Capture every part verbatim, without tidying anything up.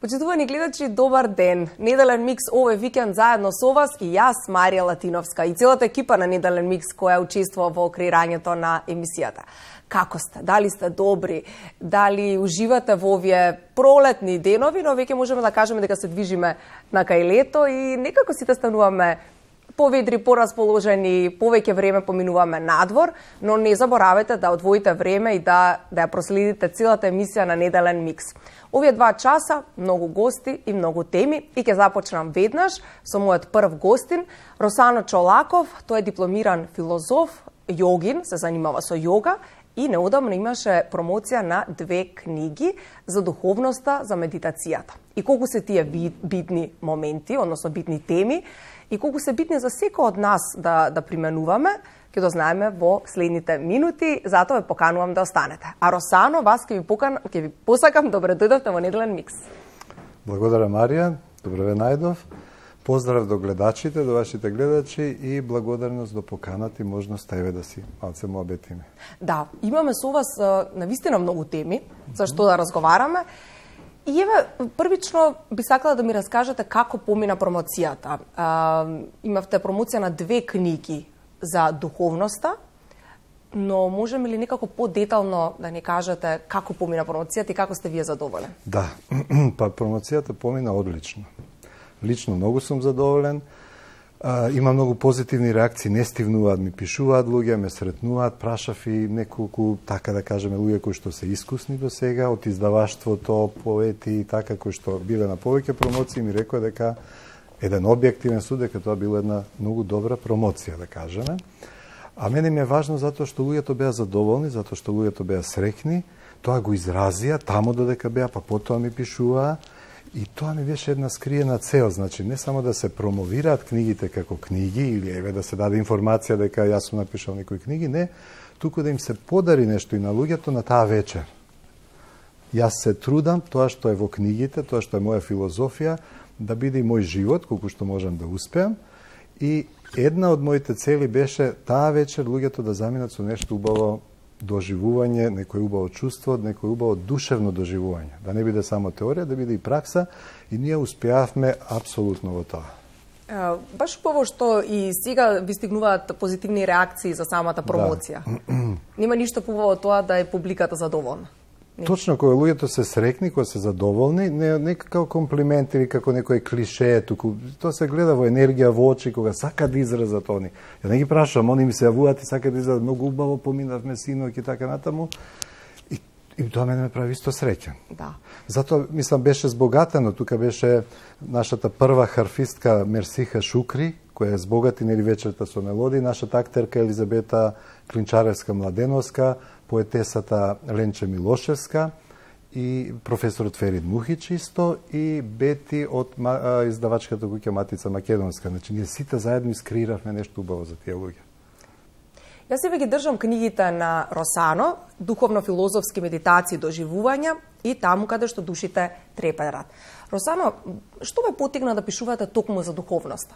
Почитувани гледачи, добар ден! Неделен микс овој викенд заедно со вас и јас, Марија Латиновска, и целата екипа на Неделен микс која учествува во креирањето на емисијата. Како сте? Дали сте добри? Дали уживате во овие пролетни денови, но веќе можеме да кажеме дека се движиме на кај лето и некако сите стануваме поведри, порасположени, повеќе време поминуваме надвор, но не заборавајте да одвоите време и да, да ја проследите целата емисија на Неделен микс. Овие два часа, многу гости и многу теми, и ќе започнам веднаш со мојот прв гостин, Росано Чолаков. Тој е дипломиран филозоф, јогин, се занимава со јога и неодамно имаше промоција на две книги за духовноста, за медитацијата. И колку се тие битни моменти, односно битни теми, и колку се битни за секој од нас да, да применуваме, ќе дознаеме во следните минути, затоа ве поканувам да останете. А Росано, вас ќе ви покан, ќе ви посакам, добре дојдовте во Неделен микс. Благодарам, Марија, добре ве најдов. Поздрав до гледачите, до вашите гледачи и благодарност до поканата и можност еве да си малце му обетиме. Да, имаме со вас навистина многу теми за што да разговараме. И еве, првично би сакала да ми раскажете како помина промоцијата. А, имавте промоција на две книги за духовноста, но можеме ли некако по-детално да ни кажете како помина промоцијата и како сте вие задоволен? Да, па промоцијата помина одлично. Лично многу сум задоволен. А, има многу позитивни реакции, не стивнуваат, ми пишуваат луѓе, ме сретнуваат, прашав и неколку, така да кажеме, луѓе кои што се искусни до сега, од издаваштвото, поети и така, кои што биле на повеќе промоции, ми рекоа дека еден објективен суд, дека тоа била една многу добра промоција, да кажеме. А мене ми е важно затоа што луѓето беа задоволни, затоа што луѓето беа среќни, тоа го изразија, тамо додека беа, па потоа ми пишуваа. И тоа ми беше една скриена цел, значи не само да се промовираат книгите како книги или еве да се даде информација дека јас сум напишал некои книги, не, туку да им се подари нешто и на луѓето на таа вечер. Јас се трудам тоа што е во книгите, тоа што е моја филозофија, да биде и мој живот, колку што можам да успеам. И една од моите цели беше таа вечер луѓето да заминат со нешто убаво доживување, некој убаво чувство, некој убаво душевно доживување. Да не биде само теорија, да биде и пракса, и ние успеавме апсолутно во тоа. Uh, баш убаво што и сега ви стигнуваат позитивни реакции за самата промоција. Да. Нема ништо побаво тоа да е публиката задоволна. Точно, кога луѓето се срекни, кога се задоволни, не, не како комплимент или како некој клише, туку тоа се гледа во енергија во очи, кога сака да изразат они. Ја не ги прашувам, они ми се јавуваат и сака да изразат, многу убаво поминавме синоќ и така натаму. И, и тоа мене ме прави исто среќен. Да. Затоа, мислам, беше збогатено. Тука беше нашата прва харфистка Мерсиха Шукри, која е збогати нели вечерта со мелодии, нашата актерка Елизабета Клинчаревска-Младеновска, поетесата Ленче Милошевска и професорот Ферид Мухич исто и Бети од издавачката куќа Матица Македонска. Значи, ние сите заедно искреиравме нешто убаво за тие луѓе. Јас себе ги држам книгите на Росано, духовно-филозофски медитации, доживувања и таму каде што душите треперат. Росано, што ве потигна да пишувате токму за духовноста?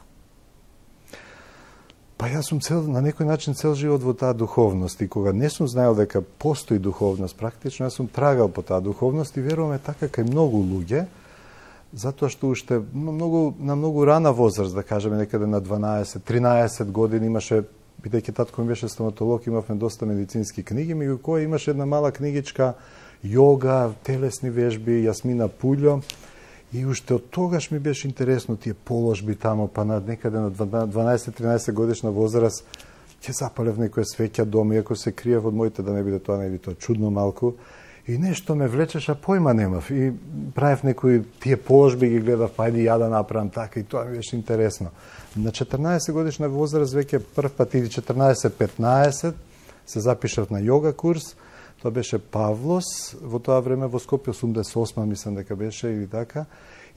Па јас сум цел, на некој начин цел живот во таа духовност и кога не сум знаел дека постои духовност, практично јас сум трагал по таа духовност и веруваме така кај многу луѓе, затоа што уште многу, на многу рана возраст, да кажеме некаде на дванаесет тринаесет години имаше, бидејќи татко ми беше стоматолог, имавме доста медицински книги, меѓу кои имаше една мала книгичка јога, телесни вежби, Јасмина Пуљо. И уште од тогаш ми беше интересно тие положби тамо, па на некаде на дванаесет тринаесет годишна возраст ќе запалев некоја свеќа дома, иако се криев од моите да не биде тоа, не биде тоа чудно малку. И нешто ме влечеше, појма немав. И правев некои тие положби, ги гледав, па ајде ја да направам така, и тоа ми беше интересно. На четрнаесет годишна возраст веќе прв пат или четрнаесет петнаесет се запишав на јога курс. Тоа беше Павлос, во тоа време во Скопје, осумдесет и осма мислам дека беше или така.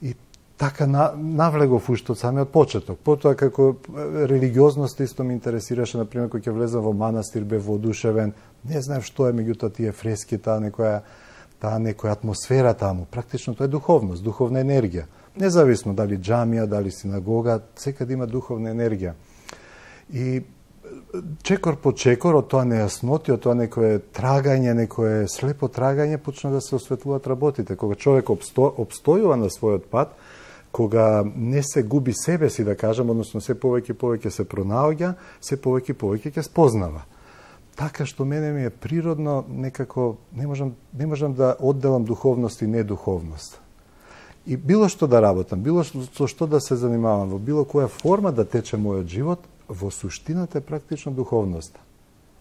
И така на, навлегов уште од самиот почеток. Потоа како религиозност исто ме интересираше, например, кога ќе влезам во манастир, бев воодушевен, не знаев што е меѓутоа тие фрески, таа некоја таа некоја атмосфера таму. Практично тоа е духовност, духовна енергија. Независно дали џамија, дали синагога, секаде има духовна енергија. И чекор по чекор од тоа нејасноти, од тоа некое трагање, некое слепо трагање, почна да се осветлуваат работите. Кога човек обсто, обстојува на својот пат, кога не се губи себе си, да кажем, односно се повеќе повеќе се пронаоѓа, се повеќе повеќе ќе спознава. Така што мене ми е природно, некако не можам, не можам да одделам духовност и недуховност. И било што да работам, било што, со што да се занимавам, во било која форма да тече мојот живот, во суштината е практично духовноста.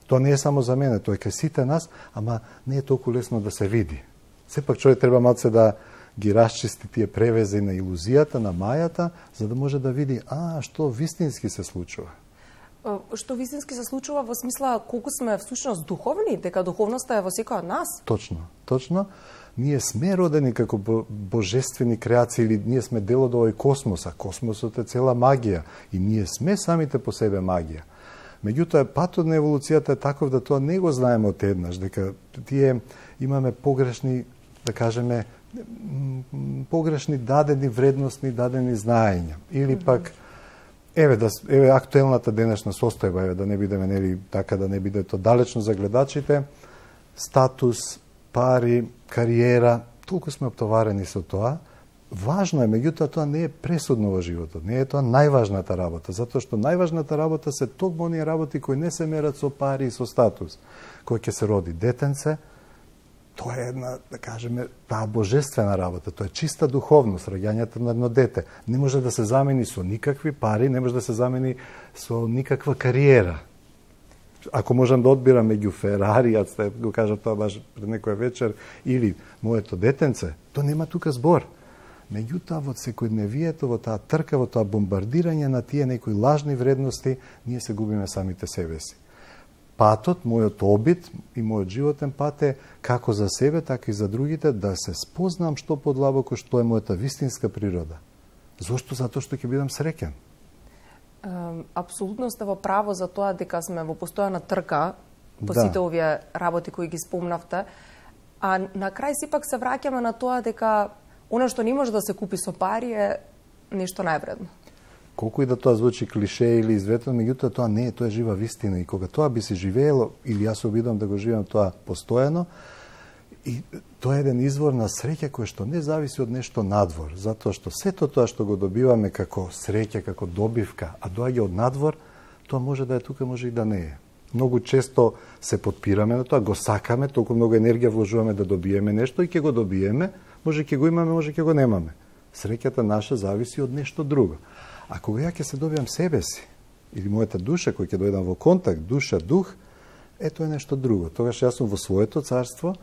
Тоа не е само за мене, тоа е кај сите нас, ама не е толку лесно да се види. Сепак човек треба малце да ги расчисти тие превези на илузијата, на мајата, за да може да види, а, што вистински се случува. Што вистински се случува во смисла колку сме всушност духовни, дека духовноста е во секој од нас? Точно, точно. Ние сме родени како божествени креации, или ние сме дел од овој космос, а космосот е цела магија и ние сме самите по себе магија. Меѓутоа, патот на еволуцијата е таков да тоа не го знаеме од еднаш, дека тие имаме погрешни, да кажеме, погрешни дадени вредностни, дадени знаења. Или пак, еве, да, еве актуелната денешна состојба, еве, да не бидеме, нели, така да не биде то далечно за гледачите, статус, пари, кариера, толку сме оптоварени со тоа. Важно е, меѓутоа тоа не е пресудно во животот, не е тоа најважната работа, затоа што најважната работа се токму оние работи кои не се мерат со пари и со статус. Кој ќе се роди детенце, тоа е една, да кажеме, таа божествена работа, тоа е чиста духовност, раѓањето на едно дете. Не може да се замени со никакви пари, не може да се замени со никаква кариера. Ако можам да одбирам меѓу Ферари, јас го кажам тоа баш пред некоја вечер, или моето детенце, тоа нема тука збор. Меѓутоа, во секојдневието, во таа трка, во тоа бомбардирање на тие некои лажни вредности, ние се губиме самите себе си. Патот, мојот обид и мојот животен пат е како за себе, така и за другите, да се спознам што подлабоко, што е мојата вистинска природа. Зошто? Затоа што ќе бидам среќен. Апсолутно сте во право за тоа дека сме во постојана трка по Да. сите овие работи кои ги спомнавте, а на крај сепак се враќаме на тоа дека она што не може да се купи со пари е нешто највредно. Колку и да тоа звучи клише или изветено, меѓутоа тоа не е, тоа е жива вистина и кога тоа би се живеело, или јас се обидам да го живеам тоа постојано, и тоа е еден извор на среќа кој што не зависи од нешто надвор, затоа што сето тоа што го добиваме како среќа, како добивка, а доаѓа од надвор, тоа може да е тука, може и да не е. Многу често се подпираме на тоа, го сакаме, толку многу енергија вложуваме да добиеме нешто и ќе го добиеме, може ќе го имаме, може ќе го немаме. Среќата наша зависи од нешто друго. А кога ја ќе се добиам себе си, или мојата душа, кој ќе дојдам во контакт, душа, дух, ето е нешто друго. Тогаш јас сум во своето царство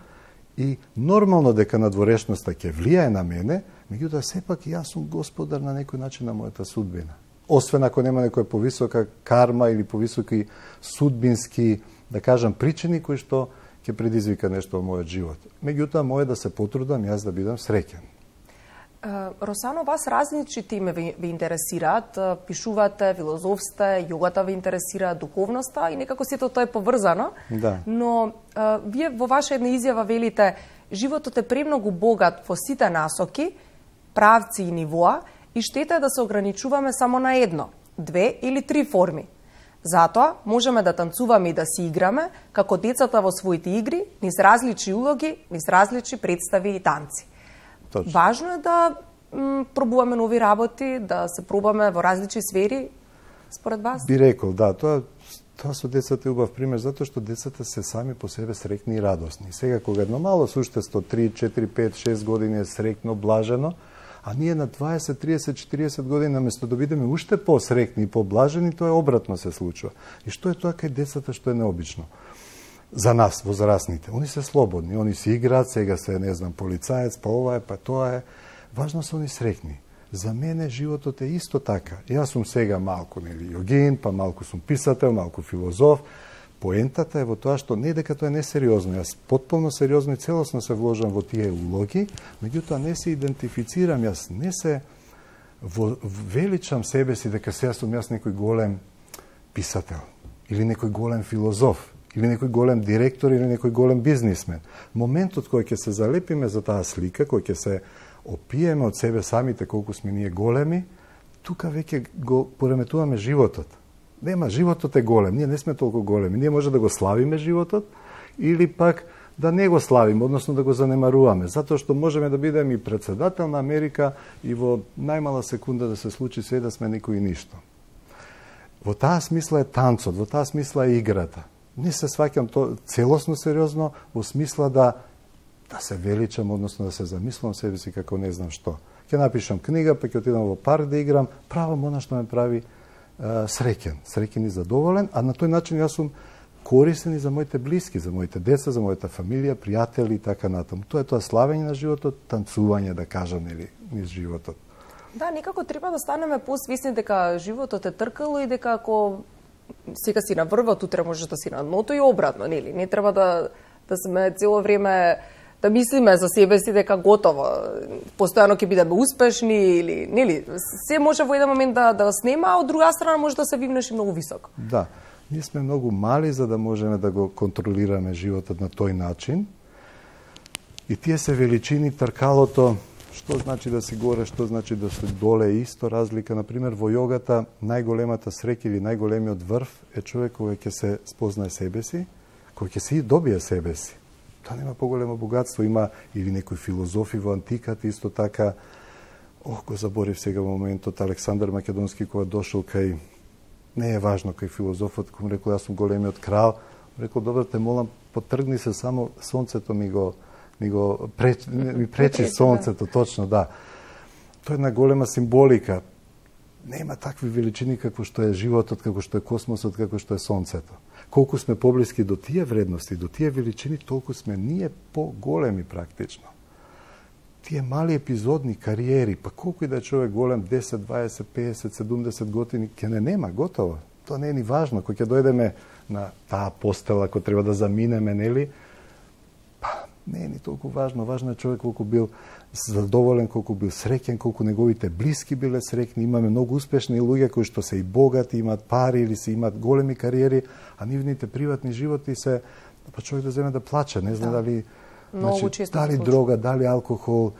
и нормално дека надворешноста ќе влијае на мене, меѓутоа сепак јас сум господар на некој начин на мојата судбина. Освен ако нема некоја повисока карма или повисоки судбински, да кажам, причини кои што ќе предизвика нешто во мојот живот. Меѓутоа, моје да се потрудам јас да бидам среќен. Росано, вас различни теми ви, ви интересираат, пишувате, филозофсте, јогата ви интересира, духовноста и некако сето тоа е поврзано. Да. Но а, вие во ваша една изјава велите, животот е премногу богат во сите насоки, правци и нивоа и штета е да се ограничуваме само на едно, две или три форми. Затоа можеме да танцуваме и да си играме, како децата во своите игри, низ различни улоги, низ различни представи и танци. Точно. Важно е да м, пробуваме нови работи, да се пробаме во различни сфери, според вас? Би рекол, да, тоа, тоа со децата е убав пример, затоа што децата се сами по себе срекни и радосни. Сега, кога едно мало суштество, три, четири, пет, шест години е срекно, блажено, а ние на дваесет, триесет, четириесет години, наместо да бидеме уште по-срекни и по-блажени, тоа е обратно се случува. И што е тоа кај децата што е необично? За нас, возрастните. Они се слободни, они се играат, сега се, не знам, полицаец, па ова е, па тоа е. Важно се они срекни. За мене животот е исто така. Јас сум сега малку, нели, јогин, па малку сум писател, малку филозоф. Поентата е во тоа што не дека тоа е несериозно. Јас потполно сериозно и целосно се вложам во тие улоги, меѓутоа не се идентифицирам, јас не се во, величам себе си дека сега сум јас некој голем писател, или некој голем филозоф, или некој голем директор, или некој голем бизнисмен. Моментот кој ќе се залепиме за таа слика, кој ќе се опиеме од себе самите колку сме ние големи, тука веќе го пореметуваме животот. Нема, животот е голем, ние не сме толку големи. Ние може да го славиме животот, или пак да не го славиме, односно да го занемаруваме, затоа што можеме да бидеме и председател на Америка и во најмала секунда да се случи све да сме никој ништо. Во таа смисла е танцот, во таа смисла е играта. Не се сваќам то целосно сериозно, во смисла да да се величам, односно да се замислам себе си како не знам што. Ќе напишам книга, па ќе отидам во парк да играм, правам она што ме прави е, среќен, среќен и задоволен, а на тој начин јас сум корисен и за моите блиски, за моите деца, за мојата фамилија, пријатели и така натаму. Тоа е тоа славење на животот, танцување, да кажам, или низ животот. Да, некако треба да станеме посвесни дека животот е тркало и дека ако сега си на врвот, утре можеш да си на дното и обратно, нели? Не треба да да сме цело време да мислиме за себе си дека готово, постојано ќе бидеме успешни или нели, се може во еден момент да да снема, а од друга страна може да се вивнеш и многу високо. Да. Ние сме многу мали за да можеме да го контролираме животот на тој начин. И тие се величини, тркалото, што значи да си горе, што значи да си доле, е исто разлика. Например, во јогата најголемата среќа или најголемиот врв е човек кој ќе се спознае себе си, кој ќе си добие себе си. Тоа нема поголемо богатство. Има или некои филозофи во антиката, исто така, ох, го заборив сега во моментот, Александар Македонски кога дошол кај, не е важно кај филозофот, кој му рекол, јас сум големиот крал, рекол, добро, те молам, потргни се, само сонцето ми го, ми го преч, ми пречи сонцето, точно, да. Тоа е една голема символика. Нема такви величини како што е животот, како што е космосот, како што е сонцето. Колку сме поблиски до тие вредности, до тие величини, толку сме ние поголеми практично. Тие мали епизодни кариери, па колку и да е човек голем, десет, дваесет, песет, седумдесет години, ќе не нема, готово. Тоа не е ни важно. Кога ќе дојдеме на таа постела, кој треба да заминеме, нели, па не е ни толку важно. Важно е човек колку бил задоволен, колку бил среќен, колку неговите блиски биле среќни. Имаме многу успешни луѓе кои што се и богати, имаат пари или се имаат големи кариери, а нивните приватни животи се, па човек да земе да плаче, не знам да. Дали значи, дали дрога, дали алкохол,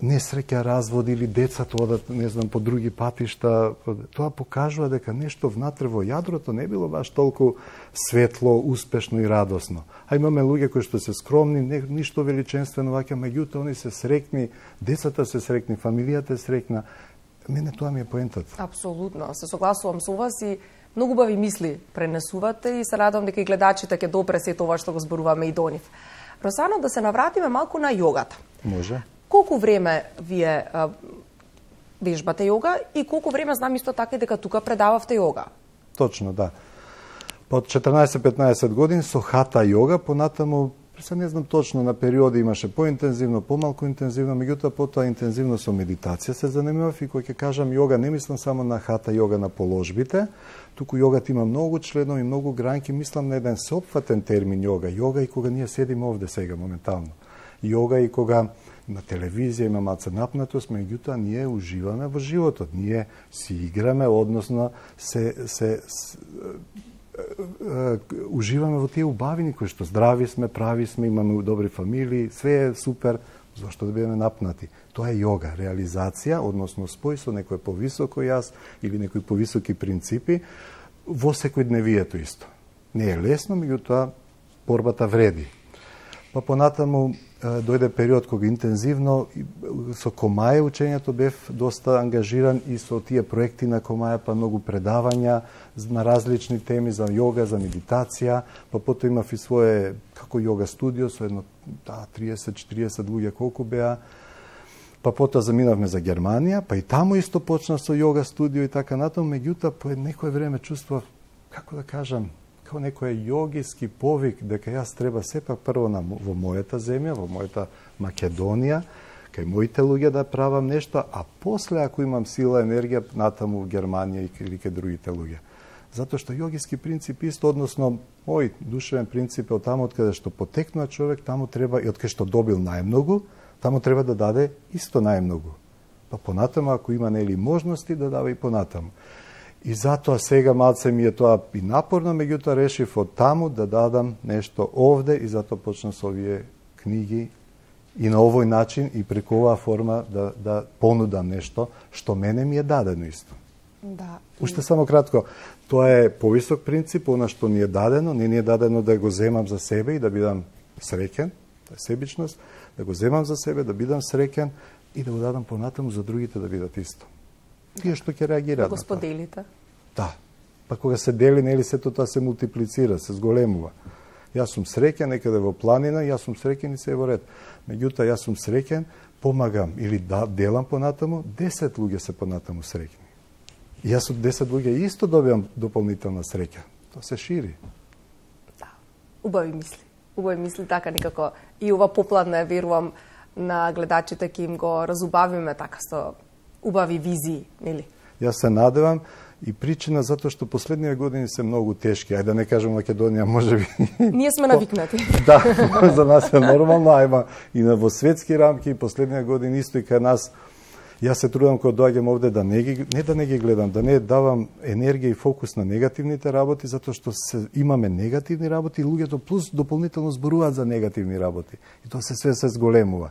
несреќа, развод или децата одат, не знам, по други патишта. Тоа покажува дека нешто внатре во јадрото не било баш толку светло, успешно и радосно. А имаме луѓе кои што се скромни, не, ништо величенствено ваќа, меѓутоа они се среќни, децата се среќни, фамилијата е среќна. Мене тоа ми е поентот. Апсолутно, се согласувам со вас и многу убави мисли пренесувате и се радам дека и гледачите ќе допре се тоа што го зборуваме и до нив. Росано, да се навратиме малку на јогата. Може. Колку време вие а, вежбате јога и колку време знам исто така и дека тука предававте јога? Точно, да. Под четрнаесет-петнаесет години со хата јога, понатаму, се не знам точно, на периоди имаше поинтензивно, помалку интензивно, меѓутоа потоа интензивно со медитација се занимавав и кога ќе кажам јога, не мислам само на хата јога на положбите, туку јогата има многу членови, многу гранки, мислам на еден сеопфатен термин јога. Јога и кога ние седиме овде сега моментално. Јога и кога на телевизија има малце напнатост, меѓутоа ние уживаме во животот. Ние си играме, односно се, се, се уживаме во тие убавини кои што здрави сме, прави сме, имаме добри фамилии, све е супер, зашто да бидеме напнати. Тоа е јога, реализација, односно спој со некој повисоко јас или некои повисоки принципи во секојдневието исто. Не е лесно, меѓутоа борбата вреди. Па понатаму дојде период кога интензивно со Комаја учењето бев доста ангажиран и со тие проекти на Комаја, па многу предавања на различни теми за јога, за медитација, па потоа имав и свое како јога студио со едно да, триесет-четириесет луѓе колку беа. Па потоа заминавме за Германија, па и таму исто почна со јога студио и така натаму, меѓутоа по некое време чувствував, како да кажам, како некој јогиски повик дека јас треба сепак прво на, во мојата земја, во мојата Македонија, кај моите луѓе да правам нешто, а после ако имам сила, енергија, натаму во Германија или кај другите луѓе. Затоа што јогиски принцип исто, односно мој душевен принцип е од таму од каде што потекнува човек, таму треба и од кај што добил најмногу, таму треба да даде исто најмногу. па понатаму ако има нели можности да дава и понатаму. И затоа сега малце ми е тоа и напорно, меѓутоа решив од таму да дадам нешто овде и затоа почнав со овие книги и на овој начин и преку оваа форма да, да понудам нешто што мене ми е дадено исто. Да. Уште само кратко, тоа е повисок принцип, она што ни е дадено, не ни е дадено да го земам за себе и да бидам среќен, тоа е себичност, да го земам за себе, да бидам среќен и да го дадам понатаму за другите да бидат исто. Тие што ќе реагираат на тоа. Го споделите. Да. Па кога се дели, нели сето тоа се мултиплицира, се зголемува. Јас сум среќен некаде во планина, јас сум среќен и се е во ред. Меѓутоа, јас сум среќен, помагам или да, делам понатаму, десет луѓе се понатаму среќни. И јас од десет луѓе исто добивам дополнителна среќа. Тоа се шири. Да. Убави мисли. Убави мисли, така некако и ова попладна, верувам, на гледачите ќе им го разубавиме така со убави визии, нели? Јас се надевам и причина затоа што последниве години се многу тешки. Ајде да не кажем Македонија, можеби. Ние сме навикнати. Да, за нас е нормално, ајма и на во светски рамки последниве години исто и кај нас. Јас се трудам кога доаѓам овде да не ги не да не ги гледам, да не давам енергија и фокус на негативните работи, затоа што се имаме негативни работи и луѓето плюс дополнително зборуваат за негативни работи. И тоа се све се зголемува.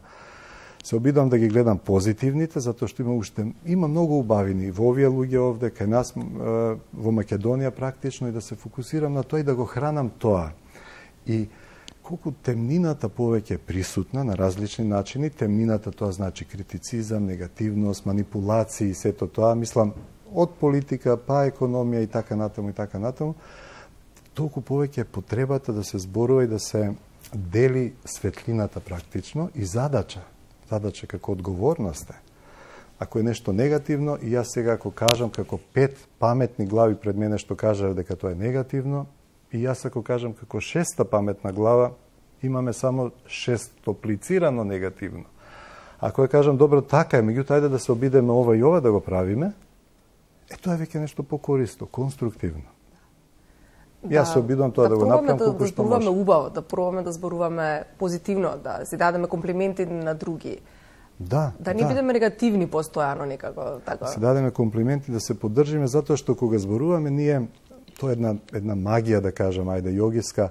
Се обидам да ги гледам позитивните, затоа што има уште има многу убавини во овие луѓе овде кај нас во Македонија практично и да се фокусирам на тоа и да го хранам тоа. И колку темнината повеќе е присутна на различни начини, темнината тоа значи критицизам, негативност, манипулации, сето тоа, мислам, од политика па економија и така натаму и така натаму, толку повеќе е потребата да се зборува и да се дели светлината практично и задача. Задача како одговорност е. Ако е нешто негативно, и јас сега ако кажам како пет паметни глави пред мене што кажа дека тоа е негативно, и јас ако кажам како шеста паметна глава, имаме само шестоплицирано негативно. Ако ја кажам, добро, така е, меѓутоа ајде да се обидеме ова и ова да го правиме, е тоа е веќе нешто покористо, конструктивно. Да, јас се обидувам тоа да, да го направам да, колку да што може. Да убаво, да пробаме да зборуваме позитивно, да си дадеме комплименти на други. Да, да не да. бидеме негативни постојано некако така. Си дадеме комплименти, да се поддржиме, затоа што кога зборуваме ние, тоа е една една магија да кажам, ајде јогиска.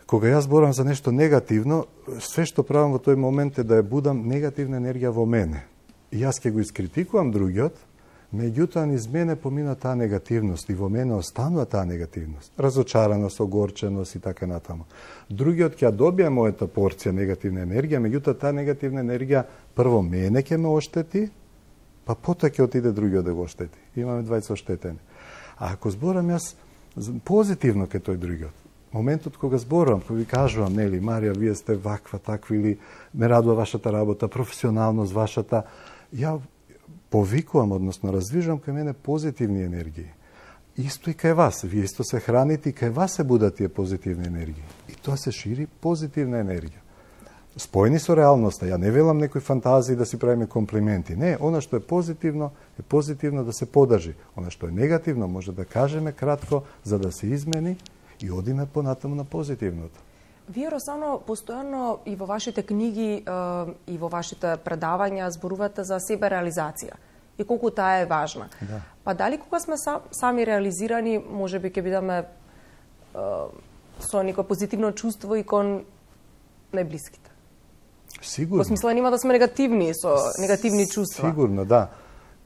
Кога јас зборам за нешто негативно, све што правам во тој момент е да ја будам негативна енергија во мене. И јас ќе го искритикувам другиот, меѓутоа низ мене помина таа негативност и во мене останува таа негативност. Разочараност, огорченост и така натаму. Другиот ќе добие мојата порција негативна енергија, меѓутоа таа негативна енергија прво мене ќе ме оштети, па потоа ќе отиде другиот да го оштети. Имаме двајца оштетени. А ако зборам јас позитивно кај тој другиот, моментот кога зборувам, кога ви кажувам, нели, Марија, вие сте ваква, такви, или ме радува вашата работа, професионалност вашата, ја повикувам, односно развижувам кај мене позитивни енергии. Исто и кај вас. Вие исто се храните и кај вас се будат тие позитивни енергии. И тоа се шири позитивна енергија. Спојни со реалноста. Ја не велам некои фантазии да си правиме комплименти. Не, она што е позитивно, е позитивно да се подржи. Она што е негативно, може да кажеме кратко, за да се измени и одиме понатаму на позитивното. Вие, Росано, постојано и во вашите книги и во вашите предавања зборувате за себереализација и колку таа е важна. Да. Па дали кога сме сами реализирани, може би ќе бидеме со некој позитивно чувство и кон најблиските? Сигурно. Во смисла нема да сме негативни со негативни чувства. Сигурно, да.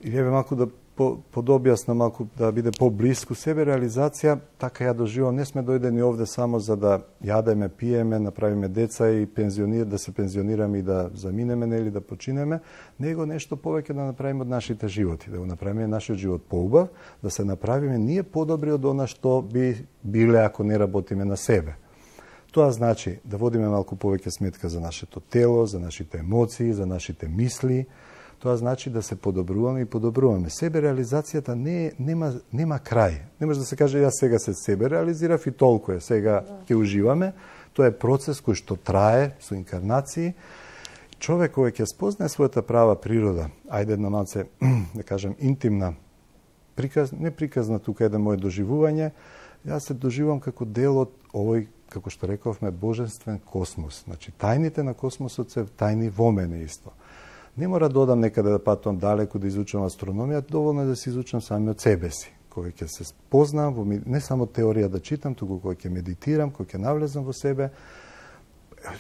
И еве малку да по, подобјасна малку да биде поблиску себе реализација, така ја доживам. Не сме дојдени овде само за да јадеме, пиеме, направиме деца и пензионир, да се пензионираме и да заминеме или да починеме, него нешто повеќе да направиме од нашите животи, да го направиме нашиот живот поубав, да се направиме ние подобри од она што би биле ако не работиме на себе. Тоа значи да водиме малку повеќе сметка за нашето тело, за нашите емоции, за нашите мисли. Тоа значи да се подобруваме и подобруваме. Себе реализацијата не нема нема крај. Не може да се каже јас сега се себе реализирав и толку е. Сега ќе уживаме. Тоа е процес кој што трае со инкарнации. Човек кој ќе спознае својата права природа, ајде една малце да кажем интимна, приказ, не приказна тука еден моје доживување, јас се доживувам како дел од овој, како што рековме, божествен космос. Значи, тајните на космосот се тајни во мене исто. Не мора да одам некаде да патувам далеку да изучам астрономија, доволно е да се изучам сами од себе си. Кога ќе се спознам, во, не само теорија да читам, туку кога ќе медитирам, кога ќе навлезам во себе,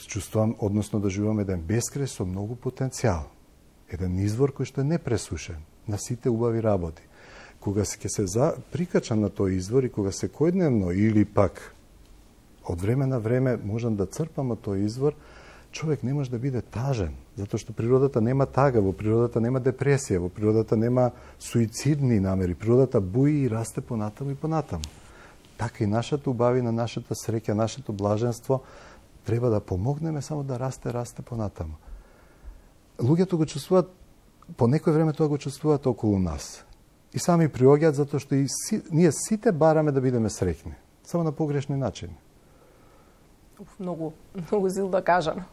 чувствувам, односно да живувам еден бескрај со многу потенцијал. Еден извор кој што е непресушен на сите убави работи. Кога се ќе се за, прикачам на тој извор и кога секојдневно или пак од време на време можам да црпам од тој извор, човек не може да биде тажен, затоа што природата нема тага, во природата нема депресија, во природата нема суицидни намери, природата буи и расте понатаму и понатаму. Така и нашата убавина, нашата среќа, нашето блаженство треба да помогнеме само да расте, расте понатаму. Луѓето го чувствуваат, по некој време тоа го чувствуваат околу нас. И сами приоѓаат затоа што и си, ние сите бараме да бидеме среќни, само на погрешни начини. Многу, многу силно кажано.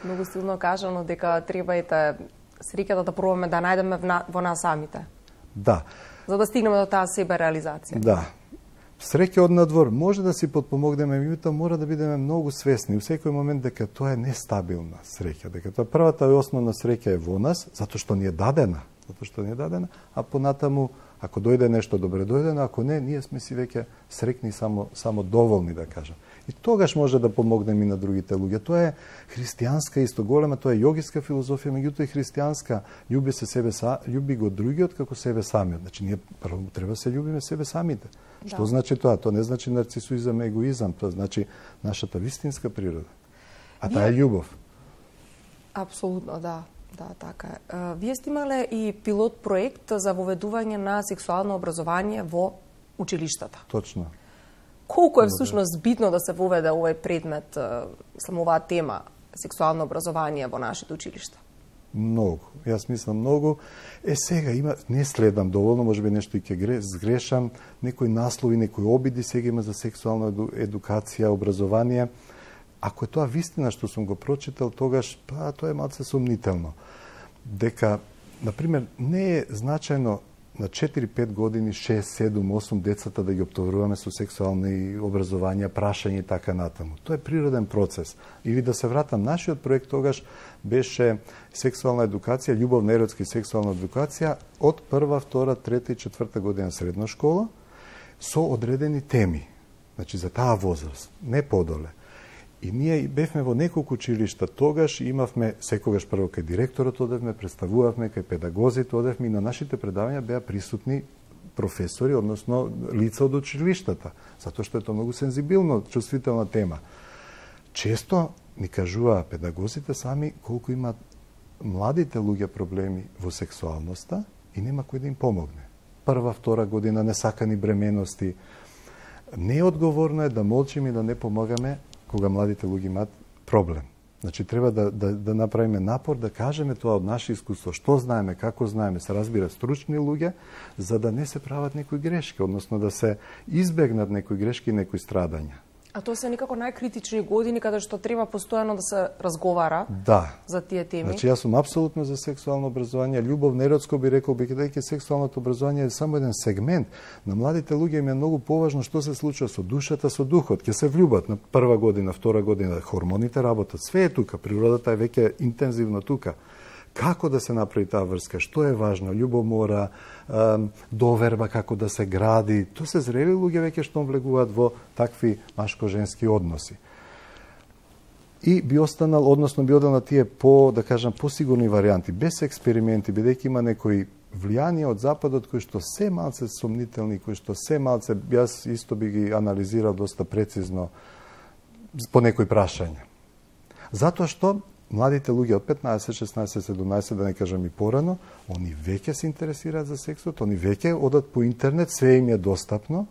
Многу силно кажано дека треба ете среќата да пробаме да најдеме во нас самите. Да. За да стигнеме до таа себе реализација. Да. Среќа од надвор може да си подпомогнеме, меѓутоа мора да бидеме многу свесни у секој момент дека тоа е нестабилна среќа, дека тоа првата и основна среќа е во нас, затоа што ни е дадена, затоа што ни е дадена, а понатаму ако дојде нешто добре дојдено, ако не, ние сме си веќе среќни само само доволни да кажам. И тогаш може да помогнеме и на другите луѓе. Тоа е христијанска исто голема, тоа е јогиска филозофија, меѓутоа и христијанска. Љуби се себе са, љуби го другиот како себе самиот. Значи ние прво треба се љубиме себе самите. Да. Што значи тоа? Тоа не значи нарцисуизам, егоизам, тоа значи нашата вистинска природа. А таа е љубов. Апсолутно, да. Да, така е. Вие сте имале и пилот проект за воведување на сексуално образование во училиштата. Точно. Колку е всушност битно да се воведе овој предмет, само оваа тема, сексуално образование во нашите училишта? Многу. Јас мислам многу. Е, сега има, не следам доволно, може би нешто и ќе сгрешам, некои наслови, некои обиди сега има за сексуална едукација, образование. Ако е тоа вистина што сум го прочитал, тогаш па тоа е малце сумнително. Дека, например, не е значајно на четири-пет години, шест, седум, осум децата да ги оптовруваме со сексуални образование, прашање и така натаму. Тоа е природен процес. Или да се вратам, нашиот проект тогаш беше сексуална едукација, љубовна, еротска и сексуална едукација од прва, втора, трета и четврта година средна школа со одредени теми. Значи за таа возраст, не подоле. И ние бевме во неколку училишта тогаш, имавме секогаш прво кај директорот одевме, представувавме кај педагозите одевме и на нашите предавања беа присутни професори, односно лица од училиштата, затоа што е тоа многу сензибилно, чувствителна тема. Често ни кажуваа педагозите сами колку имаат младите луѓе проблеми во сексуалноста и нема кој да им помогне. Прва, втора година несакани бременности. Неодговорно е да молчиме и да не помагаме кога младите луѓе имаат проблем. Значи, треба да, да, да направиме напор, да кажеме тоа од наше искуство, што знаеме, како знаеме, се разбира стручни луѓе, за да не се прават некои грешки, односно да се избегнат некои грешки и некои страдања. А тоа се некако најкритични години каде што треба постојано да се разговара да. За тие теми. Значи, јас сум апсолутно за сексуално образование. Љубов неродско би рекол, бидејќи сексуалното образование е само еден сегмент. На младите луѓе им е многу поважно што се случува со душата, со духот. Ќе се влюбат на прва година, втора година, хормоните работат, све е тука, природата е веќе интензивно тука. Како да се направи таа врска, што е важно, љубомора, доверба, како да се гради. Тоа се зрели луѓе веќе што влегуваат во такви машко-женски односи. И би останал, односно би одел на тие по, да кажам, посигурни варијанти, без експерименти, бидејќи има некои влијанија од Западот кои што се малце сомнителни, кои што се малце, јас исто би ги анализирал доста прецизно по некои прашања. Затоа што младите луѓе од петнаесет, шеснаесет, седумнаесет, да не кажам и порано, они веќе се интересираат за сексот, они веќе одат по интернет, све им е достапно,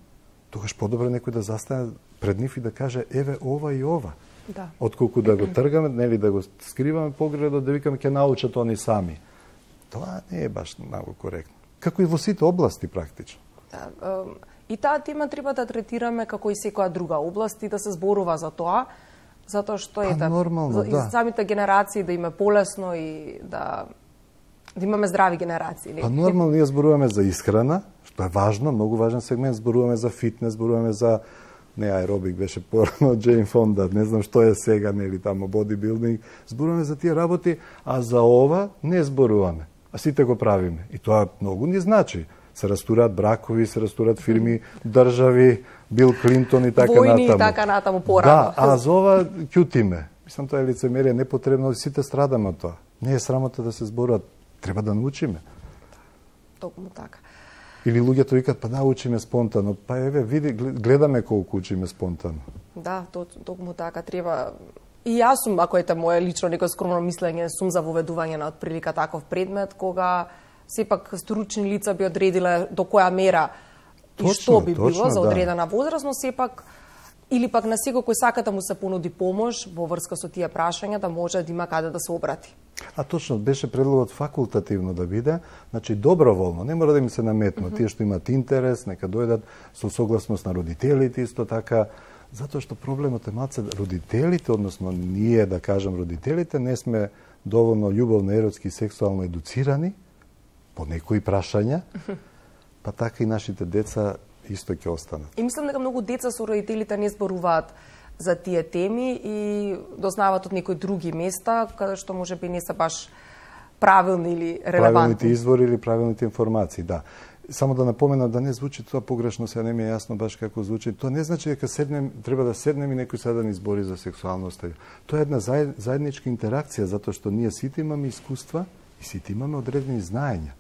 тогаш подобро некој да застане пред нив и да каже еве ова и ова. Да. Отколку да го тргаме, нели да го скриваме погредот, да викаме ќе научат они сами. Тоа не е баш многу коректно. Како и во сите области практично. Да, и таа тема треба да третираме како и секоја друга област и да се зборува за тоа. Затоа што е да, нормално, и да. самите генерации да им е полесно и да да имаме здрави генерации. Па нормално ние зборуваме за исхрана, што е важно, многу важен сегмент, зборуваме за фитнес, зборуваме за не аеробик беше порано, Джейн Фонда, не знам што е сега, нели тамо бодибилдинг, зборуваме за тие работи, а за ова не зборуваме, а сите го правиме. И тоа многу ни значи. Се растурат бракови, се растурат фирми, држави, Бил Клинтон и така Војни натаму. и така натаму порано. Да, а за ова ќутиме. Мислам, тоа е лицемерие, непотребно, сите страдаме од тоа. Не е срамота да се зборуват, треба да научиме. Токму така. Или луѓето викат, па да, учиме спонтано. Па еве, види, гледаме колку учиме спонтано. Да, токму така, треба... И јас сум, ако ете моje лично некој скромно мислење, сум за воведување на отприлика таков предмет, кога сепак стручни лица би одредиле до која мера точно, и што би точно, било за одредена да. возраст, но сепак или пак на секој кој сака да му се понуди помош во врска со тие прашања, да може да има каде да се обрати. А точно, беше предлогот факултативно да биде, значи доброволно, не мора да им се наметнат. Mm -hmm. Тие што имаат интерес, нека дојдат со согласност на родителите, исто така, затоа што проблемот е малце родителите, односно ние, да кажем, родителите, не сме доволно љубовно, еротски и сексуално едуцирани по некои прашања, па така и нашите деца исто ќе останат. И мислам дека многу деца со родителите не зборуваат за тие теми и дознаваат од некои други места, каде што може би не се баш правилни или релевантни. Правилните извори или правилните информации, да. Само да напоменам да не звучи тоа погрешно, се не ми е јасно баш како звучи. Тоа не значи дека седнем, треба да седнем и некој сега да ни збори за сексуалноста. Тоа е една заедничка интеракција, затоа што ние сите имаме искуства и сите имаме одредени знаења.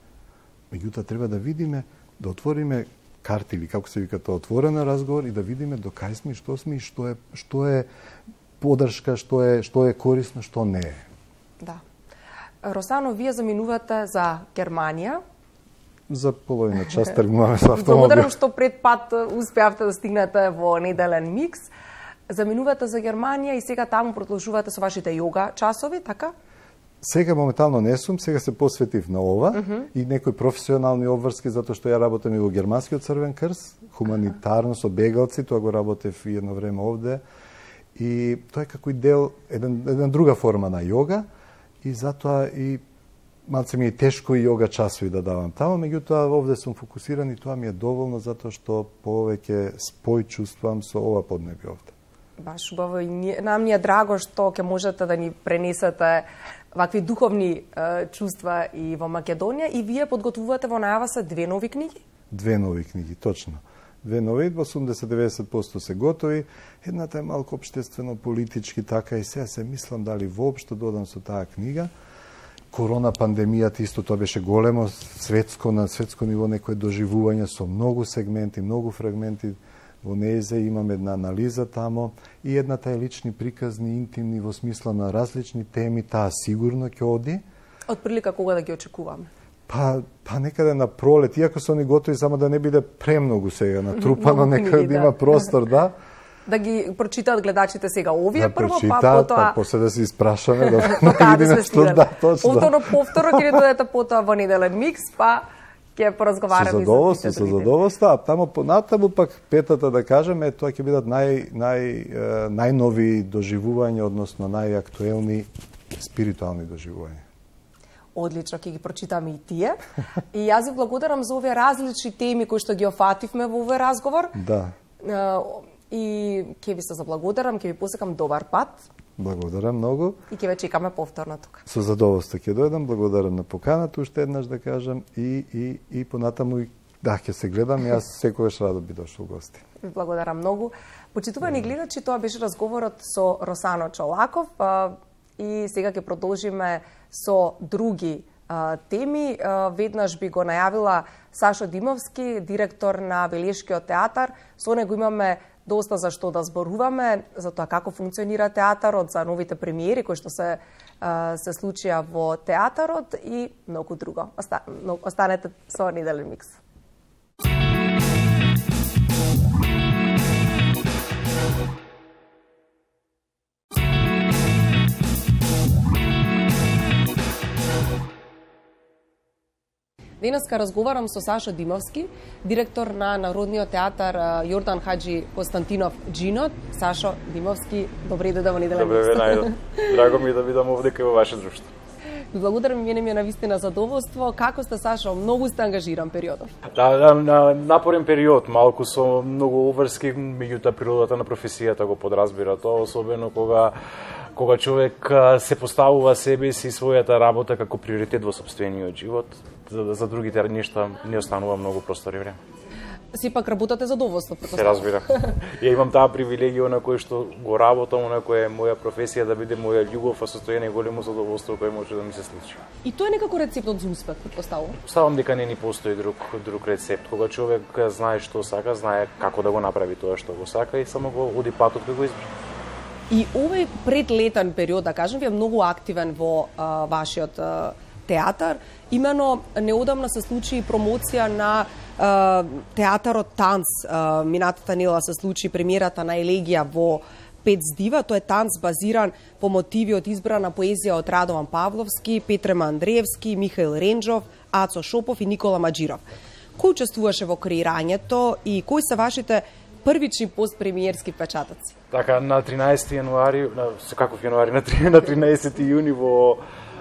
Меѓутоа треба да видиме, да отвориме карти или како се вика тоа, отворен разговор и да видиме до кај сме, што сме и што е што е поддршка, што е што е корисно, што не е. Да. Росано, вие заминувате за Германија. За половина час тргнуваме со автомобил. Благодарам што пред пат успеавте да стигнете во неделен микс. Заминувате за Германија и сега таму продолжувате со вашите йога часови, така? Сега моментално не сум, сега се посветив на ова uh -huh. и некои професионални обврски, затоа што ја работам и во Германскиот Црвен крст, хуманитарно со бегалци, тоа го работев и едно време овде. И тоа е како и дел, еден, една друга форма на йога, и затоа и малце ми е тешко и йога часови да давам таму, меѓутоа овде сум фокусиран и тоа ми е доволно затоа што повеќе спој чувствувам со ова поднебје овде. Баш убаво и ние, нам ни е драго што ќе можете да ни пренесете вакви духовни е, чувства и во Македонија, и вие подготвувате во најава се две нови книги? Две нови книги, точно. Две нови, во осумдесет до деветдесет проценти се готови. Едната е малку општествено политички, така и сега се мислам дали воопшто додам со таа книга. Корона пандемијата исто тоа беше големо светско, на светско ниво некое доживување со многу сегменти, многу фрагменти. Во нејзе имам една анализа тамо и едната е лични приказни, интимни, во смисла на различни теми, таа сигурно ќе оди. Од прилика кога да ги очекуваме? Па, па некаде на пролет, иако се они готови, само да не биде премногу сега натрупано, нека да има простор, да. Да ги прочитаат гледачите сега овие да прво, прочитаат, па потоа... па после да се испрашаме, да, да видиме што да, точно. Повторно, повторно, ќе дојдете потоа во неделен микс, па ќе поразговараме со задоволство, со задоволство, а тамо понатаму пак петата да кажеме, тоа ќе бидат нај нај најнови доживувања, односно најактуелни спиритуални доживувања. Одлично, ќе ги прочитаме и тие. И јас ви благодарам за овие различни теми кои што ги офативме во овој разговор. Да. И ќе ви се заблагодарам, ќе ви посекам добар пат. Благодарам многу. И ќе ве чекаме повторно тука. Со задоволство ќе дојдам, благодарам на поканата, уште еднаш да кажам, и, и, и понатаму, да, ќе се гледам, јас секогаш радо би дошол гости. Ви благодарам многу. Почитувани гледачи, тоа беше разговорот со Росано Чолаков, а, и сега ќе продолжиме со други а, теми. А, веднаш би го најавила Сашо Димовски, директор на Велешкиот театар. Со него имаме доста за што да зборуваме, за тоа како функционира театарот, за новите премиери кои што се се случија во театарот и многу друго. Останете со неделен микс. Денеска разговарам со Сашо Димовски, директор на Народниот театар Јордан Хаџи Константинов Джинот. Сашо Димовски, добре дојде во неделен микс. Добре, најдо. Драго ми е да видам овде кај во ваше друштво. Ви благодарам, мене ми е навистина задоволство. Како сте, Сашо? Многу сте ангажиран периодов. Да, да, на напорен период, малку со многу обврски, меѓутоа природата на професијата го подразбира тоа, особено кога кога човек се поставува себе си и својата работа како приоритет во сопствениот живот, за, за другите нешта не останува многу простор и време. Сепак работате задоволство, Се разбира. Ја имам таа привилегија на кој што го работам, на која е моја професија, да биде моја љубов, а состојане големо задоволство кој може да ми се случи. И тоа е некако рецептот за успех, претпоставувам. Ставам дека не ни постои друг друг рецепт. Кога човек знае што сака, знае како да го направи тоа што го сака и само го оди патот кој го избра. И овој предлетен период, да кажем, ви е многу активен во а, вашиот а, театар. Имено неодамна се случи промоција на а, театарот Танц. А, минатата недела се случи премиерата на Елегија во Пет здива. Тој е танц базиран по мотиви од избрана поезија од Радован Павловски, Петрема Андреевски, Михаил Ренџов, Ацо Шопов и Никола Маџиров. Кој учествуваше во креирањето и кои се вашите првични постпремиерски впечатоци? Така, на тринаесети јануари, на, каков јануари, на тринаесети јуни во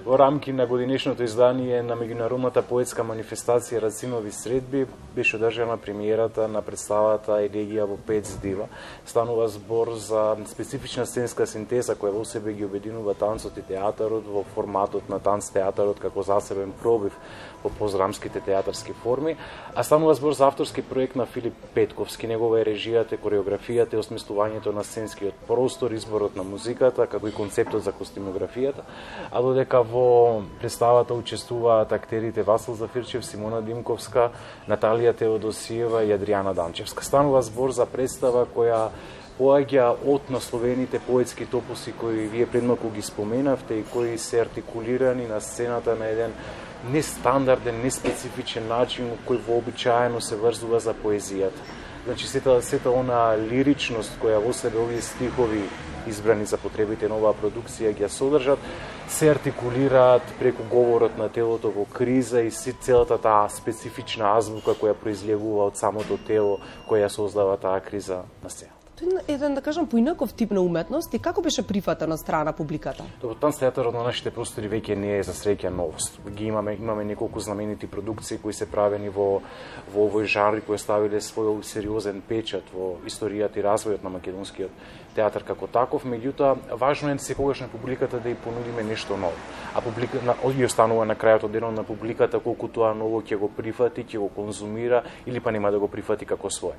Во рамки на годинешното издание на меѓународната поетска манифестација Рацинови средби беше одржана премиерата на представата Елегија во Пет здива. Станува збор за специфична сценска синтеза која во себе ги обединува танцот и театарот во форматот на танц театарот како засебен пробив во поздрамските театарски форми, а станува збор за авторски проект на Филип Петковски. Негова е режијата, кореографијата и осмислувањето на сценскиот простор, изборот на музиката, како и концептот за костимографијата, а додека во представата учествуваат актерите Васил Зафирчев, Симона Димковска, Наталија Теодосиева и Адријана Данчевска. Станува збор за представа која поаѓа од насловените поетски топоси кои вие предмалку ги споменавте и кои се артикулирани на сцената на еден нестандарден, неспецифичен начин кој вообичаено се врзува за поезијата. Значи, сета, сета она лиричност која во себе овие стихови избрани за потребите на оваа продукција ги ја содржат, се артикулираат преку говорот на телото во криза и целата таа специфична азбука која произлегува од самото тело која создава таа криза на сцена. Тоа е еден, да кажам, поинаков тип на уметност и како беше прифатен од страна публиката? Добро, танц театарот на нашите простори веќе не е за среќа новост. Ги имаме имаме неколку знаменити продукции кои се правени во во овој жанр кои ставиле свој сериозен печат во историјата и развојот на македонскиот театар како таков, меѓутоа важно е секогаш на публиката да ја понудиме нешто ново. А публика на и останува на крајот од денот на публиката колку тоа ново ќе го прифати, ќе го конзумира или па нема да го прифати како свое.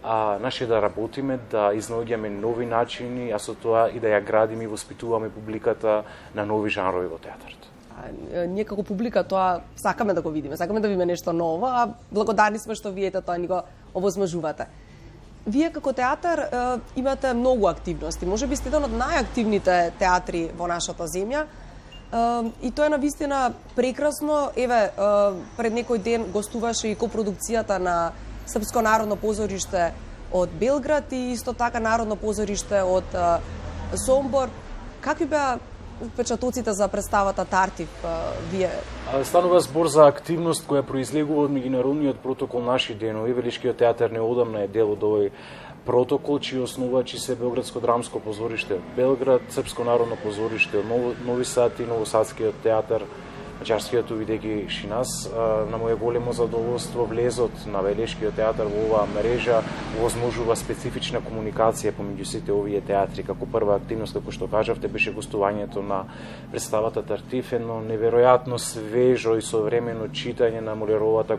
А наше да работиме, да изнаоѓаме нови начини, а со тоа и да ја градиме и воспитуваме публиката на нови жанрови во театарот. А, ние како публика тоа сакаме да го видиме, сакаме да видиме нешто ново, а благодарни сме што вие тоа ни го овозможувате. Вие како театар е, имате многу активности. Може би сте еден од најактивните театри во нашата земја. Е, и тоа е навистина прекрасно. Еве, е, пред некој ден гостуваше и копродукцијата на Српско народно позориште од Белград и исто така Народно позориште од е, Сомбор. Какви беа впечатоците за представата Тартив вие? Станува збор за активност која произлегува од меѓународниот протокол Наши денови. Велишкиот театар неодамна е дел од овој протокол, чии основачи се Белградско драмско позориште од Белград, Српско народно позориште од Нови Сад и Новосадскиот театар, Маđarскиот увидејќи Шинас. На моје големо задоволство влезот на Велишкиот театар во оваа мрежа возможува специфична комуникација помеѓу сите овие театри. Како прва активност, како што кажавте, беше гостувањето на представата Тартиф, едно неверојатно свежо и современо читање на Молиеровата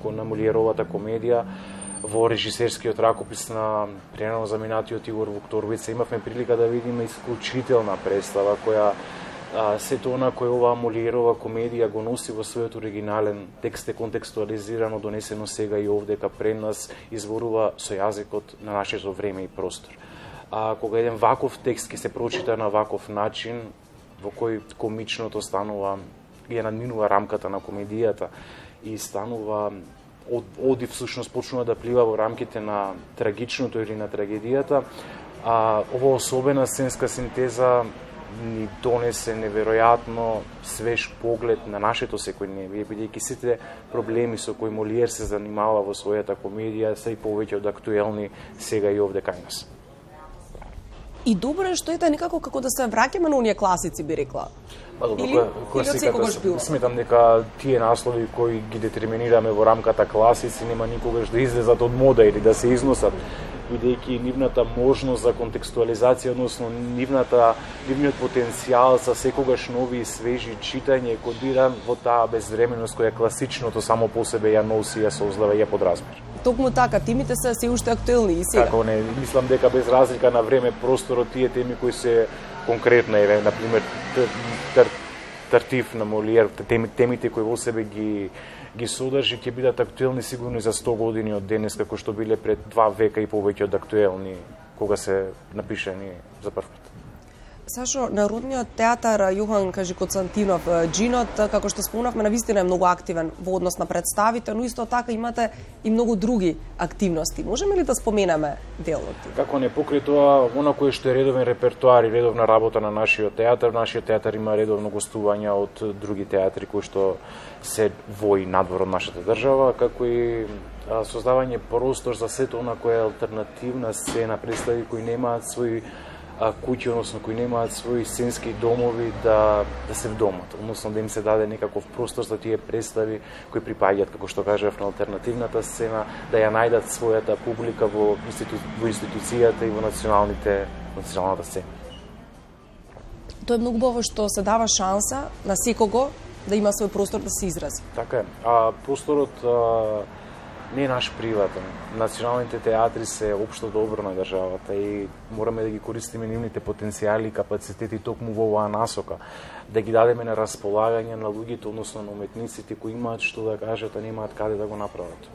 на Молиеровата комедија во режисерскиот ракопис на пренос за минатиот Игор Вукторовица. Имавме прилика да видиме исклучителна представа која А, сето она кој оваа Молиерова комедија го носи во својот оригинален текст е контекстуализирано, донесено сега и овдека пред нас, изборува со јазикот на нашето време и простор. А кога еден ваков текст ќе се прочита на ваков начин, во кој комичното станува, ја надминува рамката на комедијата и станува од, оди всушност почнува да плива во рамките на трагичното или на трагедијата, а ова особена сценска синтеза ни донесе неверојатно свеж поглед на нашето секојдневие, бидејќи сите проблеми со кои Молиер се занимава во својата комедија се и повеќе од актуелни сега и овде кај нас. И добро е што ете некако како да се враќаме на оние класици, би рекла. Па добро, или, класиката, сметам дека тие наслови кои ги детерминираме во рамката класици нема никогаш да излезат од мода или да се износат, бидејќи нивната можност за контекстуализација, односно нивната, нивниот потенцијал за секогаш нови и свежи читање е кодиран во таа безвременост која класичното само по себе ја носи, ја создава и ја подразбира. Токму така, темите се се уште актуелни и сега. Како не, мислам дека без разлика на време, просторот, тие теми кои се конкретно, еве, например, Тартиф на Молиер, темите кои во себе ги ги содржи ќе бидат актуелни сигурно и за сто години од денес, како што биле пред два века и повеќе од актуелни кога се напишани за прв пат. Сашо, Народниот театар Јохан Кажи-Константинов Џинот, како што спомнавме, навистина е многу активен во однос на представите, но исто така имате и многу други активности. Можеме ли да споменеме дел од тие? Како не, покрај тоа, она кое што е редовен репертоар и редовна работа на нашиот театар, нашиот театар има редовно гостувања од други театри кои што се во и надвор од нашата држава, како и создавање простор за сето она која е алтернативна сцена, представи кои немаат свој куќи, односно кои немаат своји сценски домови да да се вдомат, односно да им се даде некаков простор за тие представи кои припаѓаат, како што кажав, на алтернативната сцена, да ја најдат својата публика во, институ... во институцијата и во националните националната сцена. Тоа е многу убаво што се дава шанса на секого да има свој простор да се изрази. Така е. А просторот а, не е наш приватен. Националните театри се општо добро на државата и мораме да ги користиме нивните потенцијали и капацитети токму во оваа насока, да ги дадеме на располагање на луѓето, односно на уметниците кои имаат што да кажат, а немаат каде да го направат.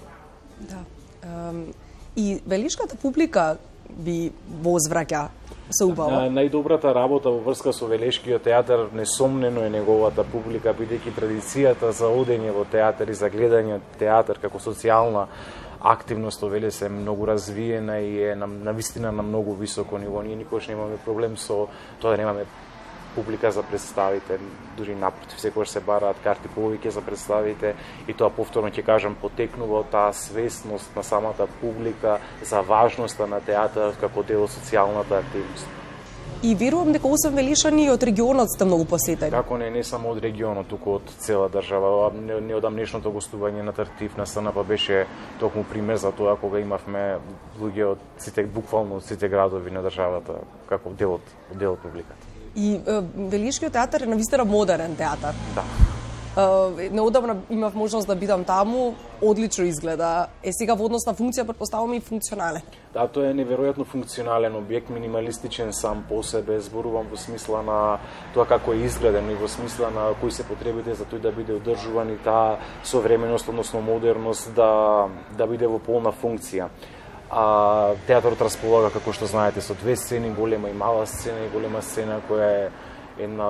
Да. И велишката публика би возвраќа се убаво. Најдобрата работа во врска со Велешкиот театар несомнено е неговата публика, бидејќи традицијата за одење во театар и за гледање театар како социјална активност во Велес е многу развиена и е на, на вистина на многу високо ниво. Ние никогаш немаме проблем со тоа да немаме публика за представите, дури напротив, секогаш се бараат карти повеќе за представите и тоа повторно ќе кажам потекнува од таа свесност на самата публика за важноста на театарот како дел од социјалната активност. И верувам дека освен велишани и од регионот сте многу посетени. Како не, не само од регионот, туку од цела држава. Неодамнешното гостување на Тартиф на СНП беше токму пример за тоа кога имавме луѓе од сите, буквално од сите градови на државата како дел од дел од публиката. И е, Велишкиот театар е навистина модерен театар. Да. Е, неодамна имав можност да бидам таму, одлично изгледа. Е сега во однос на функција претпоставувам и функционален. Да, тоа е неверојатно функционален објект, минималистичен сам по себе, зборувам во смисла на тоа како е изгледен и во смисла на кои се потребите за тој да биде одржуван и таа современост, односно модерност да да биде во полна функција. А театарот располага, како што знаете, со две сцени, голема и мала сцена, и голема сцена која е една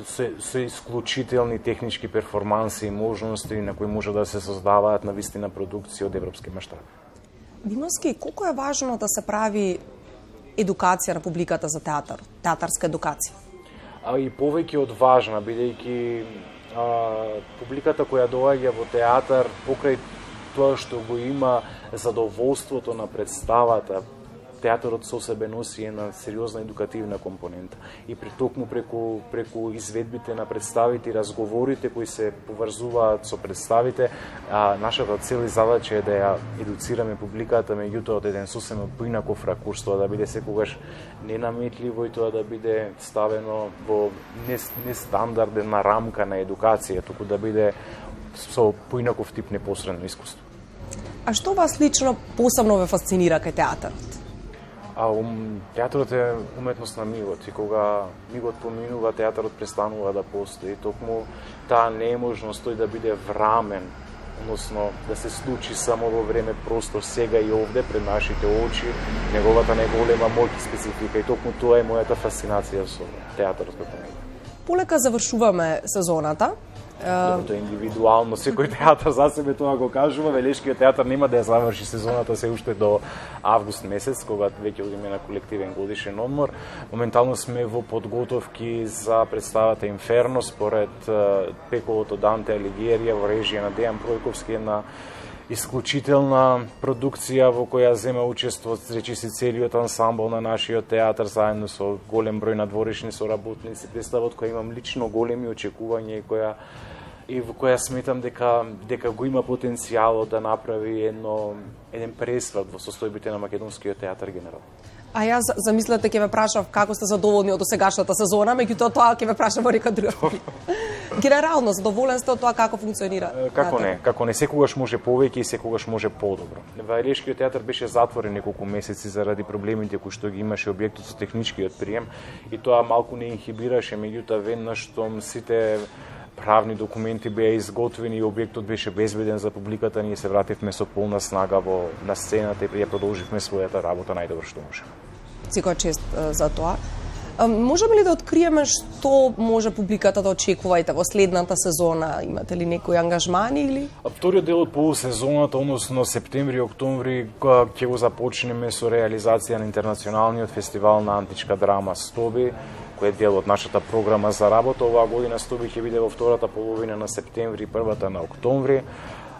со, со исклучителни технички перформанси и можности на кои може да се создаваат на вистина продукција од европски маштаб. Димовски, колку е важно да се прави едукација на публиката за театар, театарска едукација? А и повеќе од важна, бидејќи а, публиката која доаѓа во театар покрај тоа што го има задоволството на представата, театарот со себе носи една сериозна едукативна компонента. И при токму преку, преку изведбите на представите и разговорите кои се поврзуваат со представите, а, нашата цел и задача е да ја едуцираме публиката, меѓутоа од еден сосема поинаков ракурс, тоа да биде секогаш ненаметливо и тоа да биде ставено во нестандардна рамка на едукација, туку да биде со поинаков тип непосредно искуство. А што вас лично посебно ве фасцинира кај театарот? А ум, театарот е уметност на мигот и кога мигот поминува, театарот престанува да постои. Токму таа неможност тој да биде врамен, односно да се случи само во време простор сега и овде пред нашите очи, неговата најголема моќ и специфика и токму тоа е мојата фасцинација со театарот како него. Полека завршуваме сезоната. Тоа е индивидуално, секој театар за себе тоа го кажува. Велешкиот театар нема да ја заврши сезоната се уште до август месец, кога веќе одиме на колективен годишен одмор. Моментално сме во подготовки за представата Инферно според Пековото Данте Алигиерија во режија на Дејан Пројковски, една исклучителна продукција во која зема учество, речиси целиот ансамбл на нашиот театар заедно со голем број надворешни соработници. Представот која имам лично големи очекувања и која и во која сметам дека дека го има потенцијалот да направи едно еден пресврт во состојбите на македонскиот театар генерално. А јас замислете ќе ве прашав како сте задоволни од досегашната сезона, меѓутоа тоа ќе ве прашам во нека друга. Генерално задоволен сте од тоа како функционира? Како не, како не, секогаш може повеќе и секогаш може подобро. Вајлешкиот театар беше затворен неколку месеци заради проблемите кои што ги имаше објектот со техничкиот прием и тоа малку не инхибираше, меѓутоа веднаш штом сите правни документи беа изготвени и објектот беше безбеден за публиката, ние се вративме со полна снага во на сцената и ја продолживме својата работа најдобро што можеме. Секоја чест за тоа. Можеме ли да откриеме што може публиката да очекувајте во следната сезона? Имате ли некои ангажмани или? Вториот дел од полусезоната, односно септември и октомври, ќе го започнеме со реализација на интернационалниот фестивал на античка драма Стоби, кој е дел од нашата програма за работа. Оваа година Стоби ќе биде во втората половина на септември и првата на октомври.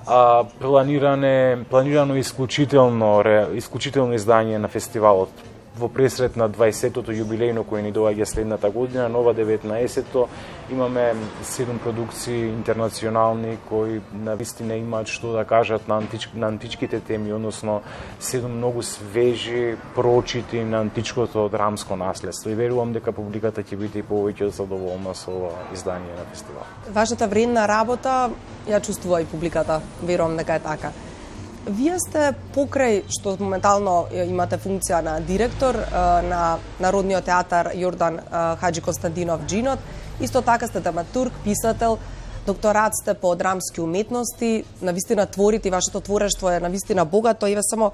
А, планиране, планирано исклучително, исклучително издание на фестивалот во пресрет на дваесеттото јубилејно кој ни доаѓа следната година, нова деветнаесетто, имаме седум продукции интернационални кои навистина имаат што да кажат на, антич, на античките теми, односно седум многу свежи прочити на античкото драмско наследство и верувам дека публиката ќе биде и повеќе задоволна со ова издание на фестивал. Вашата вредна работа ја чувствува и публиката, верувам дека е така. Вие сте покрај што моментално имате функција на директор на Народниот театар Јордан Хаџи Константинов Джинот, исто така сте драматург, писател, докторат сте по драмски уметности, навистина творите и вашето творештво е навистина богато. Еве само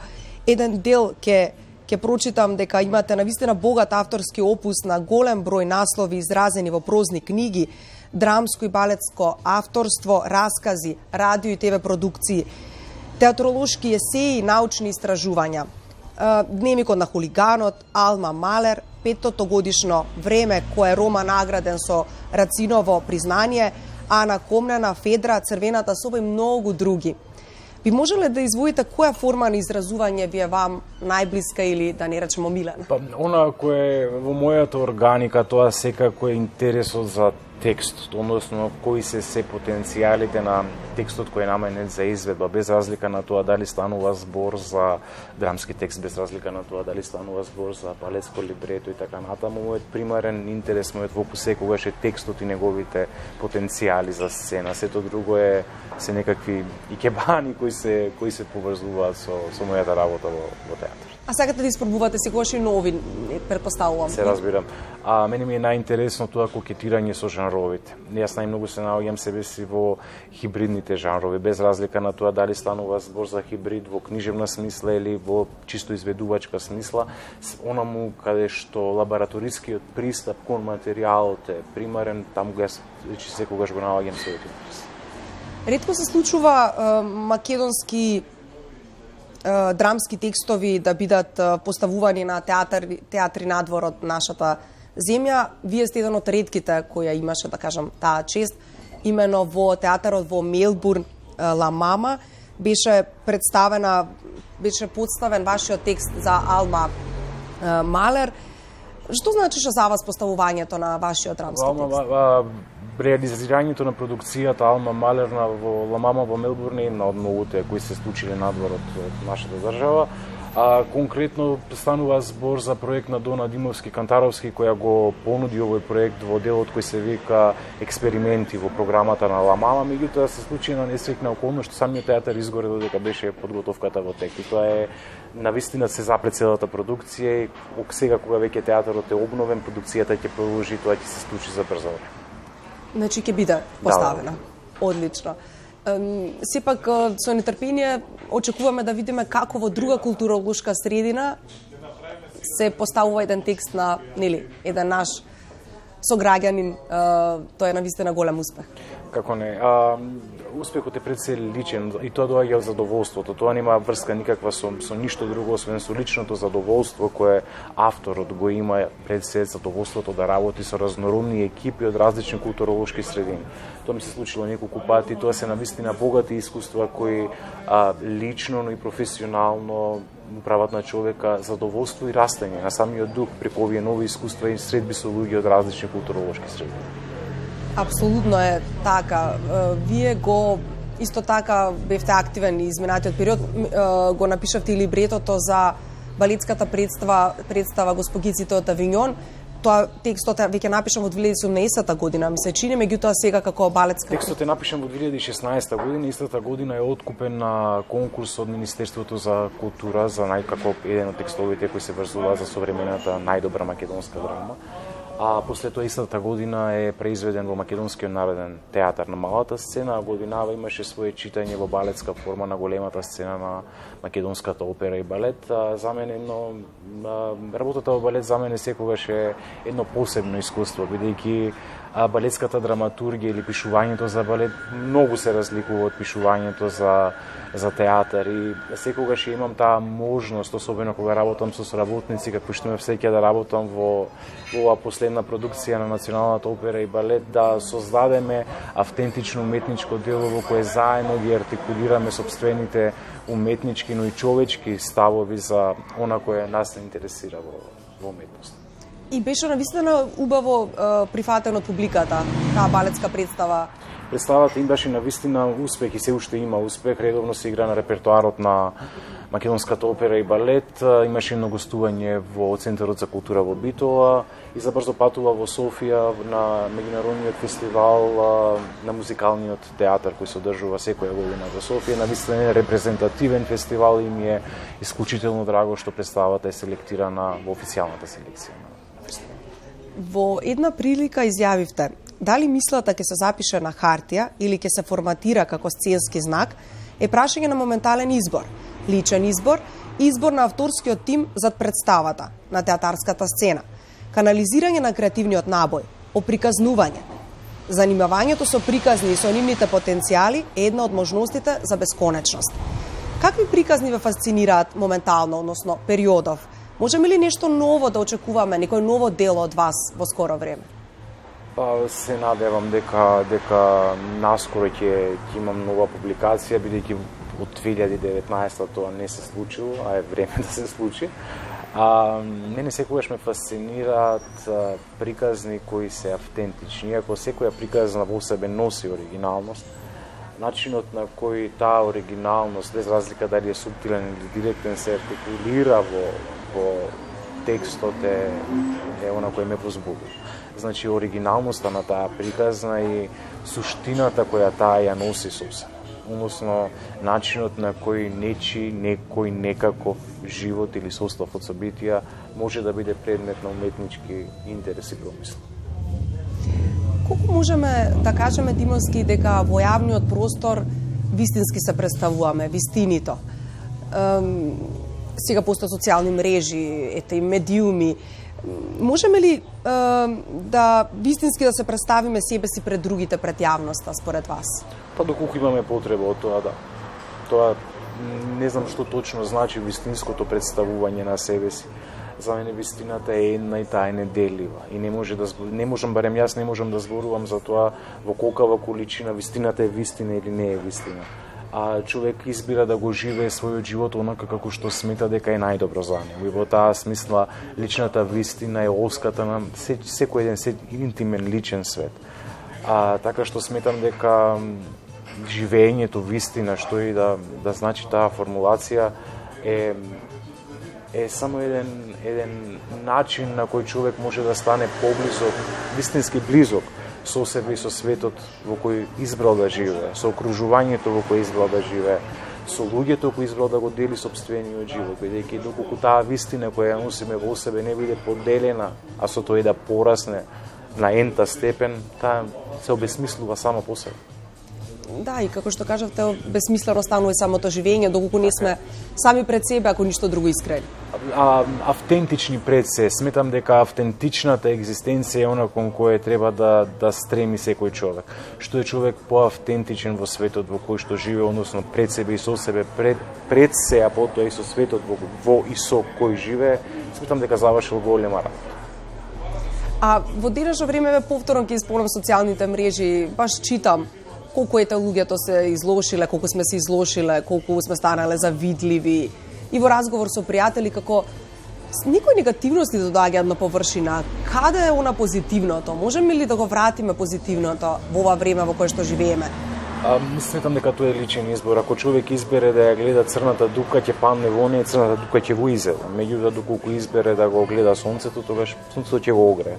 еден дел ќе ќе прочитам дека имате навистина богат авторски опус на голем број наслови изразени во прозни книги, драмско и балетско авторство, раскази, радио и ТВ продукции, театролошки есеи, научни истражувања, Дневникот на хулиганот, Алма Малер, петтото годишно време кој е Рома награден со Рациново признание, Ана Комнена, Федра, Црвената соба и многу други. Би можеле да извоите која форма на изразување ви е вам најблиска или да не речемо милена? Па, она кој е во мојата органика, тоа секако е интересот за текстот, односно кои се се потенцијалите на текстот кој е наменет за изведба, без разлика на тоа дали станува збор за драмски текст, без разлика на тоа дали станува збор за балетско либрето и така натаму. Мојот примарен интерес, мојот фокус секогаш е текстот и неговите потенцијали за сцена. Сето друго е се некакви икебани кои се кои се поврзуваат со со мојата работа во, во театар. А сакате да испробувате секогаш и нови, претпоставувам. Се разбирам. А мене ми е најинтересно тоа кокетирање со жанровите. Јас најмногу се наоѓам себе си во хибридните жанрови, без разлика на тоа дали станува збор за хибрид во книжевна смисла или во чисто изведувачка смисла, онаму каде што лабораторискиот пристап кон материјалот е примарен, таму јас вече секогаш го наоѓам својот интерес. Ретко се случува е, македонски драмски текстови да бидат поставувани на театар, театри надвор од нашата земја. Вие сте еден од ретките која имаше, да кажам, таа чест. Имено во театарот во Мелбурн, Ла Мама, беше представена, беше подставен вашиот текст за Алма Малер. Што значеше за вас поставувањето на вашиот драмски текст? Реализирањето на продукцијата Алма Малер во Ла Мама во Мелбурн е една од многуте кои се случиле надвор од нашата држава. А конкретно станува збор за проект на Дона Димовски Кантаровски која го понуди овој проект во делот кој се вика Експерименти во програмата на Ла Мама, меѓутоа се случи на несреќна околност што самиот театар изгоре додека беше подготовката во тек. И тоа е навистина се запре целата продукција и сега кога веќе театарот е обновен, продукцијата ќе продолжи, тоа ќе се случи за брзо време. Значи ќе биде поставена. Да. Одлично. Сепак со нетрпение очекуваме да видиме како во друга културолошка средина се поставува еден текст на, нели, еден наш сограѓанин. Тоа е навистина голем успех. Како не, а, успехот е пред се личен и тоа доаѓа од задоволството. Тоа нема врска никаква со, со ништо друго, освен со личното задоволство кое авторот го има пред се, задоволството да работи со разнородни екипи од различни културолошки средини. Тоа ми се случило неколку пати, тоа се навистина богати искуства кои а, лично, но и професионално прават на човека задоволство и растење на самиот дух преку овие нови искуства и средби со луѓе од различни културолошки средини. Апсолутно е така. Вие го исто така бевте активен и изминатиот период, го напишавте и либретото за балетската представа, представа Госпогиците од Авиньон. Тоа текстот е веќе напишан во две илјади и седумнаесета година, ми се чини, меѓутоа сега како балетска... Текстот е напишан во две илјади и шеснаесета година, истата година е откупен на конкурс од Министерството за култура за најкако еден од текстовите кои се врзува за современата најдобра македонска драма. А после тоа истата година е преизведен во Македонскиот народен театар на малата сцена, а годинава имаше свое читање во балетска форма на големата сцена на македонската опера и балет. А, за мене едно, а, работата во балет за мене секогаш е едно посебно искуство, бидејќи балетската драматургија или пишувањето за балет многу се разликува од пишувањето за за театар и секогаш имам таа можност, особено кога работам со соработници, како што ме всеќа да работам во ова последна продукција на Националната опера и балет, да создадеме автентично уметничко дело во кое заедно ги артикулираме собствените уметнички, но и човечки ставови за она кое нас не интересира во, во уметност. И беше навистина убаво е, прифатен од публиката, таа балетска представа. Представата им беше навистина успех и се уште има успех. Редовно се игра на репертоарот на Македонската опера и балет. Имаше едно гостување во Центарот за култура во Битола и забрзо патува во Софија на меѓународниот фестивал на музикалниот театар кој се одржува секоја година во Софија. Навистина е репрезентативен фестивал и ми е исклучително драго што представата е селектирана во официјалната селекција на фестивалот. Во една прилика изјавивте: дали мислата ќе се запише на хартија или ќе се форматира како сценски знак, е прашање на моментален избор, личен избор, избор на авторскиот тим зад представата на театарската сцена, канализирање на креативниот набој, оприказнување. Занимавањето со приказни и со нивните потенцијали е една од можностите за бесконечност. Какви приказни ве фасцинираат моментално, односно периодов? Можеме ли нешто ново да очекуваме, некој ново дело од вас во скоро време? Па се надевам дека дека наскоро ќе ќе имам нова публикација, бидејќи од две илјади и деветнаесета тоа не се случило, а е време да се случи. А, мене секогаш ме фасцинираат а, приказни кои се автентични, иако секоја приказна во себе носи оригиналност. Начинот на кој таа оригиналност, без разлика дали е субтилен или директен, се артикулира во, во текстот е, е она кој ме возбудува. Значи, оригиналноста на таа приказна и суштината која таа ја носи со себе. Односно, начинот на кој нечи, некој, некако живот или состав од собитија може да биде предмет на уметнички интерес и промисла. Колку можеме да кажеме, Тимовски, дека во јавниот простор вистински се представуваме, вистинито? Ем, сега постојат социјални мрежи, ете и медиуми. Можеме ли е, да вистински да се представиме себе си пред другите, пред јавноста, според вас? Па доколку имаме потреба од тоа, да. Тоа не знам што точно значи вистинското представување на себе си. За мене вистината е една и таа е неделива. И не може да не можам, барем јас не можам да зборувам за тоа во колкава количина вистината е вистина или не е вистина. А човек избира да го живее својот живот онака како што смета дека е најдобро за него. И во таа смисла личната вистина е оската на секој еден се интимен личен свет. А така што сметам дека живеењето вистина, што и да да значи таа формулација, е е само еден еден начин на кој човек може да стане поблизок, вистински близок со себе и со светот во кој избрал да живее, со окружувањето во кој избрал да живее, со луѓето кои избрал да го дели сопствениот живот, бидејќи доколку таа вистина која ја носиме во себе не биде поделена, а со тоа и да порасне на ента степен, таа се обесмислува само по себе. Да, и како што кажавте, бесмислено станува самото живење, доколку не сме сами пред себе, ако ништо друго искрени. А, автентични пред се. Сметам дека автентичната екзистенција е она кон кое треба да, да стреми секој човек. Што е човек поавтентичен во светот во кој што живее, односно пред себе и со себе, пред, пред се, а потоа и со светот во, во и со кој живее, сметам дека завршил голема работа. А во денешно време повторно ќе исполнам социјалните мрежи, баш читам колку ете луѓето се излошиле, колку сме се излошиле, колку сме станале завидливи. И во разговор со пријатели како никој негативности доаѓаат на површина. Каде е она позитивното? Можеме ли да го вратиме позитивното во ова време во кое што живееме? А, сметам дека тоа е личен избор. Ако човек избере да ја гледа црната дупка, ќе падне во неја, црната дупка ќе го изеде. Меѓутоа, доколку избере да го гледа сонцето, тогаш сонцето ќе го огрее.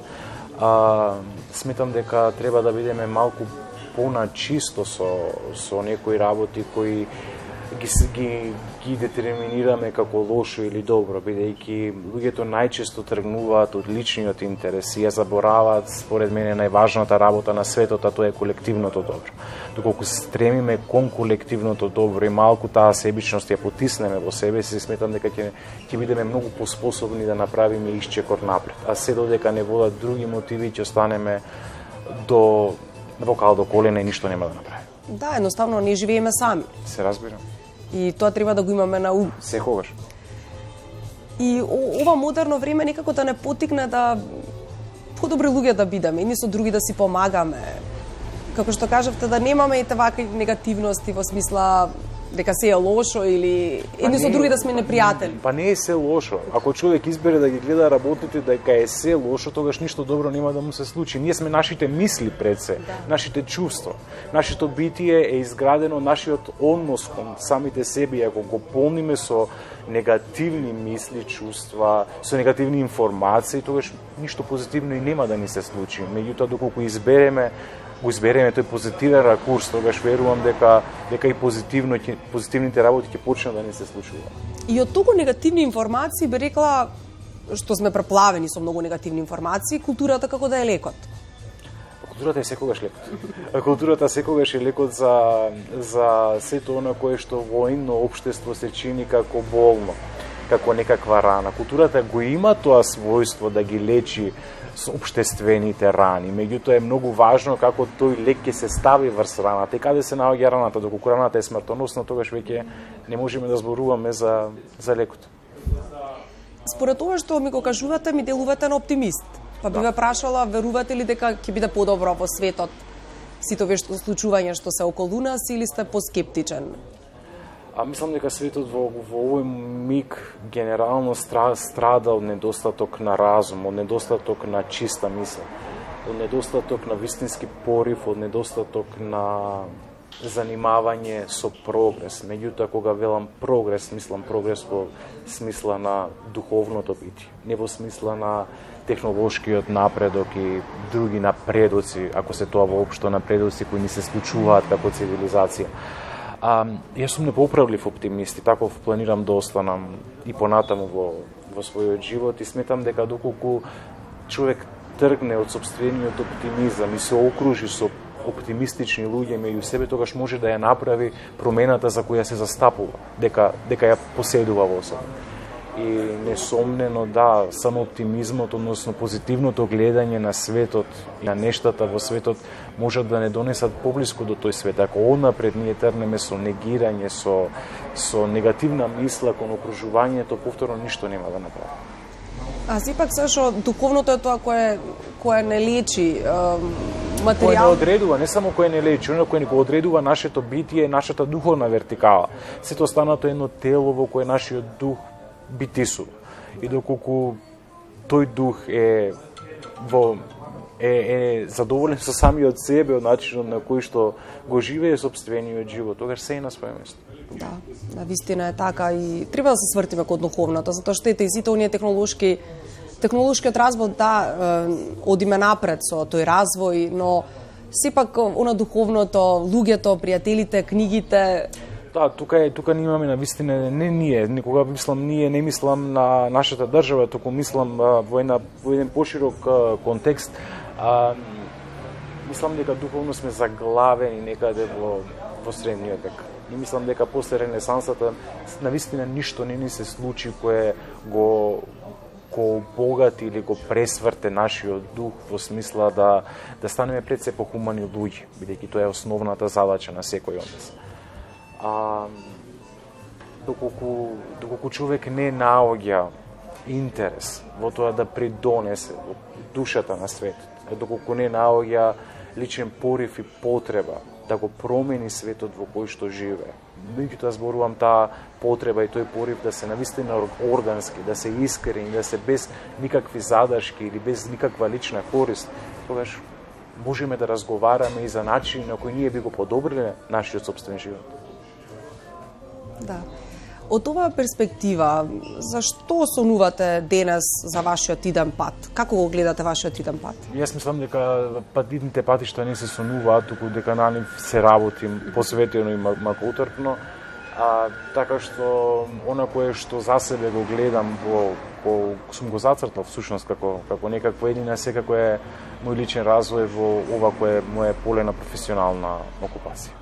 А, сметам дека треба да бидеме малку поначисто со, со некои работи кои ги, ги, ги детерминираме како лошо или добро, бидејќи луѓето најчесто тргнуваат од личниот интерес и ја забораваат, според мене, најважната работа на светот, а тоа е колективното добро. Доколку се стремиме кон колективното добро и малку таа себичност ја потиснеме во себе си, сметам дека ќе ќе бидеме многу поспособни да направиме исчекор напред. А се додека не водат други мотиви, ќе останеме до вокал до колена и ништо нема да направи. Да, едноставно не живееме сами. Се разбира. И тоа треба да го имаме на ум. Секогаш. И ова модерно време некако да не потикне да подобри луѓе да бидеме, едни со други да си помагаме. Како што кажавте, да немаме и вакви негативности во смисла дека се е лошо или едни со други да сме непријатели. Па не е се лошо. Ако човек избере да ги гледа работите дека е се лошо, тогаш ништо добро нема да му се случи. Ние сме нашите мисли пред се, да. Нашите чувства. Нашето битие е изградено, нашиот однос кон самите себе, и ако го полниме со негативни мисли, чувства, со негативни информации, тогаш ништо позитивно и нема да ни се случи. Меѓутоа, доколку избереме го избереме тој позитивен ракурс, тогаш верувам дека дека и позитивно ќе позитивните работи ќе почнат да не се случуваат. И од толку негативни информации би рекла, што сме преплавени со многу негативни информации, културата како да е лекот. Културата е секогаш лекот. Културата секогаш е лекот за за сето она кое што во едно општество се чини како болно, како некаква рана. Културата го има тоа својство да ги лечи општествените рани. Меѓутоа е многу важно како тој лек ќе се стави врз раната и каде се наоѓа раната. Доколку раната е смртоносна, тогаш веќе не можеме да зборуваме за за лекот. Според тоа што ми го кажувате, ми делувате на оптимист. Па би ве прашала, верувате ли дека ќе биде подобро во светот сите овие случувања што се околу нас, или сте поскептичен? А мислам дека светот во, во овој миг генерално страда од недостаток на разум, од недостаток на чиста мисла, од недостаток на вистински порив, од недостаток на занимавање со прогрес. Меѓутоа, кога велам прогрес, мислам прогрес во смисла на духовното битие, не во смисла на технолошкиот напредок и други напредоци, ако се тоа воопшто напредоци кои ни се случуваат како цивилизација. А, јас сум непоправлив оптимист и таков планирам да останам и понатаму во, во својот живот и сметам дека доколку човек тргне од сопствениот оптимизам и се окружи со оптимистични луѓе меѓу себе, тогаш може да ја направи промената за која се застапува, дека, дека ја поседува во себе. И несомнено, да, само оптимизмот, односно позитивното гледање на светот и на нештата во светот можат да не донесат поблиску до тој свет. Ако однапред ние тргнеме со негирање, со, со негативна мисла кон окружувањето, повторно ништо нема да направи. А сепак сашо, духовното е тоа кое, кое не лечи, е, материјал... Кое не одредува, не само кое не лечи, оно кое не го одредува нашето битие, нашата духовна вертикала. Сето останато едно тело во кое нашиот дух битисува. И доколку тој дух е во е, е задоволен со самиот себе, од начинот на кој што го живее сопствениот живот, тогаш се е на своје место. Да, на вистина е така и треба да се свртиме кон духовното, затоа што ете и сите оние технолошки технолошкиот развој, да, одиме напред со тој развој, но сепак она духовното, луѓето, пријателите, книгите. Да, тука е, тука не имаме на вистина, не ние, никога мислам ние, не мислам на нашата држава, туку мислам а, во, една, во еден поширок а, контекст. А, мислам дека духовно сме заглавени некаде во во средниот век. И мислам дека после Ренесансата навистина ништо не ни се случи кое го го обогати или го пресврте нашиот дух во смисла да да станеме пред се похумани луѓе, бидејќи тоа е основната задача на секој од нас. А доколку доколку човек не наоѓа интерес во тоа да придонесе во душата на светот, доколку не наоѓа личен порив и потреба да го промени светот во кој што живее. Меѓутоа зборувам таа потреба и тој порив да се навистина органски, да се искрени, да се без никакви задршки или без никаква лична корист, тогаш можеме да разговараме и за начин на кој ние би го подобриле нашиот собствен живот. Да. Од оваа перспектива, зашто сонувате денес за вашиот иден пат? Како го гледате вашиот иден пат? Јас мислам дека идните патишта не се сонуваат, туку дека на нив се работи посветено и макоутрпно. А така што она кое што за себе го гледам во ко сум го зацртал всушност како како некакво едина секако е мој личен развој во ова кое е моја поле на професионална окупација.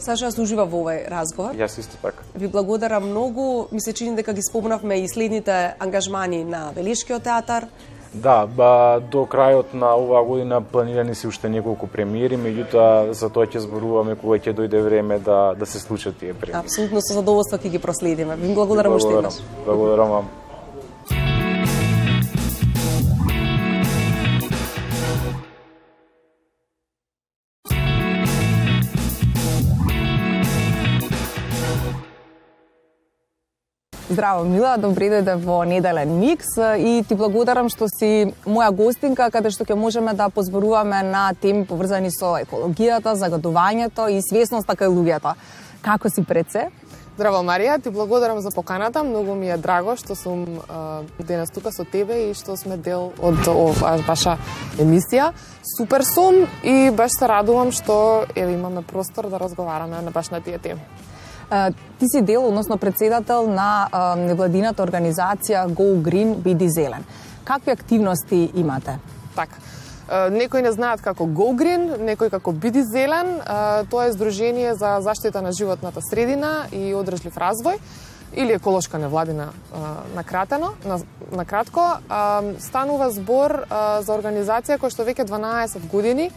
Саша јас ужива во овој разговор. Јас исто така. Ви благодарам многу. Ми се чини дека ги спомнавме и следните ангажмани на Велишкиот театар. Да, ба, до крајот на оваа година планирани се уште неколку премиери, меѓутоа за тоа ќе зборуваме кога ќе дојде време да да се случат тие премиери. Апсолутно со задоволство ќе ги проследиме. Ви благодарам уште еднаш. Благодарам вам. Здраво, Мила, добре дојде во Неделен микс и ти благодарам што си моја гостинка, каде што ќе можеме да позборуваме на теми поврзани со екологијата, загадувањето и свесноста кај луѓето. Како си пред се? Здраво, Марија, ти благодарам за поканата. Многу ми е драго што сум а, денес тука со тебе и што сме дел од оваа ваша емисија. Супер сум и баш се радувам што еве имаме простор да разговараме на баш на тие теми. Ти си дел, односно председател на невладината организација Go Green, биди зелен. Какви активности имате? Така. Некои не знаат како Go Green, некои како Биди зелен. Тоа е здружение за заштита на животната средина и одржлив развој, или еколошка невладина накратено, на кратко. Станува збор за организација која што веќе дванаесет години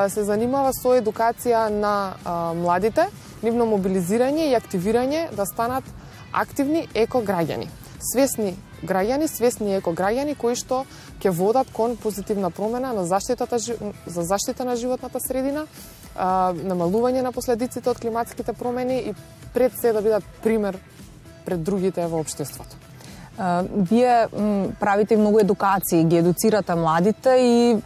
се занимава со едукација на младите, нивно мобилизирање и активирање да станат активни екограѓани. Свесни граѓани, свесни екограѓани кои што ќе водат кон позитивна промена на заштитата за заштита на животната средина, намалување на последиците од климатските промени и пред се да бидат пример пред другите во општеството. Вие правите многу едукации, ги едуцирате младите и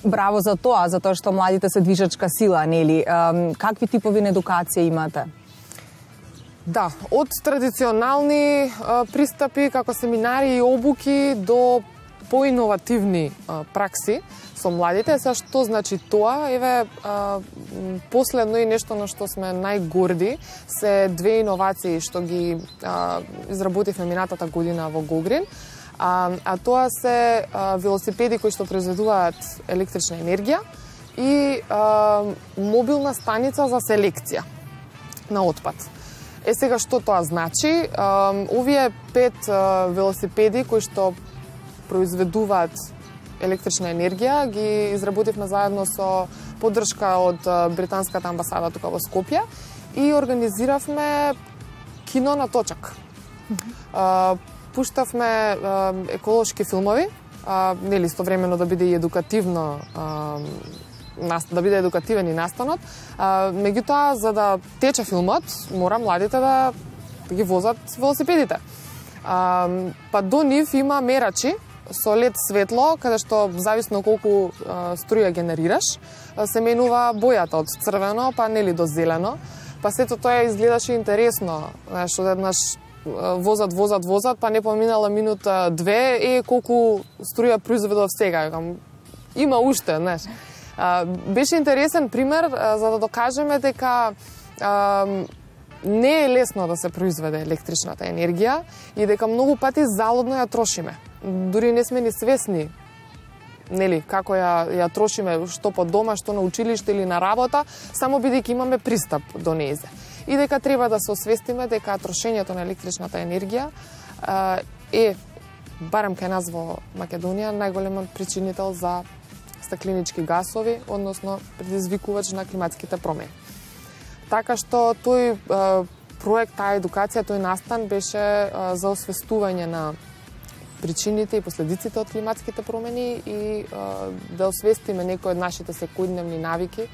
браво за тоа, за тоа што младите се движачка сила, нели? Какви типови на едукација имате? Да, од традиционални а, пристапи како семинари и обуки до поиновативни а, пракси со младите. Са што значи тоа? Еве а, последно и нешто на што сме најгорди се две иновации што ги а, изработивме минатата година во Go Green. А, а тоа се а, велосипеди кои што произведуваат електрична енергија и а, мобилна станица за селекција на отпад. Е сега што тоа значи? А, овие пет а, велосипеди кои што произведуваат електрична енергија ги изработивме заедно со поддршка од а, британската амбасада тука во Скопје и организиравме кино на точак. А, Пуштавме а, еколошки филмови, а, нели истовремено да биде и едукативно, а, нас, да биде едукативен и настанот. А, меѓутоа, за да тече филмот, мора младите да, да ги возат велосипедите. А, па до нив има мерачи со лед светло, каде што зависно колку а, струја генерираш, а, се менува бојата од црвено па нели до зелено. Па сето тоа изгледаше интересно, знаеш, одеднаш возат, возат, возат, па не поминала минута две, е колку струја произведов сега. Има уште, знаеш. Беше интересен пример за да докажеме дека а, не е лесно да се произведе електричната енергија и дека многу пати залудно ја трошиме. Дури не сме ни свесни нели, како ја, ја трошиме, што по дома, што на училиште или на работа, само бидејќи имаме пристап до незе. И дека треба да се освестиме дека трошењето на електричната енергија е, барем кај нас во Македонија, најголемот причинител за стакленички гасови, односно предизвикувач на климатските промени. Така што тој проект, таа едукација, тој настан беше за освестување на причините и последиците од климатските промени и да освестиме некои од нашите секојдневни навики,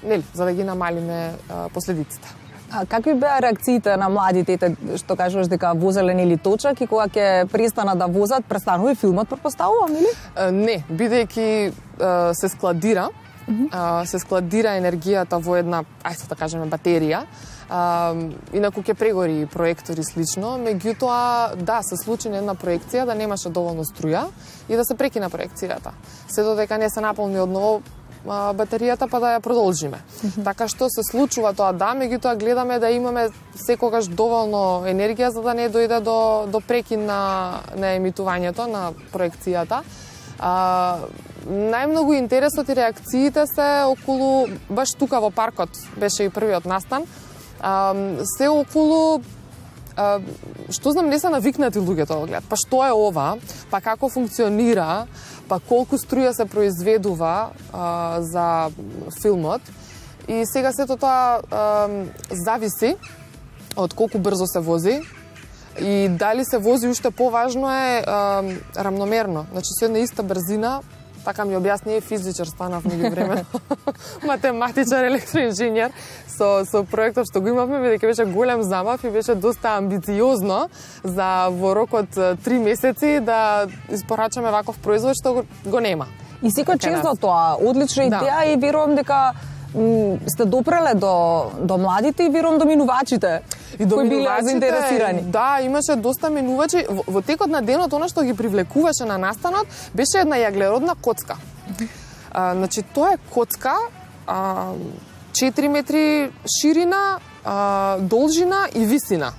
нели, за да ги намалиме последиците. А какви беа реакциите на младите, што кажуваш дека возеле или точак и кога ќе престана да возат, престанува и филмот, предпоставувам, или? Не, бидејќи се складира, mm -hmm. се складира енергијата во една, ајде да кажеме, батерија. Uh, инаку ќе прегори проектори слично, меѓутоа, да, се случи на една проекција да немаше доволно струја и да се прекина проекцијата. Се додека не се наполни одново uh, батеријата, па да ја продолжиме. Mm -hmm. Така што се случува тоа, да, меѓутоа гледаме да имаме секогаш доволно енергија за да не дојде до, до прекин на, на емитувањето на проекцијата. Uh, најмногу интересот и реакциите се околу, баш тука во паркот беше и првиот настан, Uh, се околу, uh, што знам, не се навикнати луѓето да гледат. Па што е ова? Па како функционира? Па колку струја се произведува uh, за филмот? И сега сето тоа uh, зависи од колку брзо се вози и дали се вози, уште поважно е uh, рамномерно. Значи, со една иста брзина, така ми објасни, физичар станав меѓу време, математичар, електроинженер, со, со проектот што го имавме, бидејќи беше голем замав и беше доста амбициозно за во рок од три месеци да испорачаме ваков производ што го, го нема. И секој честно тоа, одлична идеја, да. И верувам дека сте допреле до, до младите и верувам до минувачите. И до кои биле заинтересирани. Да, имаше доста минувачи. Во, во текот на денот, она што ги привлекуваше на настанот, беше една јаглеродна коцка. А, значи, тоа е коцка, а, четири метри ширина, а, должина и висина.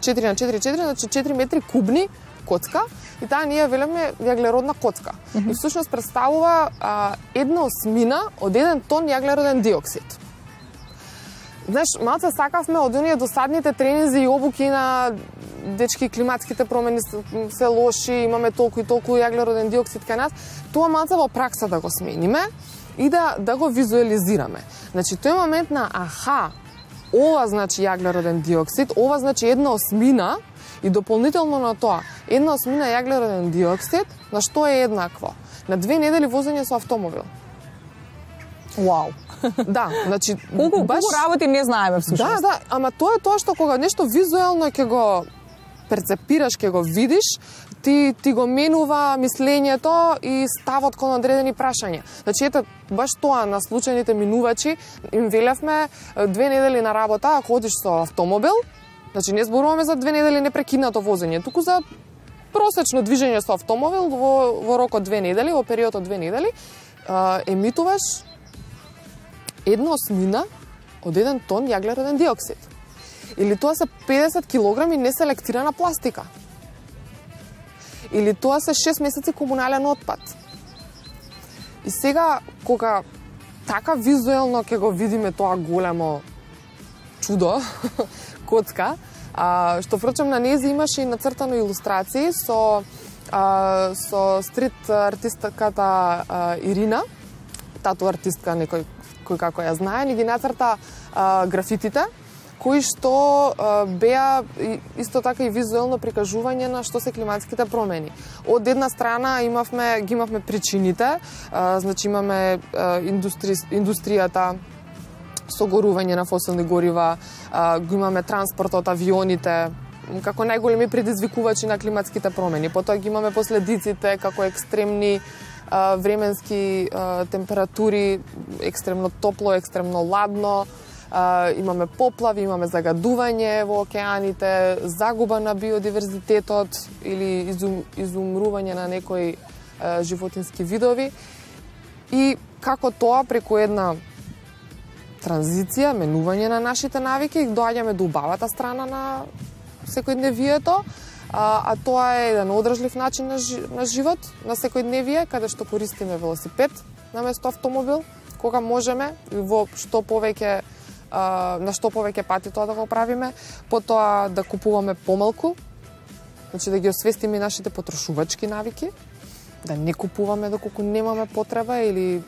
четири на четири на четири, значи четири метри кубни коцка. И таа ние велеме јаглеродна коцка. Mm -hmm. И всушност представува а, една осмина од еден тон јаглероден диоксид. Знаеш, малце сакавме од оние досадните тренинзи и обуки на дечки, климатските промени се, се лоши, имаме толку и толку јаглероден диоксид кај нас. Тоа малце во пракса да го смениме и да, да го визуализираме. Значи, тој момент на аха, ова значи јаглероден диоксид, ова значи една осмина, и дополнително на тоа, една осмина јаглероден диоксид, на што е еднакво? На две недели возење со автомобил. Вау. Да, значи колку баш... колку работи не знаеме всушност. Да, да, ама тоа е тоа што кога нешто визуелно ќе го перцепираш, ќе го видиш, ти ти го менува мислењето и ставот кон одредени прашања. Значи ете баш тоа на случајните минувачи им велевме две недели на работа, ако одиш со автомобил, значи не зборуваме за две недели непрекинато возење, туку за просечно движење со автомобил во, во рок од две недели, во период од две недели, емитуваш една осмина од еден тон јаглероден диоксид. Или тоа се педесет килограми неселектирана пластика. Или тоа се шест месеци комунален отпад. И сега, кога така визуелно ќе го видиме тоа големо чудо, коцка, а, што впрочем на нејзе имаше и нацртано илустрации со, а, со стрит артистката а, Ирина, тату артистка некој кој како ја знае, ни ги нацрта а, графитите, кои што а, беа исто така и визуелно прикажување на што се климатските промени. Од една страна имавме ги имавме причините, а, значи имаме а, индустри, индустријата, согорување на фосилни горива, а, го имаме транспортот, авионите, како најголеми предизвикувачи на климатските промени. Потоа ги имаме последиците како екстремни а, временски а, температури, екстремно топло, екстремно ладно, а, имаме поплави, имаме загадување во океаните, загуба на биодиверзитетот или изум, изумрување на некои а, животински видови. И како тоа преку една транзиција, менување на нашите навики, доаѓаме до убавата страна на секојдневието, а, а тоа е еден одржлив начин на, жи, на живот, на секојдневие, каде што користиме велосипед наместо автомобил, кога можеме и во што повеќе а, на што повеќе пати тоа да го правиме, потоа да купуваме помалку, значи да ги освестиме нашите потрошувачки навики, да не купуваме доколку немаме потреба или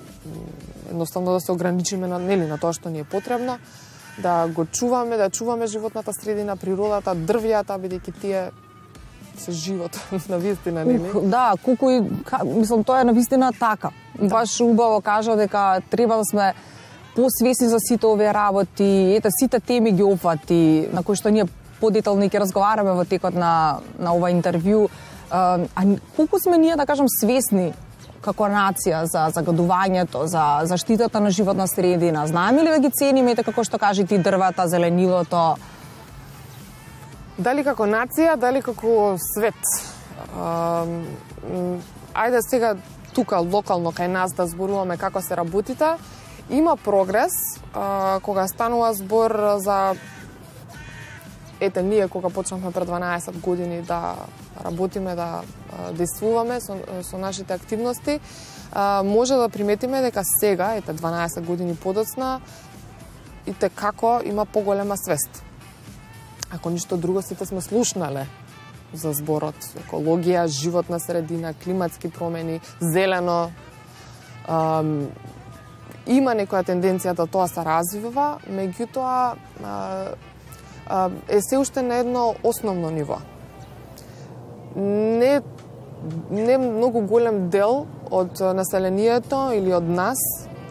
едноставно да се ограничиме на нели на тоа што ни е потребно, да го чуваме, да чуваме животната средина, природата, дрвјата, бидејќи тие се живот на вистина, нели? Ух, да, колку и мислам тоа е на вистина така. Да. Баш убаво кажа дека треба да сме посвесни за сите овие работи, ете сите теми ги опфати на кои што ние подетално ќе разговараме во текот на на ова интервју. А, а колку сме ние, да кажам, свесни како нација за загадувањето, за заштитата на животна средина? Знаеме ли да ги цениме, како што кажи ти, дрвата, зеленилото? Дали како нација, дали како свет? А, ајде сега тука локално кај нас да зборуваме како се работите. Има прогрес а, кога станува збор за ете ние кога почнавме пред дванаесет години да работиме, да действуваме со, со нашите активности, а, може да приметиме дека сега, ете дванаесет години подоцна, и те како има поголема свест. Ако ништо друго, сите сме слушнале за зборот екологија, животна средина, климатски промени, зелено. А, има некоја тенденција да тоа се развива, меѓутоа е се уште на едно основно ниво. Не, не многу голем дел од населението или од нас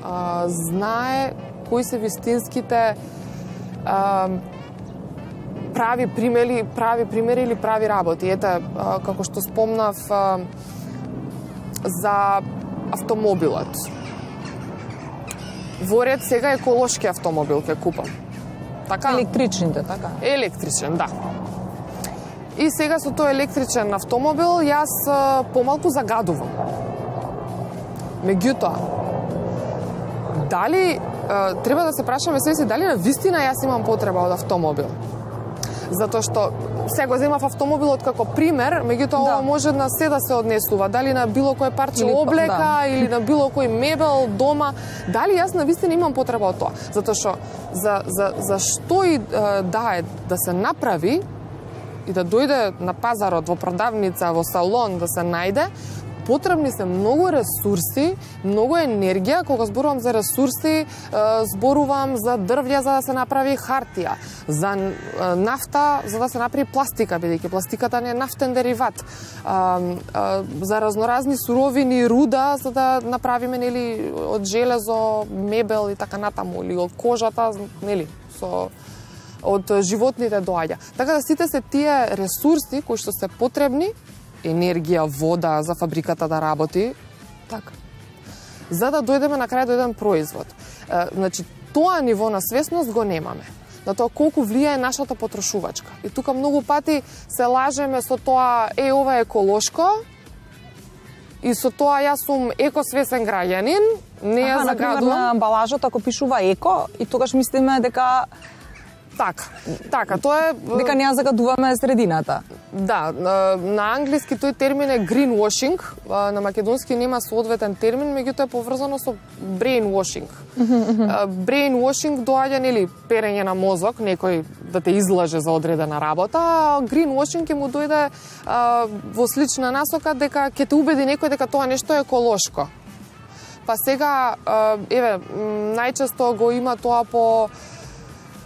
а, знае кои се вистинските а, прави примери, прави примери или прави работи. Ете, а, како што спомнав а, за автомобилот. Во ред сега еколошки автомобил ќе купам. Така? Електричните, така? Електричен, да. И сега со тој електричен автомобил јас а, помалку загадувам. Меѓутоа, дали а, треба да се прашаме себе си дали на вистина јас имам потреба од автомобил? Затоа што сега го земав автомобилот како пример, меѓутоа да. Ова може на се да се однесува, дали на било кој парче или, облека да. Или на било кој мебел дома, дали јас на вистина имам потреба од тоа? Затоа што за за за што и да е да се направи и да дојде на пазарот, во продавница, во салон да се најде, потребни се многу ресурси, многу енергија. Кога зборувам за ресурси, зборувам за дрвја за да се направи хартија, за нафта за да се направи пластика, бидејќи пластиката не е нафтен дериват, за разноразни суровини, руда за да направиме нели од железо, мебел и така натаму, или од кожата, нели, со од животните доаѓа. Така да сите се тие ресурси кои што се потребни, енергија, вода за фабриката да работи, така. За да дојдеме на крај до еден производ. Е, значи, тоа ниво на свесност го немаме. На тоа колку влијае нашата потрошувачка. И тука многу пати се лажеме со тоа, е, ова е еколошко, и со тоа јас сум екосвесен граѓанин, не ја загадувам. Например, на амбалажот ако пишува еко, и тогаш мислиме дека Така, така, тоа е... Дека не ја загадуваме средината. Да, на англиски тој термин е greenwashing, на македонски нема соодветен термин, меѓутоа е поврзано со brainwashing. Brainwashing доаѓа, нели, перење на мозок, некој да те излаже за одредена работа, а greenwashing ќе му дојде а, во слична насока дека ќе те убеди некој дека тоа нешто е еколошко. Па сега, а, еве, најчесто го има тоа по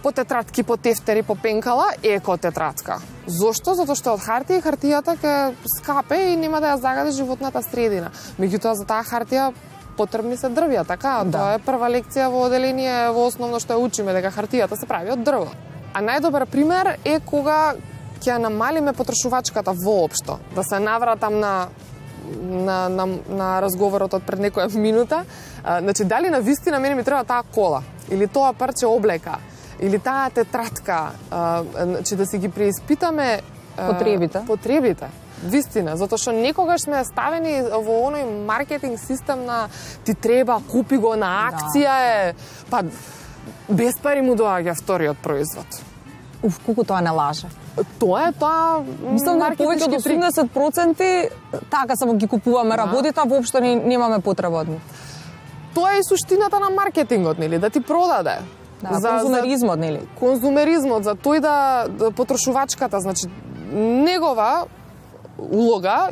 по тетратки, по тефтери, по пенкала, еко тетратка. Зошто? Затоа што од хартија и хартијата ќе скапе и нема да ја загади животната средина. Меѓутоа за таа хартија потребни се дрвја, така? Да. Тоа е прва лекција во оделение во основно што ја учиме, дека хартијата се прави од дрво. А најдобар пример е кога ќе намалиме потрошувачката воопшто, да се навратам на на на на разговорот од пред некоја минута. А, значи дали на вистина мене ми треба таа кола или тоа парче облека или таа тетратка, значи да си ги преиспитаме потребите. Потребите. Вистина, затоа што некогаш сме ставени во оној маркетинг систем на ти треба, купи го на акција е, па без пари му доаѓа вториот производ. Уф, колку тоа не лаже. Тоа е тоа Мислам да повеќе од осумдесет проценти така само ги купуваме да. работите, а воопшто не, немаме потреба од нив. Тоа е и суштината на маркетингот, нели, да ти продаде. Да, за, конзумеризмот, нели? Конзумеризмот, за тој да, да потрошувачката, значи, негова улога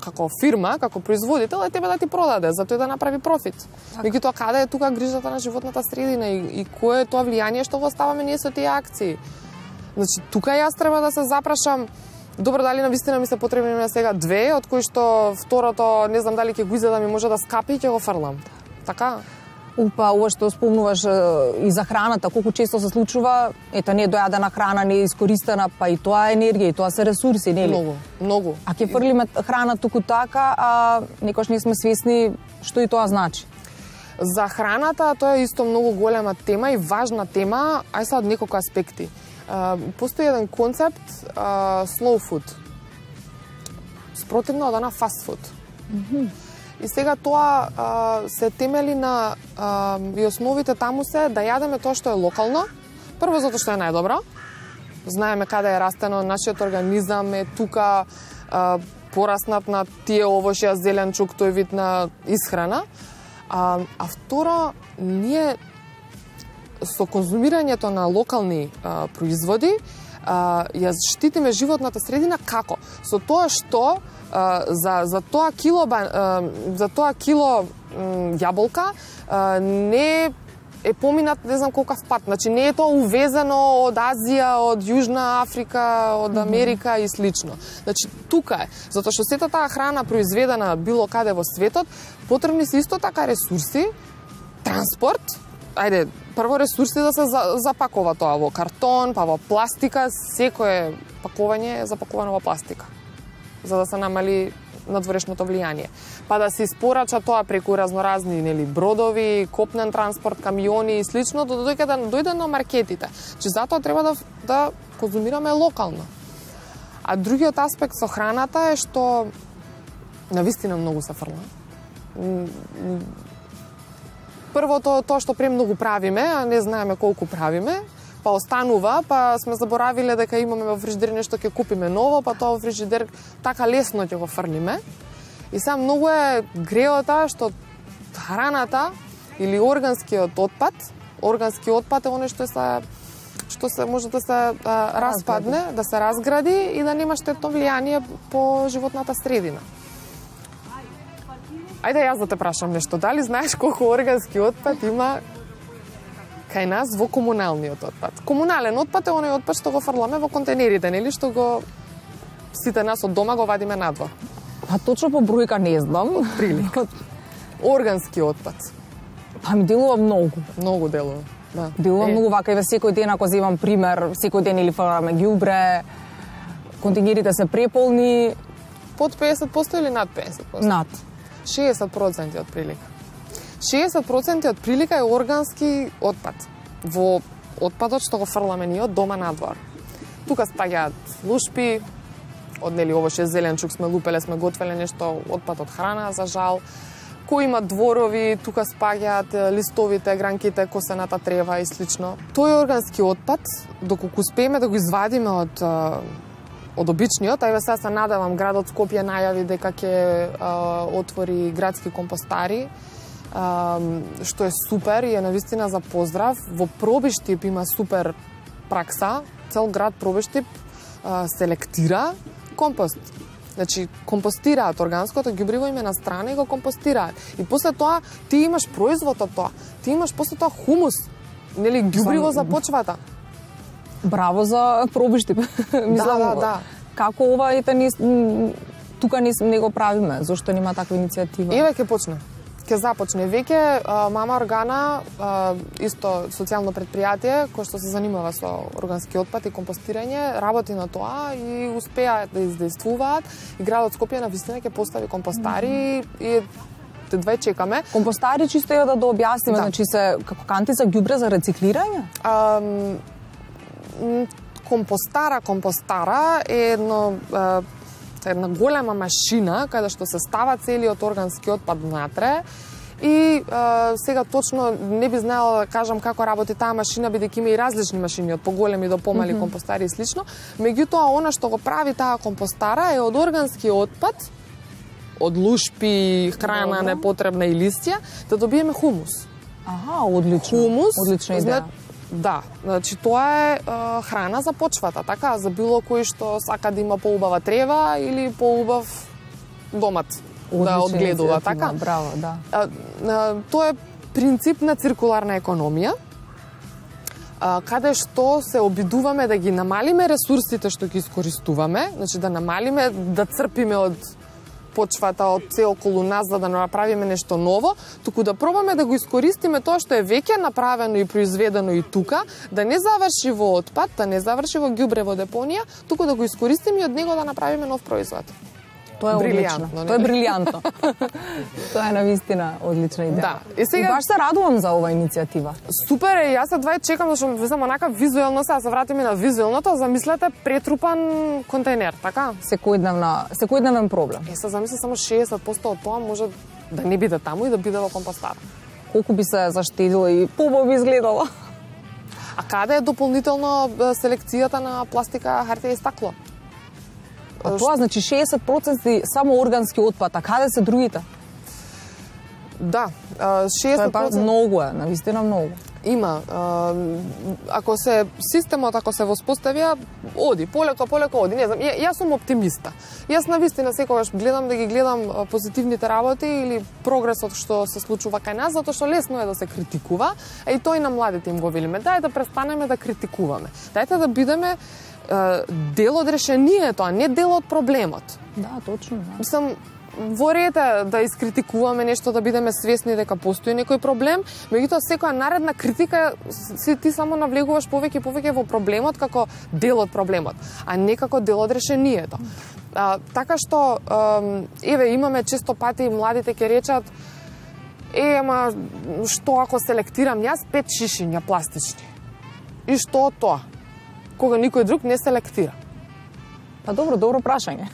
како фирма, како производител е тебе да ти продаде, за тој да направи профит. Меѓутоа, каде е тука грижата на животната средина и, и кое е тоа влијание што го оставаме ние со тие акции? Значи, тука јас треба да се запрашам, добро, дали навистина ми се потребни на сега две, од кои што второто, не знам дали ќе го изедам и може да скапи и ќе го фрлам. Така? Упа, ова што спомнуваш и за храната, колку често се случува, ета не дојадена храна, не е искористена, па и тоа е енергија, и тоа се ресурси, нели? Многу, многу. А ќе фрлиме храна туку така, а некош не сме свесни што и тоа значи. За храната тоа е исто многу голема тема и важна тема, ај са од неколку аспекти. Постои еден концепт uh, slow food. Спротивно од она fast food. Mm -hmm. И сега тоа uh, се темели на uh, и основите таму се да јадеме тоа што е локално. Прво затоа што е најдобро. Знаеме каде е растено, нашиот организам е тука uh, пораснат на тие овошја, зеленчук, тој вид на исхрана. А, а второ, ние со конзумирањето на локални а, производи а, ја штитиме животната средина како? Со тоа што а, за за тоа кило а, за тоа кило м, јаболка а, не е поминат не знам колкав пат. Значи не е тоа увезено од Азија, од Јужна Африка, од Америка mm -hmm. и слично. Значи тука е, затоа што сета таа храна произведена било каде во светот, потребни се исто така ресурси, транспорт, ајде, прво ресурси да се запакува тоа во картон, па во пластика, секое пакување е запакувано во пластика, за да се намали надворешното влијание. Па да се испорача тоа преку разноразни, нели, бродови, копнен транспорт, камиони и слично, до дојде да дојде на маркетите. Че затоа треба да да конзумираме локално. А другиот аспект со храната е што навистина многу се фрла. Првото тоа што премногу правиме, а не знаеме колку правиме, па останува, па сме заборавиле дека имаме во фрижидер нешто ќе купиме ново, па тоа во фрижидер така лесно ќе го фрлиме. И сега многу е греота што храната или органскиот отпад, органски отпад е оној што се што се може да се а, распадне, да се разгради и да нема штетно влијание по животната средина. Ајде јас да те прашам нешто, дали знаеш колку органски отпад има кај нас во комуналниот отпад? Комунален отпад е оној отпад што го фрламе во контейнерите, нели, што го сите нас од дома го вадиме надвор. Па точно по бројка не знам. Прилика. Органски отпад. Па ми делува многу. Многу делува. Да. Делува е. многу вака и во секој ден, ако земам пример, секој ден или фрламе ѓубре, контейнерите се преполни. Под песет проценти или над песет проценти? Над. шеесет проценти од прилика. шеесет проценти од прилика е органски отпад. Во отпадот што го фрламе ние од дома надвор. Тука спаѓаат лушпи, од нели овоше зеленчук сме лупеле, сме готвеле нешто, отпад од храна, за жал. Кој има дворови, тука спаѓаат листовите, гранките, косената трева и слично. Тој органски отпад, доколку успееме да го извадиме од од обичниот, ајде сега се надевам градот Скопје најави дека ќе отвори градски компостари, а, што е супер и е навистина за поздрав. Во Пробиштип има супер пракса, цел град Пробиштип а, селектира компост. Значи, компостираат органското ѓубриво име на страна и го компостираат. И после тоа ти имаш производ од тоа. Ти имаш после тоа хумус, нели ѓубриво за почвата. Браво за Пробиштип. Мислам, да, да, да. Како ова ете не тука не, не го правиме, зошто нема таква иницијатива? Еве ќе почне. Ќе започне веќе Мама Органа, а, исто социјално предпријатие кој што се занимава со органски отпад и компостирање, работи на тоа и успеа да издействуваат. И градот Скопје навистина ќе постави компостари mm -hmm. и две чекаме. Компостари чисто е да да објасниме, да. Значи се како канти за ѓубре за рециклирање? А, компостара, компостара е едно една голема машина каде што се става целиот органски отпад внатре И а, сега точно не би знаела да кажам како работи таа машина, бидејќи има и различни машини, од поголеми до помали mm -hmm. компостари и слично. Меѓутоа, она што го прави таа компостара е од органски отпад, од лушпи, храна Добро. непотребна и листја, да добиеме хумус. Аха, одлично. Хумус, одлична идеја. Зна... Да, значи тоа е, е храна за почвата, така, за било кој што сака да има поубава трева или поубав домат. Да одгледува, така? Браво, да. А, а, тоа е принцип на циркуларна економија, а, каде што се обидуваме да ги намалиме ресурсите што ги искористуваме, значи да намалиме, да црпиме од почвата, од се околу нас, за да направиме нешто ново, туку да пробаме да го искористиме тоа што е веќе направено и произведено и тука, да не заврши во отпад, да не заврши во ѓубре во депонија, туку да го искористиме и од него да направиме нов производ. Тоа е одлично. Тоа е брилјантно. Тоа е навистина одлична идеја. Да. И сега и баш се радувам за оваа иницијатива. Супер е, јас едва чекам зашто везам онака визуелно, сега се вратиме на визуелното, замислете претрупан контейнер, така? Секојдневна, секојдневен проблем. Е, се замисли само шеесет проценти од тоа може да не биде таму и да биде во компостар. Колку би се заштедило и побаво би изгледало. А каде е дополнително селекцијата на пластика, хартија и стакло? А тоа значи шеесет проценти само органски отпад, а каде се другите? Да, шеесет проценти... Тоа е многу е, навистина многу. Има. Ако се системот, ако се воспоставија, оди, полеко, полеко оди. Не знам, јас сум оптимиста. Јас навистина секогаш гледам да ги гледам позитивните работи или прогресот што се случува кај нас, затоа што лесно е да се критикува, а и тој на младите им го велиме. Дај да престанеме да критикуваме. Дајте да бидеме дел од решението, а не дел од проблемот. Да, точно. Да. Мислам, во ред да искритикуваме нешто, да бидеме свесни дека постои некој проблем, меѓутоа секоја наредна критика си ти само навлегуваш повеќе и повеќе во проблемот како дел од проблемот, а не како дел од решението. А, така што, еве, имаме често пати младите ќе речат, е, ама што ако селектирам јас пет шишиња пластични? И што од тоа? Кога никој друг не селектира. Па добро, добро прашање.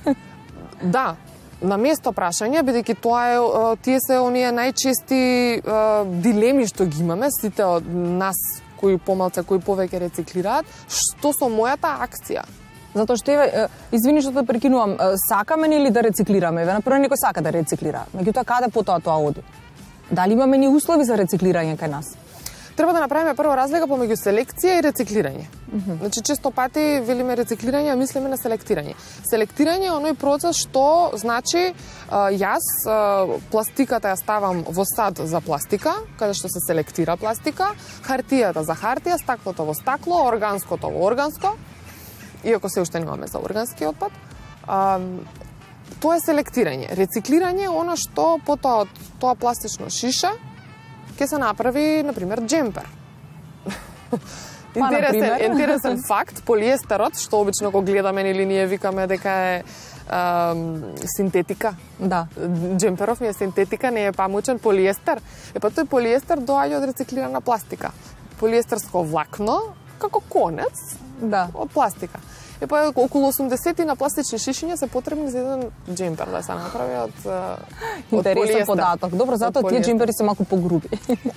Да, на место прашање, бидејќи тоа е, тие се оние најчести дилеми што ги имаме, сите од нас кои помалце, кои повеќе рециклираат, што со мојата акција? Затоа што еве, извини што те прекинувам, сакаме или да рециклираме? Еве, например, некој сака да рециклира. Меѓутоа, каде потоа тоа оди? Дали имаме ни услови за рециклирање кај нас? Треба да направиме прво разлика помеѓу селекција и рециклирање. Mm -hmm. Значи, често пати велиме рециклирање, а мислиме на селектирање. Селектирање е оној процес што значи јас пластиката ја ставам во сад за пластика, каде што се селектира пластика, хартијата за хартија, стаклото во стакло, органското во органско, иако се уште немаме за органски отпад. А, тоа е селектирање. Рециклирање е она што потоа од тоа пластично шиша ќе се направи, например, джемпер. Интересен, интересен факт, полиестерот, што обично го гледаме или ние викаме дека е а, синтетика. Да. Джемперов ми е синтетика, не е памучен полиестер. Е па тој полиестер доаѓа од рециклирана пластика. Полиестерско влакно, како конец, да, од пластика. Е па околу осумдесет на пластични шишиња се потребни за еден джемпер да се направи од интересен податок. Добро, затоа тие джемпери се малку погруби.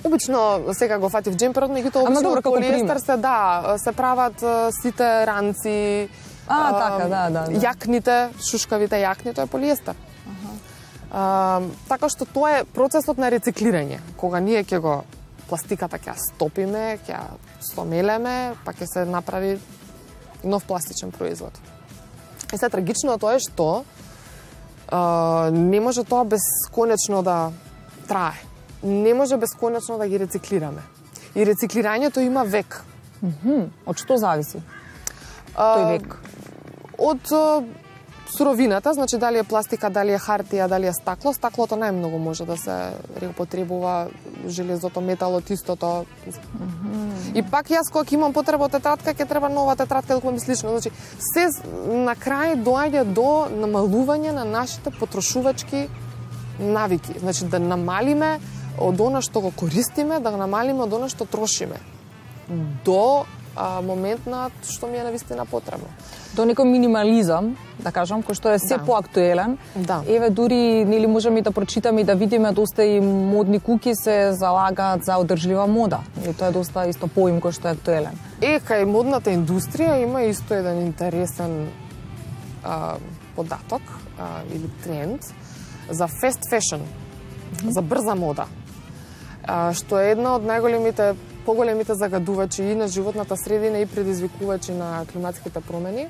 Обично сега го фатив джемперот, меѓутоа обично од полиестер се да, се прават сите ранци, а, така, да, да, да. јакните, шушкавите јакни, тоа е полиестер. Аха. А, така што тоа е процесот на рециклирање. Кога ние ќе го пластиката ќе ја стопиме, ќе ја стомелеме, па ќе се направи нов пластичен производ. И се трагично тоа е што а, не може тоа бесконечно да трае. Не може бесконечно да ги рециклираме. И рециклирањето има век. Mm-hmm. Од што зависи а, тој век? Од а, суровината, значи дали е пластика, дали е хартија, дали е стакло. Стаклото најмногу може да се реупотребува, железото, металот истото. Mm-hmm. И пак јас кога имам потреба од тетрадка, ќе треба нова тетрадка, да ми слично. Значи, се на крај доаѓа до намалување на нашите потрошувачки навики. Значи, да намалиме од она што го користиме, да го намалиме од она што трошиме. До а, момент на што ми е навистина потребно. До некој минимализам, да кажам, кој што е се Да. поактуелен. Да. Еве дури нели можеме и да прочитаме и да видиме доста и модни куки се залагаат за одржлива мода. И тоа е доста исто поим кој што е актуелен. Е, кај модната индустрија има исто еден интересен а, податок а, или тренд за fast fashion, mm-hmm. за брза мода, а, што е една од најголемите, поголемите загадувачи и на животната средина и предизвикувачи на климатските промени.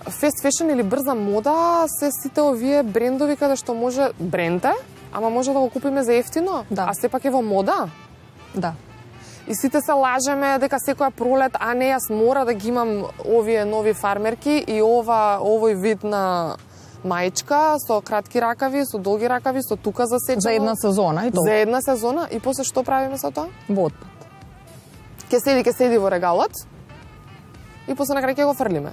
Fast fashion или брза мода се сите овие брендови каде што може бренде, ама може да го купиме за ефтино, Да. а сепак е во мода. Да. И сите се лажеме дека секоја пролет, а не, јас мора да ги имам овие нови фармерки и ова овој вид на маичка со кратки ракави, со долги ракави, со тука засечено. За една сезона и тоа. За една сезона и после што правиме со тоа? Во отпад. Ке седи, ке седи во регалот и после на крај ќе го фрлиме.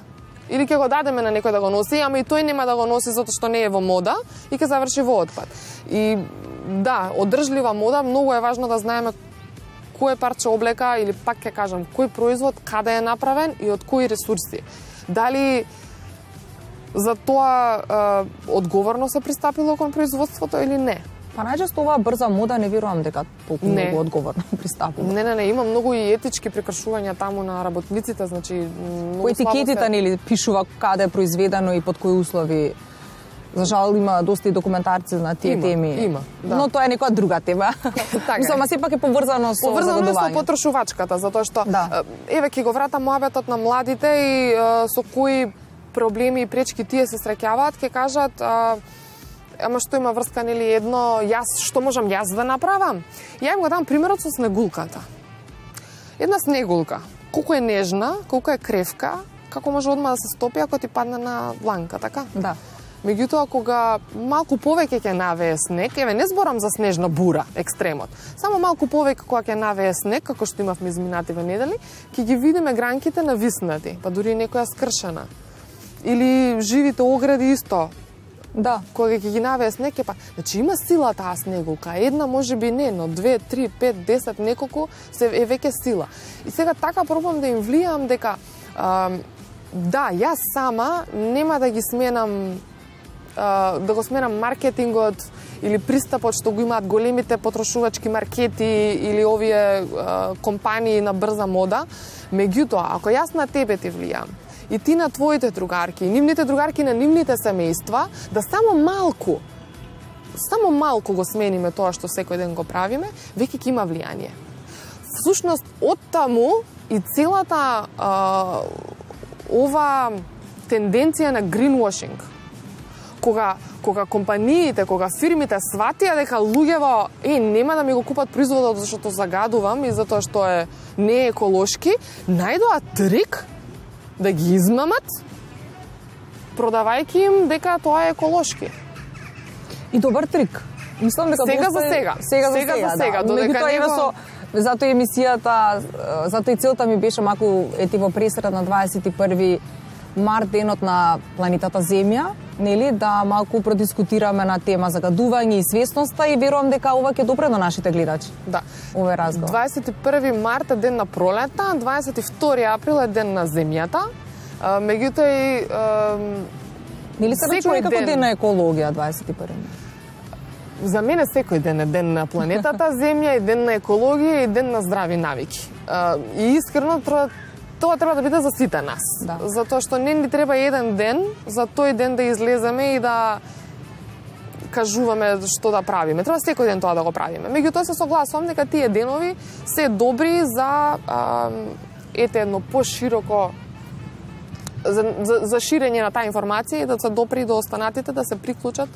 Или ќе го дадеме на некој да го носи, ама и тој нема да го носи затоа што не е во мода и ќе заврши во отпад. И да, одржлива мода, многу е важно да знаеме кој парче облека или пак ќе кажам кој производ каде е направен и од кои ресурси. Дали за тоа е, одговорно се пристапило кон производството или не? Па најчесто оваа брза мода не верувам дека толку Не. многу одговорно пристапува. Не, не, не, има многу и етички прекршувања таму на работниците, значи многу По етикетите слабо се... нели пишува каде е произведено и под кои услови. За жал има доста и документарци на тие Има, теми. има, да. Но тоа е некоја друга тема. Така е. Мислам, а сепак е поврзано со Поврзано е со загадување. потрошувачката, затоа што Да. е, еве ќе го вратам муабетот на младите и е, со кои проблеми и пречки тие се среќаваат, ќе кажат а, ама што има врска нели едно јас што можам јас да направам? Ја им го дам примерот со снегулката. Една снегулка, колку е нежна, колку е кревка, како може одма да се стопи ако ти падне на дланка, така? Да. Меѓутоа, кога малку повеќе ќе навее снег, еве не зборам за снежна бура, екстремот, само малку повеќе кога ќе навее снег, како што имавме изминативе недели, ќе ги видиме гранките нависнати, па дури и некоја скршена. Или живите огради исто, Да. кога ќе ги навее снег, е па... Значи има сила таа снегулка, една може би не, но две, три, пет, десет, неколку се е веќе сила. И сега така пробам да им влијам дека а, да, јас сама нема да ги сменам а, да го сменам маркетингот или пристапот што го имаат големите потрошувачки маркети или овие а, компании на брза мода. Меѓутоа, ако јас на тебе ти влијам и ти на твоите другарки, и нивните другарки на нивните семејства, да само малку, само малку го смениме тоа што секој ден го правиме, веќе ќе има влијание. Всушност, од таму и целата а, ова тенденција на greenwashing, кога кога компаниите, кога фирмите сватија дека луѓево е нема да ми го купат производот зашто загадувам и затоа што е не еколошки, најдоа трик да ги измамат, продавајќи им дека тоа е еколошки. И добар трик. Мислам дека Сега доста за е- сега. Сега за Сега сега, за сега, да. додека Меѓутоа, не еве го- со затоа емисијата, е, затоа и целта ми беше маку ети во пресред на дваесет и први март, денот на планетата Земја, нели, да малку продискутираме на тема загадување и свесноста и верувам дека ова ќе допре до нашите гледачи. Да. Овој разговор. дваесет и први март е ден на пролетта, дваесет и втори април е ден на земјата. А, меѓутоа и а, Нели се секој рачуна како ден- ден на екологија дваесет и први за мене секој ден е ден на планетата Земја и ден на екологија и ден на здрави навики. А, и искрено тоа тоа треба да биде за сите нас. Да. Затоа што не ни треба еден ден за тој ден да излеземе и да кажуваме што да правиме. Треба секој ден тоа да го правиме. Меѓутоа се согласувам дека тие денови се добри за а, ете едно пошироко за, за, за ширење на таа информација и да се допри до останатите да се приклучат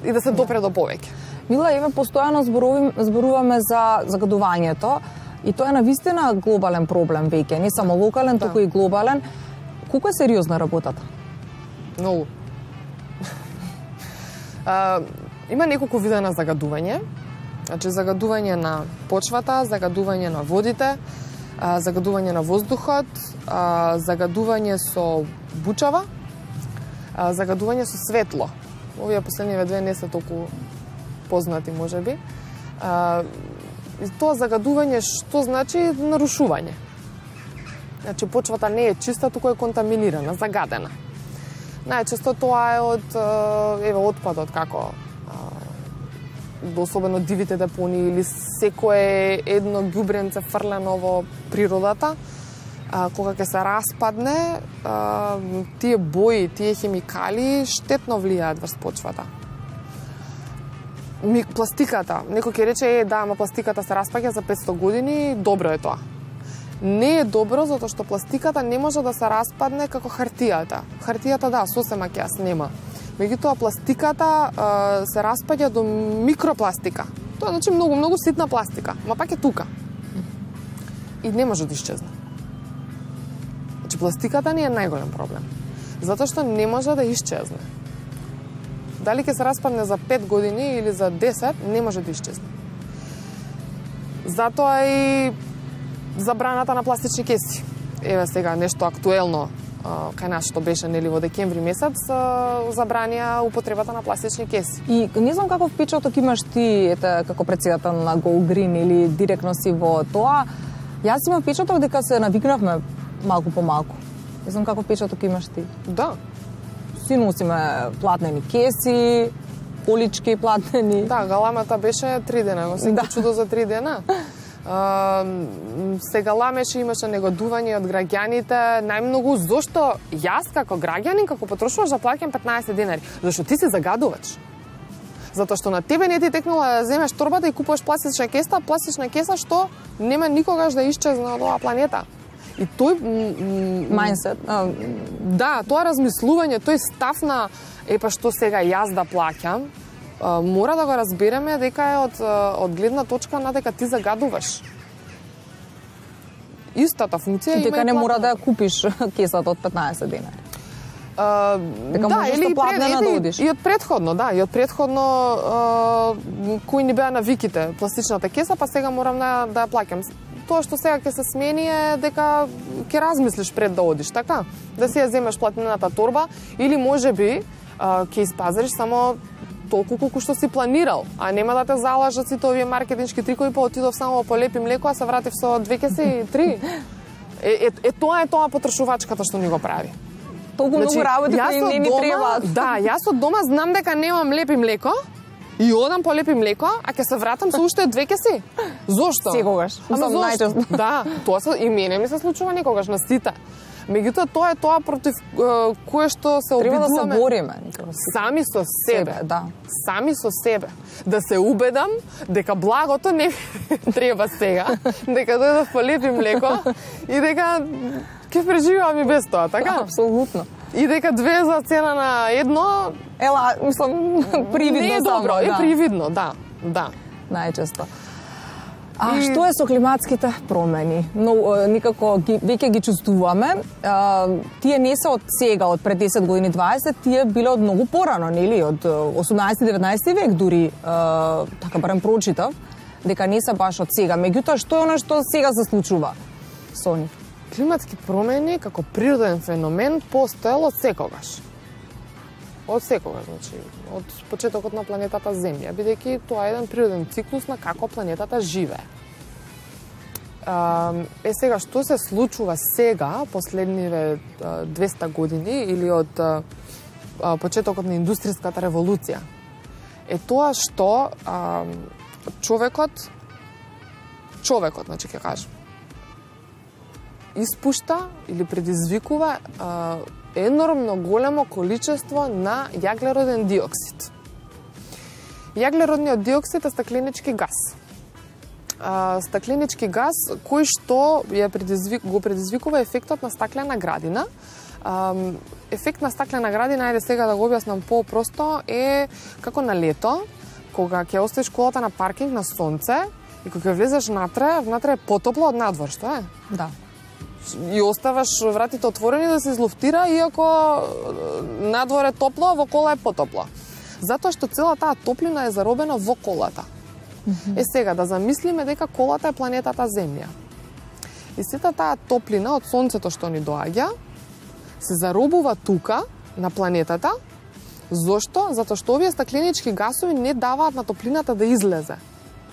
и да се допре до повеќе. Мила, еве постојано зборувам, зборуваме за загадувањето и тоа е навистина глобален проблем веќе, не само локален, Да. туку и глобален. Колку е сериозна работата? Многу. А, има неколку вида на загадување. Значи, загадување на почвата, загадување на водите, а, загадување на воздухот, а, загадување со бучава, а, загадување со светло. Овие последниве две не се толку познати, можеби. А, и тоа загадување што значи нарушување. Значи почвата не е чиста, туку е контаминирана, загадена. Најчесто тоа е од еве отпадот како особено дивите депонии или секое едно ѓубренце фрлено во природата, кога ќе се распадне, тие бои, тие хемикали штетно влијаат врз почвата. Пластиката, некој ќе рече е да, ама пластиката се распаѓа за петсто години, добро е тоа. Не е добро затоа што пластиката не може да се распадне како хартијата. Хартијата да, сосема ќе ја снема. Меѓутоа пластиката а, се распаѓа до микропластика. Тоа значи многу многу ситна пластика, ма пак е тука. И не може да исчезне. Значи пластиката не е најголем проблем. Затоа што не може да исчезне. Дали ќе се распадне за пет години или за десет, не може да исчезне. Затоа и забраната на пластични кеси. Еве сега нешто актуелно кај нас што беше нели во декември месец, забранија употребата на пластични кеси. И не знам каков впечаток имаш ти ете како претседател на Go Green или директно си во тоа. Јас имам впечаток дека се навикнавме малку по малку. Не знам каков впечаток имаш ти. Да. Си носиме платнени кеси, полички платнени. Да, галамата беше три дена, но се да. Чудо за три дена. Uh, се галамеше, имаше негодување од граѓаните, најмногу зошто јас како граѓанин, како потрошуваш да плаќам петнаесет денари, зашто ти си загадувач. Затоа што на тебе не ти текнала да земеш торбата и купуваш пластична кеса, пластична кеса што нема никогаш да исчезне од оваа планета. И тој мајндсет, да, тоа размислување, тој став на епа што сега јас да плаќам, мора да го разбереме дека е од, од гледна точка на дека ти загадуваш. Истата функција има и дека не мора да ја купиш кесата од петнаесет денари. Uh, дека да, можеш да платнена да одиш. И од предходно, да, и од предходно uh, кои ни беа навиките, пластичната кеса, па сега морам да, да ја плаќам. Тоа што сега ќе се смени е дека ќе размислиш пред да одиш, така? Да си ја земеш платнената торба или можеби uh, ќе испазариш само толку колку што си планирал, а нема да те залажат сите овие маркетиншки трикови, па отидов само по лепи млеко, а се вратив со две кеси и три. Е, е, е тоа е тоа потрошувачката што ни го прави. Толку значи, многу работи кои не ни требаат. Да, јас од дома знам дека немам лепи млеко и одам по лепи млеко, а ќе се вратам со уште две кеси. Зошто? Секогаш. Ама зошто? Да, тоа се и мене ми се случува некогаш на сите. Меѓутоа тоа е тоа против е, кое што се треба обидуваме. Треба да се бориме. Сами со себе. себе да. Сами со себе. Да се убедам дека благото не треба сега, дека дојдов по лепи млеко и дека ќе преживувам и без тоа, така? Апсолутно. И дека две за цена на едно... Ела, мислам, привидно не е само. добро, Да. е привидно, да, да. Најчесто. А и... што е со климатските промени? Но никако ги, веќе ги чувствуваме. А, тие не се од сега, од пред десет години, дваесет, тие биле од многу порано, нели? Од осумнаесети деветнаесети век дури, а, така барем прочитав, дека не се баш од сега. Меѓутоа, што е оно што сега се случува со нив? Климатски промени како природен феномен постоел од секогаш. Од секогаш, значи, од почетокот на планетата Земја, бидејќи тоа е еден природен циклус на како планетата живее. Е сега, што се случува сега, последниве двеста години, или од почетокот на индустријската револуција, е тоа што човекот, човекот, значи, ќе кажем, испушта или предизвикува енормно големо количество на јаглероден диоксид. Јаглеродниот диоксид е стакленички газ. Стакленички газ кој што ја предизвик, го предизвикува ефектот на стаклена градина. Ефект на стаклена градина, ајде сега да го објаснам по-просто, е како на лето, кога ќе оставиш колата на паркинг на сонце и кога ќе влезеш внатре, внатре е потопло од надвор, што е? Да. И оставаш вратите отворени да се излуфтира, иако надвор е топло, а во кола е потопло. Затоа што цела таа топлина е заробена во колата. Mm-hmm. Е сега, да замислиме дека колата е планетата Земја. И сета таа топлина од сонцето што ни доаѓа, се заробува тука, на планетата. Зошто? Затоа што овие стакленички гасови не даваат на топлината да излезе.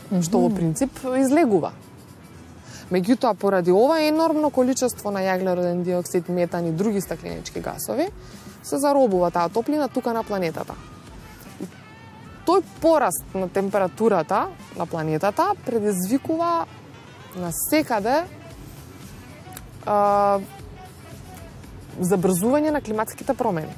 Mm-hmm. Што во принцип излегува. Меѓутоа, поради ова енормно количество на јаглероден диоксид, метан и други стакленички гасови, се заробува таа топлина тука на планетата. И тој пораст на температурата на планетата предизвикува на секаде а, забрзување на климатските промени.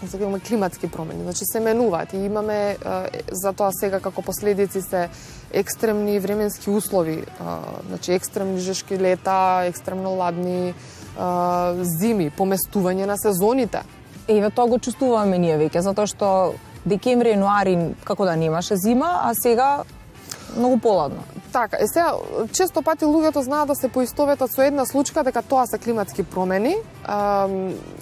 Сега имаме климатски промени, значи се менуваат и имаме а, затоа сега како последици се екстремни временски услови, а, значи екстремни жешки лета, екстремно ладни а, зими, поместување на сезоните. Еве тоа го чувствуваме ние веќе, затоа што декември, јануари како да немаше зима, а сега многу поладно. Така, е сега, често пати луѓето знаат да се поистоветат со една случка дека тоа се климатски промени а,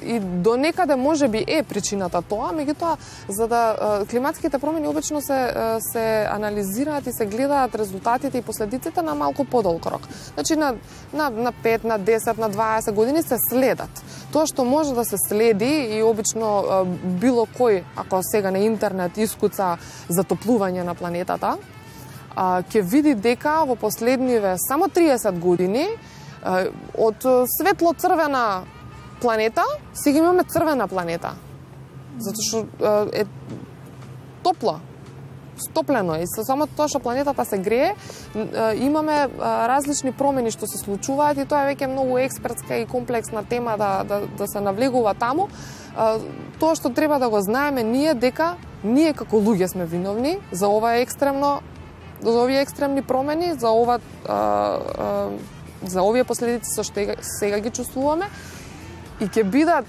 и до некаде може би е причината тоа, меѓутоа за да а, климатските промени обично се се анализираат и се гледаат резултатите и последиците на малку подолг рок. Значи на на на пет, на десет, на дваесет години се следат. Тоа што може да се следи и обично а, било кој, ако сега на интернет искуца затоплување на планетата, ќе види дека во последниве само триесет години од светло-црвена планета сега имаме црвена планета. Затоа што е топло, стоплено и со само тоа што планетата се грее, имаме различни промени што се случуваат и тоа е веќе многу експертска и комплексна тема да, да, да се навлегува таму. Тоа што треба да го знаеме ние дека ние како луѓе сме виновни за ова екстремно за овие екстремни промени, за ова а, а, за овие последици со што сега ги чувствуваме и ќе бидат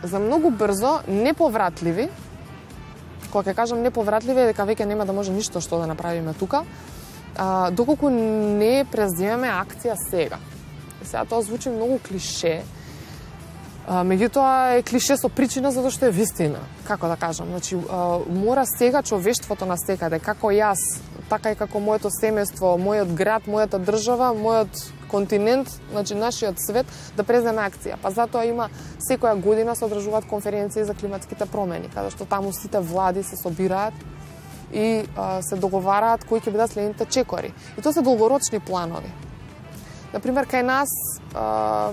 за многу брзо неповратливи. Кога ќе кажам неповратливи е дека веќе нема да може ништо што да направиме тука, а, доколку не преземеме акција сега. И сега тоа звучи многу клише, а, меѓутоа е клише со причина затоа што е вистина. Како да кажам, значи а, мора сега човештвото на секаде, како јас, така и како моето семејство, мојот град, мојата држава, мојот континент, значи нашиот свет, да преземе акција. Па затоа има секоја година се одржуваат конференции за климатските промени, каде што таму сите влади се собираат и а, се договараат кои ќе бидат следните чекори. И тоа се долгорочни планови. Например, кај нас а,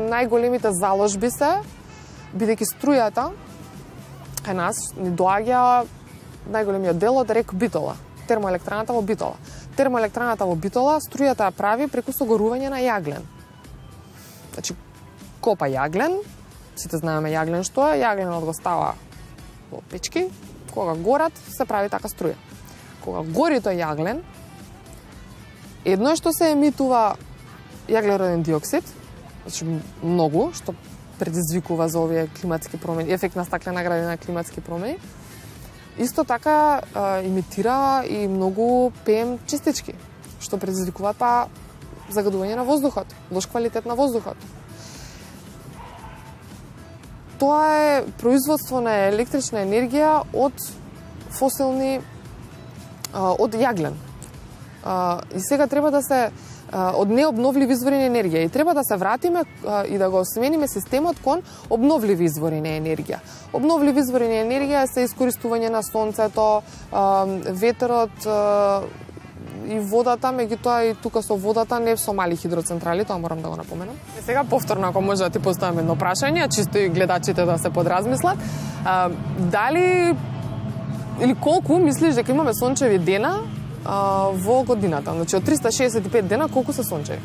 најголемите заложби се, бидејќи струјата кај нас ни доаѓа најголемиот дел од рек Битола, термоелектраната во Битола. Термоелектраната во Битола струјата ја прави преку согорување на јаглен. Значи, копа јаглен, сите знаеме јаглен што е, јагленот го става во печки, кога горат се прави така струја. Кога гори тој јаглен, едно е што се емитува јаглероден диоксид, значи многу, што предизвикува за овие климатски промени, ефект на стаклена градина климатски промени. Исто така а, имитира и многу пем честички, што предизвикуваат па загадување на воздухот, лош квалитет на воздухот. Тоа е производство на електрична енергија од фосилни, а, од јаглен. А, и сега треба да се од необновливи извори на енергија и треба да се вратиме а, и да го смениме системот кон обновливи извори на енергија. Обновливи извори на енергија се искористување на сонцето, а, ветерот а, и водата, меѓутоа и тука со водата, не со мали хидроцентрали, тоа морам да го напоменам. И сега повторно, ако може да ти поставам едно прашање, чисто и гледачите да се подразмислат, а, дали или колку мислиш дека имаме сончеви дена а, во годината? Значи од триста шеесет и пет дена колку се сончеви?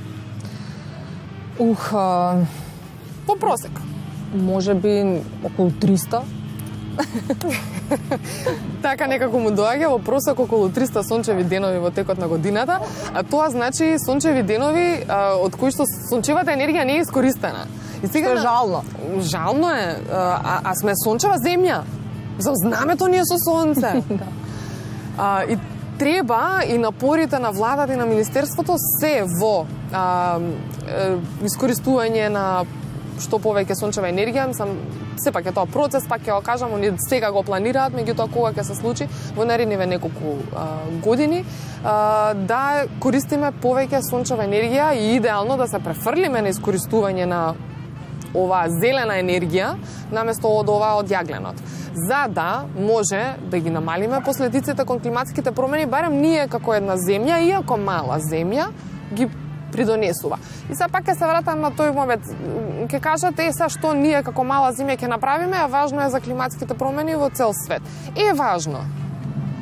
Ух, а... по просек. Може би околу триста. Така некако му доаѓа во просек околу триста сончеви денови во текот на годината, а тоа значи сончеви денови а, од кои што сончевата енергија не е искористена. И сега е жално. Жално е, а, а сме сончева земја. За знамето ни е со сонце. а, и треба и напорите на владата и на министерството се во а, е, искористување на што повеќе сончева енергија, сам сепак е тоа процес, пак ќе го кажам, они сега го планираат, меѓутоа кога ќе се случи во наредниве неколку а, години, а, да користиме повеќе сончева енергија и идеално да се префрлиме на искористување на оваа зелена енергија наместо од ова од јагленот. За да може да ги намалиме последиците кон климатските промени, барем ние како една земја, иако мала земја, ги придонесува. И се пак ќе се вратам на тој момент. Ќе кажате, е, са што ние како мала земја ќе направиме, а важно е за климатските промени во цел свет. Е важно.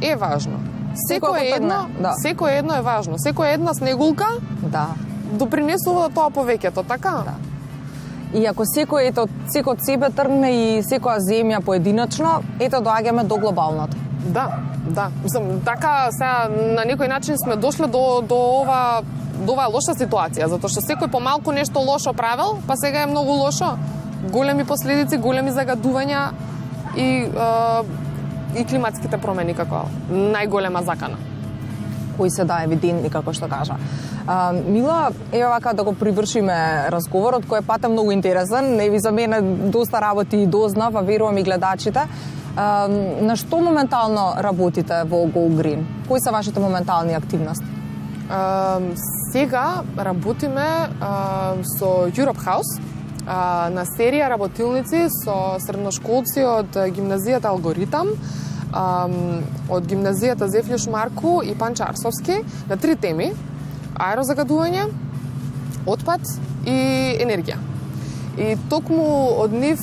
Е важно. Секој едно, да. Секој едно е важно. Секој една снегулка да. допринесува до тоа повеќето, така? Да. И ако секој ето секој од себе тргне и секоја земја поединечно, ето доаѓаме до глобалното. Да, да. Мислам, така сега на некој начин сме дошле до до ова до оваа лоша ситуација, затоа што секој помалку нешто лошо правел, па сега е многу лошо. Големи последици, големи загадувања и е, и климатските промени како најголема закана. Кои се да евидентни, како што кажа. А, Мила, ева вака да го привршиме разговорот, кој е пат е многу интересен. Еви за мене доста работи и дознав, а верувам и гледачите. А, на што моментално работите во Go Green? Кои се вашите моментални активности? А, сега работиме а, со Europe House а, на серија работилници со средношколци од гимназијата Алгоритам, а, од гимназијата Зефлиш Марку и Панча Арсовски на три теми: аерозагадување, отпад и енергија. И токму од нив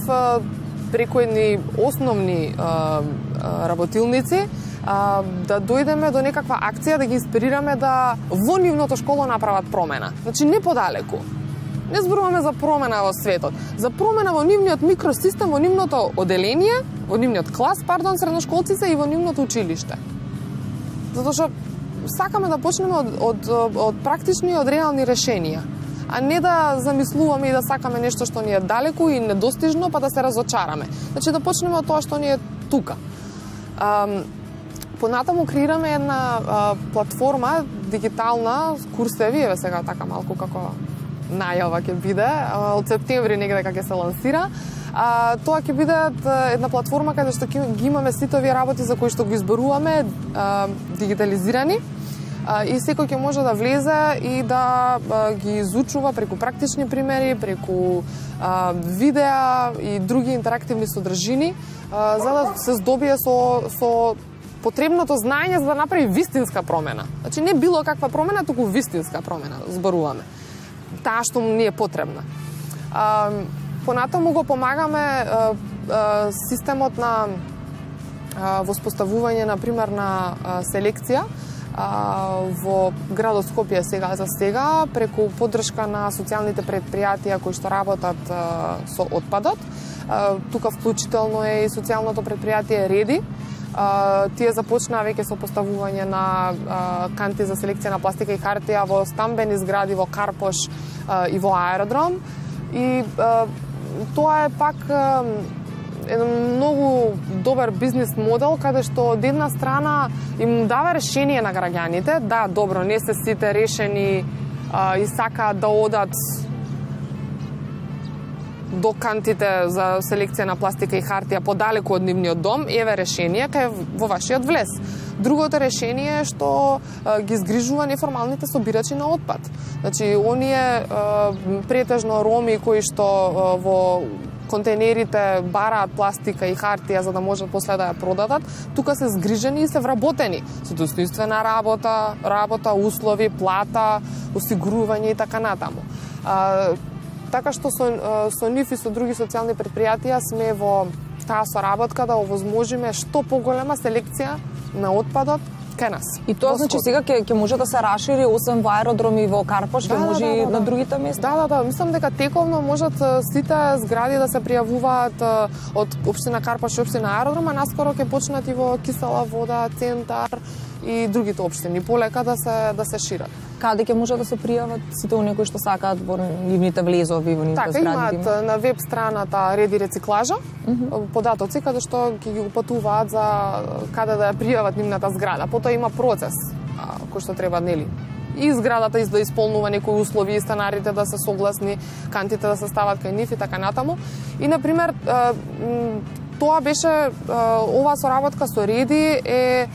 преку едни основни а, а, работилници а, да дојдеме до некаква акција, да ги инспирираме да во нивното школо направат промена. Значи не подалеку. Не зборуваме за промена во светот, за промена во нивниот микросистем, во нивното оделение, во нивниот клас, пардон, средношколците и во нивното училиште. Затоа што сакаме да почнеме од, од, од практични и од реални решенија, а не да замислуваме и да сакаме нешто што ни е далеку и недостижно, па да се разочараме. Значи да почнеме од тоа што ни е тука. Um, Понатаму креираме една а, платформа дигитална, курсеви, еве сега така малку како најава ќе биде, а, од септември негде кога ќе се лансира. А, тоа ќе биде една платформа каде што ги имаме сите овие работи за кои што ги изборуваме а, дигитализирани, а, и секој ќе може да влезе и да а, ги изучува преку практични примери, преку а, видеа и други интерактивни содржини, а, за да се здобие со, со потребното знаење за да направи вистинска промена. Значи не било каква промена, туку вистинска промена зборуваме. Таа што ни е потребна. А, понатаму го помагаме а, а, системот на а, воспоставување на примерна а, селекција а, во градот Скопје сега за сега преку поддршка на социјалните предпријатија кои што работат а, со отпадот. А, тука вклучително е и социјалното предпријатие Реди. Uh, тие започнаа веќе со поставување на uh, канти за селекција на пластика и хартија во стамбени згради во Карпош uh, и во аеродром. И uh, тоа е пак uh, еден многу добар бизнис модел, каде што од една страна им дава решение на граѓаните. Да, добро, не се сите решени uh, и сакаат да одат до кантите за селекција на пластика и хартија подалеку од нивниот дом, еве решение кај во вашиот влез. Другото решение е што а, ги згрижува неформалните собирачи на отпад. Значи, оние а, претежно роми кои што а, во контейнерите бараат пластика и хартија за да можат после да ја продадат, тука се згрижени и се вработени со достоинствена работа, работа, услови, плата, осигурување и така натаму. А, Така што со, со нив и со други социјални предпријатија сме во таа соработка да овозможиме што поголема селекција на отпадот кај нас. И тоа значи сега ќе ќе може да се расшири освен во аеродром и во Карпош, ќе да, може да, и да, на да. другите места? Да, да, да, мислам дека тековно можат сите згради да се пријавуваат од општина Карпош и општина Аеродром, а наскоро ќе почнат и во Кисела вода, Центар и другите општини полека да се да се шират. Каде ќе може да се пријават сите оние кои што сакаат во нивните влезови, во нивните така, згради? Така, имаат на веб страната Реди рециклажа, mm -hmm. податоци каде што ќе ги упатуваат за каде да ја пријават нивната зграда. Потоа има процес а, кој што треба, нели, и зградата да исполнува некои услови и станарите да се согласни, кантите да се стават кај нив и така натаму. И на пример тоа беше оваа соработка со Реди е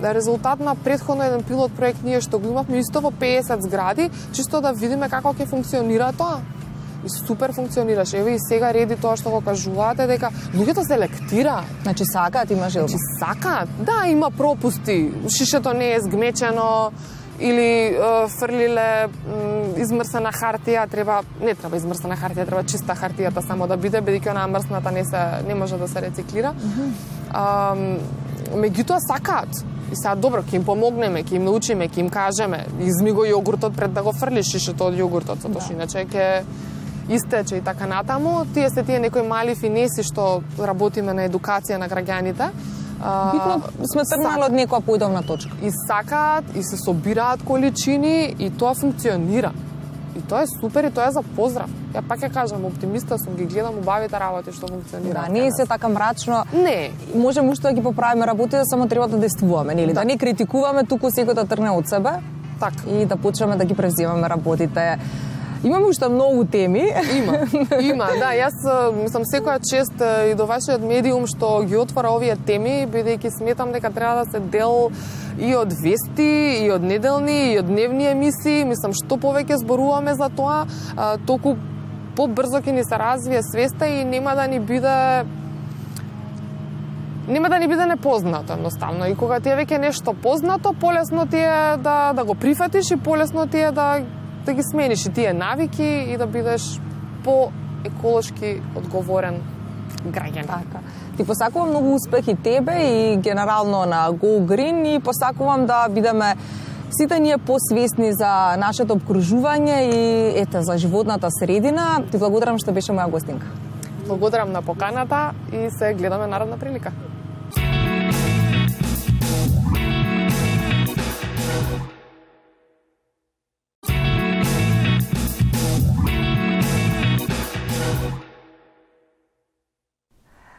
резултат на претходно еден пилот проект ние што го имавме исто во песет згради, чисто да видиме како ќе функционира тоа. И супер функционираше. Еве и сега Реди тоа што го кажуваате дека луѓето се лектираат. Значи сакаат, има желба. Значи сакаат. Да, има пропусти. Шишето не е згмечено или е, фрлиле измрсена хартија, треба не треба измрсена хартија, треба чиста хартијата само да биде, бидејќи онаа мрсната не се не може да се рециклира. Mm-hmm. а, меѓутоа сакаат. И сега добро, ќе им помогнеме, ќе им научиме, ќе им кажеме, изми го јогуртот пред да го фрлиш шишето од јогуртот, затоа што иначе ќе истече и така натаму. Тие се тие некои мали финеси што работиме на едукација на граѓаните. Битно сме тргнали од некоја поидовна точка. И сакаат, и се собираат количини, и тоа функционира. И тоа е супер, и тоа е за поздрав. Ја пак ќе кажам, оптимиста сум, ги гледам убавите работи што функционираат. Да, не е се така мрачно. Не. Можеме уште да ги поправиме работите, само треба да действуваме, нели? Да. да не критикуваме, туку секој да тргне од себе. Така. И да почнеме да ги превземаме работите. Имаме уште многу теми. Има, има, да. Јас сум секоја чест и до вашиот медиум што ги отвора овие теми, бидејќи сметам дека треба да се дел и од вести, и од неделни, и од дневни емисии. Мислам, што повеќе зборуваме за тоа, толку побрзо ќе ни се развие свеста и нема да ни биде нема да ни биде непознато едноставно. И кога ти е веќе нешто познато, полесно ти е да да го прифатиш и полесно ти е да да ги смениш и тие навики и да бидеш по-еколошки одговорен граѓанин. Така. Ти посакувам многу успех и тебе и генерално на Go Green и посакувам да бидеме сите ние посвесни за нашето обкружување и ете за животната средина. Ти благодарам што беше моја гостинка. Благодарам на поканата и се гледаме наредна прилика.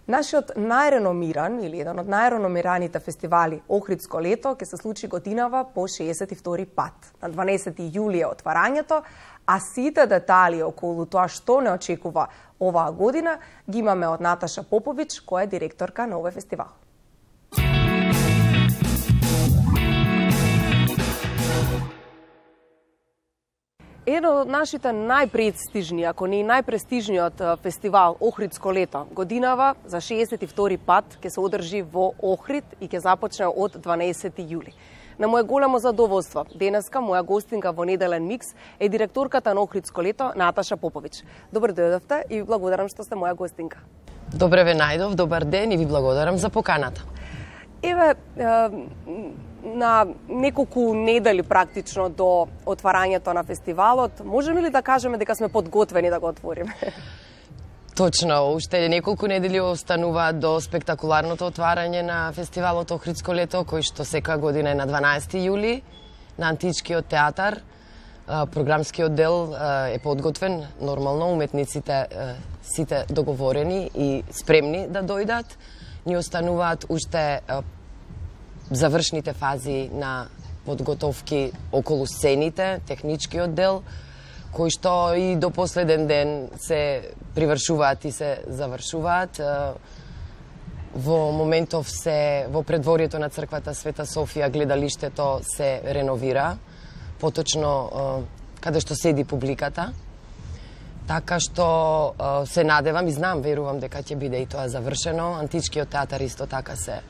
Нашиот најреномиран или еден од најреномираните фестивали Охридско лето ќе се случи годинава по шеесет и втори пат. На дванаесети јули е отварањето, а сите детали околу тоа што не очекува оваа година ги имаме од Наташа Попович, која е директорка на овој фестивал. Еден од нашите најпрестижни, ако не и најпрестижниот фестивал Охридско лето, годинава за шеесет и втори пат ќе се одржи во Охрид и ќе започне од дванаесети јули. На моје големо задоволство, денеска моја гостинка во Неделен микс е директорката на Охридско лето Наташа Попович. Добро дојдовте и ви благодарам што сте моја гостинка. Добре ве најдов, добар ден и ви благодарам за поканата. Еве, на неколку недели практично до отварањето на фестивалот, можеме ли да кажеме дека сме подготвени да го отвориме? Точно, уште неколку недели остануваат до спектакуларното отварање на фестивалот Охридско лето, кој што секоја година е на дванаесети јули на Античкиот театар. Програмскиот дел е подготвен, нормално, уметниците сите договорени и спремни да дојдат. Ни остануваат уште завршните фази на подготовки околу сцените, техничкиот дел, кои што и до последен ден се привршуваат и се завршуваат. Во моментов се во предворието на црквата Света Софија гледалиштето се реновира, поточно каде што седи публиката. Така што се надевам и знам, верувам дека ќе биде и тоа завршено. Античкиот театар исто така се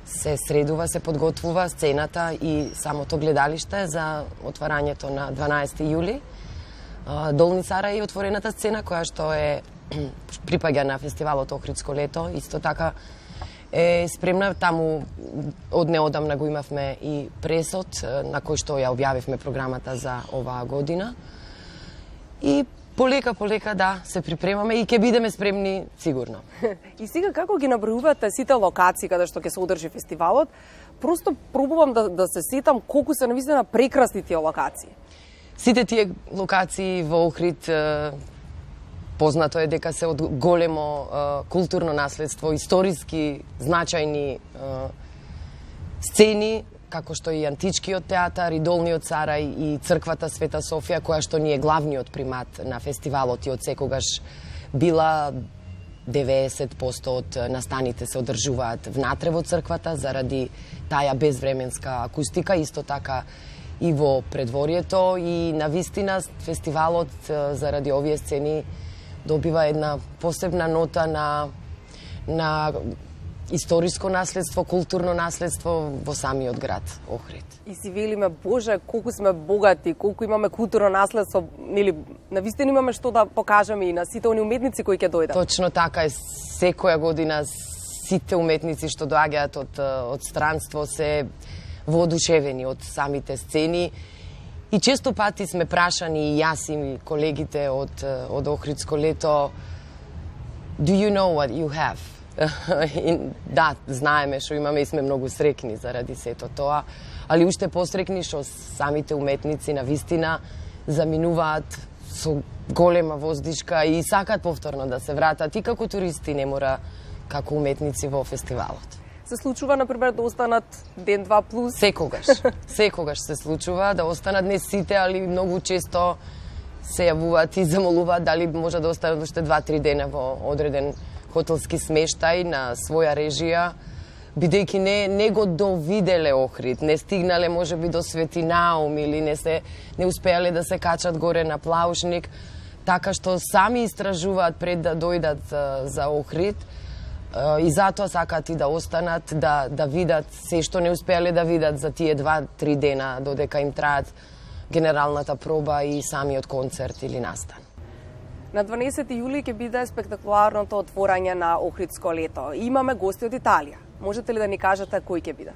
се средува, се подготвува сцената и самото гледалиште за отварањето на дванаесети јули. Долни Цара е отворената сцена која што е припаѓа на фестивалот Охридско лето, исто така е спремна. Таму од неодамна го имавме и пресот на кој што ја објавивме програмата за оваа година. И полека, полека, да, се припремаме и ќе бидеме спремни сигурно. И сега како ги набројувате сите локации каде што ќе се одржи фестивалот? Просто пробувам да, да се сетам колку се навистина прекрасни тие локации. Сите тие локации во Охрид, познато е дека се од големо културно наследство, историски значајни сцени, како што и Античкиот театар, и Долниот Царај, и црквата Света Софија, која што ни е главниот примат на фестивалот и од секогаш била деветдесет проценти од настаните се одржуваат внатре во црквата заради таа безвременска акустика, исто така и во предворието, и навистина фестивалот заради овие сцени добива една посебна нота на на историско наследство, културно наследство во самиот град Охрид. И си велиме, Боже, колку сме богати, колку имаме културно наследство, нели, навистина имаме што да покажеме и на сите они уметници кои ќе дојдат. Точно така е, секоја година сите уметници што доаѓаат од, од странство се воодушевени од самите сцени. И често пати сме прашани, и јас и колегите од, од Охридско лето, do you know what you have? И, да, знаеме што имаме и сме многу срекни заради сето тоа, али уште посрекни што самите уметници на вистина заминуваат со голема воздишка и сакаат повторно да се вратат и како туристи, не мора како уметници во фестивалот. Се случува, например, да останат ден-два плюс? Секогаш. Секогаш се случува да останат, не сите, али многу често се јавуваат и замолуваат дали може да останат уште два-три дена во одреден хотелски смештај на своја режија, бидејќи не, не го довиделе Охрид, не стигнале можеби до Свети Наум или не се не успеале да се качат горе на Плаушник, така што сами истражуваат пред да дојдат за, за Охрид и затоа сакаат и да останат, да, да видат се што не успеале да видат за тие два-три дена додека им траат генералната проба и самиот концерт или настан. На дванаесети јули ќе биде спектакуларното отворање на Охридско лето. Имаме гости од Италија. Можете ли да ни кажете кои ќе бидат?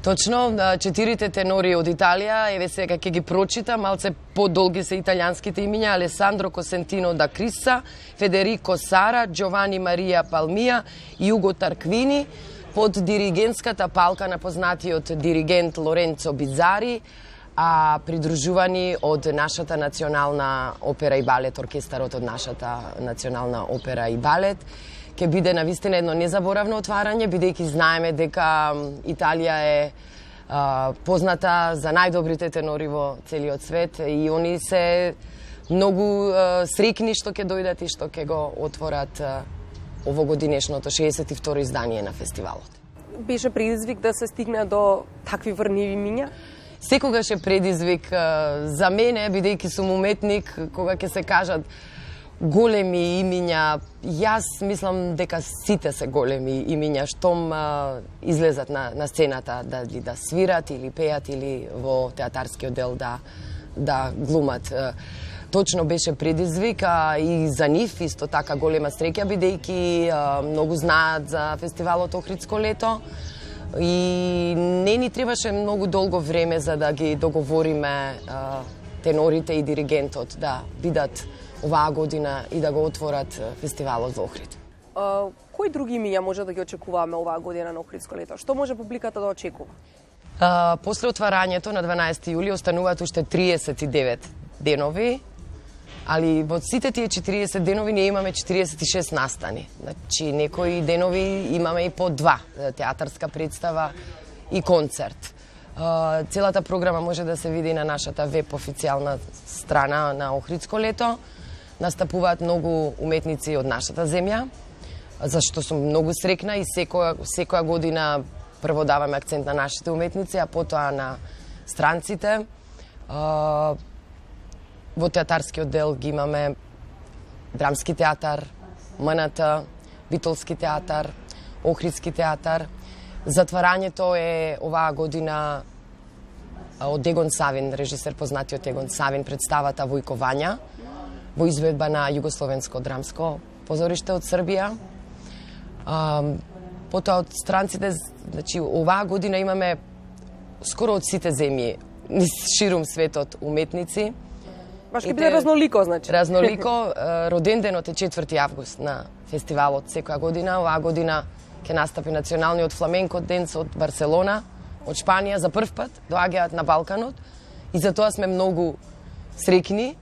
Точно, четирите тенори од Италија, еве сега ќе ги прочитам, малце подолги се италијанските имиња: Алесандро Косентино да Крисса, Федерико Сара, Джовани Марија Палмија и Уго Тарквини, под диригентската палка на познатиот диригент Лоренцо Бизари, а придружувани од нашата национална опера и балет, оркестарот од нашата национална опера и балет. Ке биде навистина едно незаборавно отварање, бидејќи знаеме дека Италија е а, позната за најдобрите тенори во целиот свет и они се многу а, срекни што ќе дојдат и што ќе го отворат а, овогодинешното шеесет и второ издание на фестивалот. Беше предизвик да се стигне до такви врниви имиња? Секогаш е предизвик а, за мене, бидејќи сум уметник, кога ќе се кажат големи имиња, јас мислам дека сите се големи имиња штом а, излезат на, на сцената, дали да свират или пеат или во театарскиот дел да, да глумат. Точно беше предизвик, а и за нив исто така голема среќа, бидејќи а, многу знаат за фестивалот Охридско лето и не ни требаше многу долго време за да ги договориме а, тенорите и диригентот да бидат оваа година и да го отворат фестивалот во Охрид. Uh, кои други имиња може да ги очекуваме оваа година на Охридско лето? Што може публиката да очекува? Uh, после отварањето на дванаесети јули остануваат уште триесет и девет денови, али во сите тие четириесет денови ние имаме четириесет и шест настани. Значи, некои денови имаме и по два, театарска представа и концерт. Uh, целата програма може да се види на нашата веб официјална страна на Охридско лето. Настапуваат многу уметници од нашата земја, зашто сум многу срекна и секоја, секоја година прво даваме акцент на нашите уметници, а потоа на странците. Uh, во театарскиот дел ги имаме Драмски театар, М Н Т, Битолски театар, Охридски театар. Затварањето е оваа година од Егон Савин, режисер познатиот Егон Савин, представата Војко Вања, во изведба на Југословенско драмско позориште од Србија. А, потоа од странците, значи оваа година имаме скоро од сите земји, ширум светот уметници. Баш ќе биде разнолико, значи. Разнолико. Роден денот е четврти август на фестивалот секоја година. Оваа година ќе настапи националниот фламенко денс од Барселона, од Шпанија, за прв пат доаѓаат на Балканот и затоа сме многу срекни,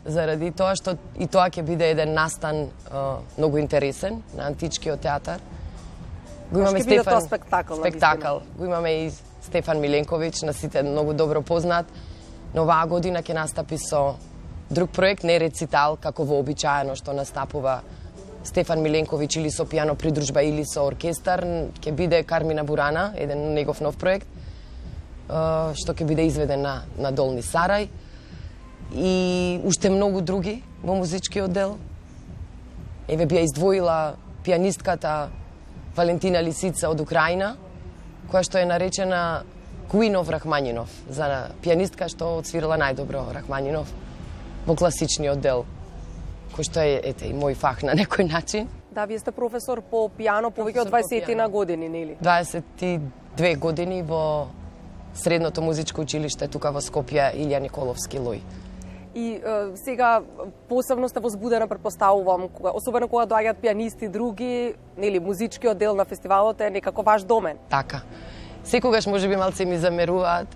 заради тоа што и тоа ќе биде еден настан uh, многу интересен на античкиот театар. Го имаме Стефан, биде тоа спектакл. Спектакл. Го имаме и Стефан Миленковиќ, на сите многу добро познат. Но оваа година ќе настапи со друг проект, не рецитал, како вообичаено што настапува Стефан Миленковиќ или со пијано придружба или со оркестар. Ќе биде Кармина Бурана, еден негов нов проект, uh, што ќе биде изведен на, на Долни Сарај. И уште многу други во музичкиот дел. Еве би ја издвоила пијанистката Валентина Лисица од Украина, која што е наречена Queen of Рахманинов, за пианистка што отсвирала најдобро Рахманинов во класичниот дел, кој што е, ете, и мој фах на некој начин. Да, вие сте професор по пијано повеќе од дваесет на години, нели? дваесет и две години во Средното музичко училиште тука во Скопје, Илија Николовски Лој. И е, сега посебно сте возбудена, претпоставувам, кога, особено кога доаѓаат пианисти други, нели, музичкиот дел на фестивалот е некако ваш домен. Така. Секогаш можеби малце ми замеруваат.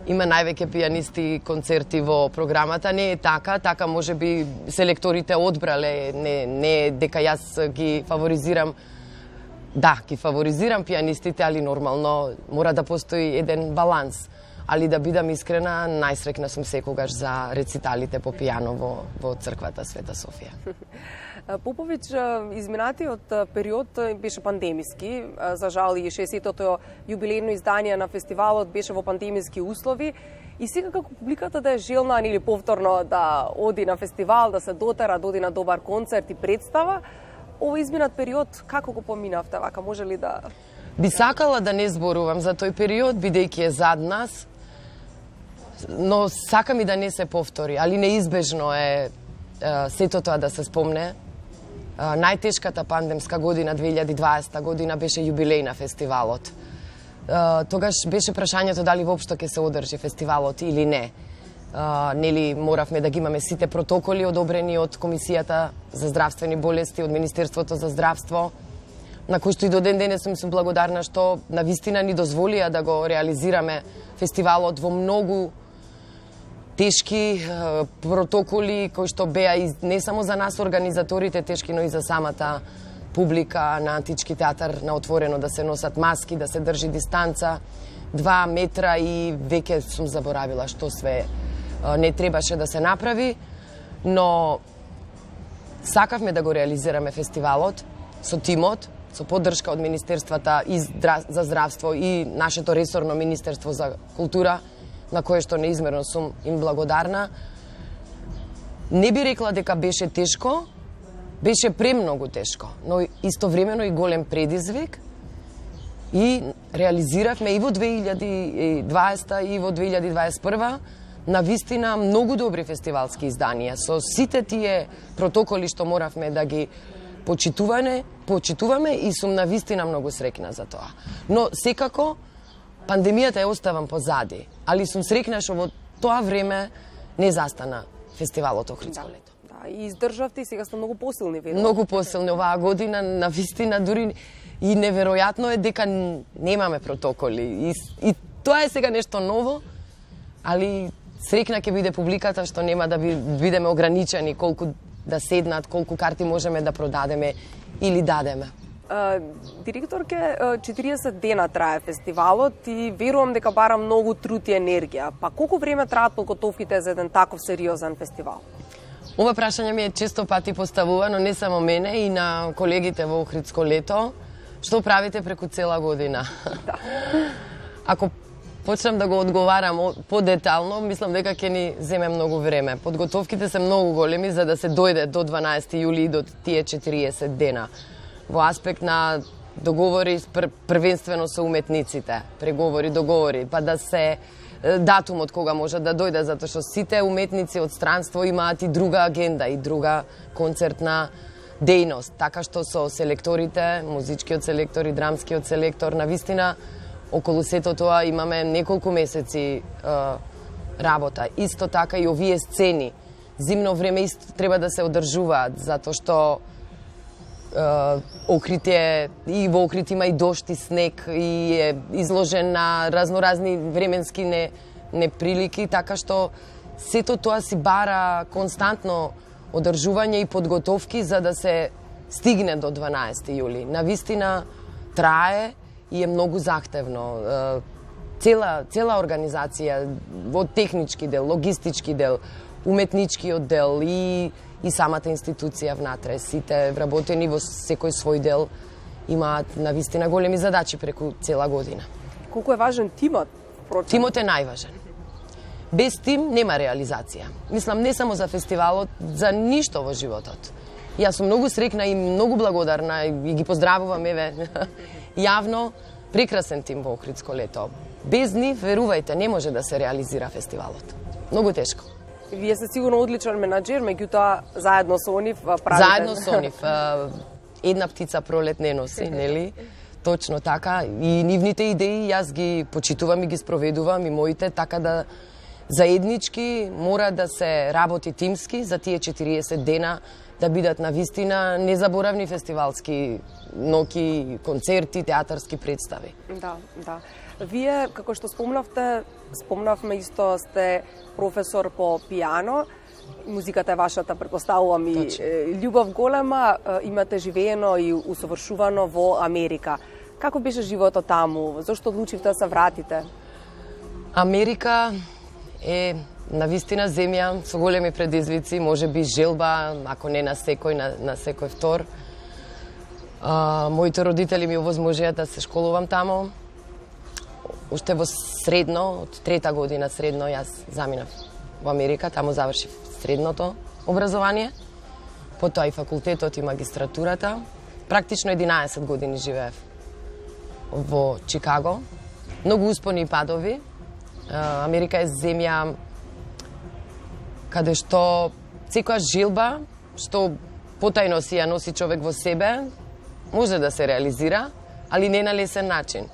Има највеќе пианисти концерти во програмата, не е така, така можеби селекторите одбрале, не не дека јас ги фаворизирам. Да, ги фаворизирам пианистите, али нормално мора да постои еден баланс. Али да бидам искрена, најсрекна сум секогаш за рециталите по пијано во, во црквата Света Софија. Поповиќ, изминатиот период беше пандемиски. За жал и шеесеттото јубилејно издание на фестивалот беше во пандемиски услови. И сега како публиката да е желна или повторно да оди на фестивал, да се дотера, да оди на добар концерт и представа, овој изминат период како го поминавте? Вака може ли да... Би сакала да не зборувам за тој период, бидејќи е зад нас, но сакам и да не се повтори, али неизбежно е, е сето тоа да се спомне. Е, најтешката пандемска година, две илјади и дваесета година, беше јубилеј на фестивалот. Е, тогаш беше прашањето дали воопшто ќе се одржи фестивалот или не. Uh, нели моравме да ги имаме сите протоколи одобрени од Комисијата за здравствени болести, од Министерството за здравство, на кој што и до ден денес сум сум благодарна што навистина ни дозволија да го реализираме фестивалот во многу тешки uh, протоколи кои што беа и не само за нас организаторите тешки, но и за самата публика на Антички театар на отворено, да се носат маски, да се држи дистанца, два метра и веќе сум заборавила што све не требаше да се направи, но сакавме да го реализираме фестивалот со тимот, со поддршка од Министерствата и за здравство и нашето ресорно Министерство за култура, на кое што неизмерно сум им благодарна. Не би рекла дека беше тешко, беше премногу тешко, но истовремено и голем предизвик, и реализиравме и во две илјади и дваесета и во две илјади и дваесет и прва на вистина многу добри фестивалски изданија со сите тие протоколи што моравме да ги почитуваме, почитуваме и сум на вистина многу срекна за тоа. Но секако пандемијата ја оставам позади, али сум срекна што во тоа време не застана фестивалот Охридско лето. Да, и издржавте и сега сте многу посилни, верувам. Многу посилни оваа година, на вистина дури и неверојатно е дека немаме протоколи. И, и тоа е сега нешто ново, али срекна ќе биде публиката што нема да бидеме ограничени колку да седнат, колку карти можеме да продадеме или дадеме. Uh, директорке, uh, четириесет дена трае фестивалот и верувам дека бара многу труд и енергија. Па колку време траат подготовките за еден таков сериозен фестивал? Ова прашање ми е често пати поставувано, не само мене, и на колегите во Охридско лето. Што правите преку цела година? Да. Ако почнам да го одговарам подетално, мислам дека ќе ни земе многу време. Подготовките се многу големи за да се дојде до дванаесети јули и до тие четириесет дена. Во аспект на договори пр првенствено со уметниците, преговори, договори, па да се датумот кога може да дојде, затоа што сите уметници од странство имаат и друга агенда и друга концертна дејност, така што со селекторите, музичкиот селектор и драмскиот селектор, на вистина околу сето тоа имаме неколку месеци е, работа. Исто така и овие сцени, зимно време исто треба да се одржуваат, затоа што Охрид е, и во Охрид има и дожд и снег и е изложен на разноразни временски не, неприлики, така што сето тоа си бара константно одржување и подготовки за да се стигне до дванаесети јули. На вистина трае и е многу захтевно. Цела, цела организација во технички дел, логистички дел, уметничкиот дел и и самата институција внатре, сите вработени во секој свој дел имаат на вистина големи задачи преку цела година. Колку е важен тимот? Впрочем? Тимот е најважен. Без тим нема реализација. Мислам, не само за фестивалот, за ништо во животот. Јас сум многу срекна и многу благодарна и ги поздравувам, еве, јавно, прекрасен тим во Охридско лето. Без нив, верувајте, не може да се реализира фестивалот. Многу тешко. Вие сте сигурно одличен менаџер, меѓутоа заедно со нив правите... Заедно со нив. Една птица пролет не носи, нели? Точно така. И нивните идеи јас ги почитувам и ги спроведувам и моите, така да заеднички мора да се работи тимски за тие четириесет дена, да бидат на вистина незаборавни фестивалски ноќи, концерти, театарски представи. Да, да. Вие, како што спомнавте, спомнавме исто, сте професор по пијано, музиката е вашата, претпоставувам, и љубов голема, имате живеено и усовршувано во Америка. Како беше животот таму? Зошто одлучивте да се вратите? Америка е навистина земја со големи предизвици, може би желба, ако не на секој, на, на секој втор. А, моите родители ми овозможија да се школувам таму. Уште во средно, од трета година средно, јас заминав во Америка, таму завршив средното образование, потоа и факултетот и магистратурата. Практично единаесет години живеев во Чикаго. Многу успони и падови. Америка е земја каде што секоја желба што потајно си ја носи човек во себе, може да се реализира, али не на лесен начин.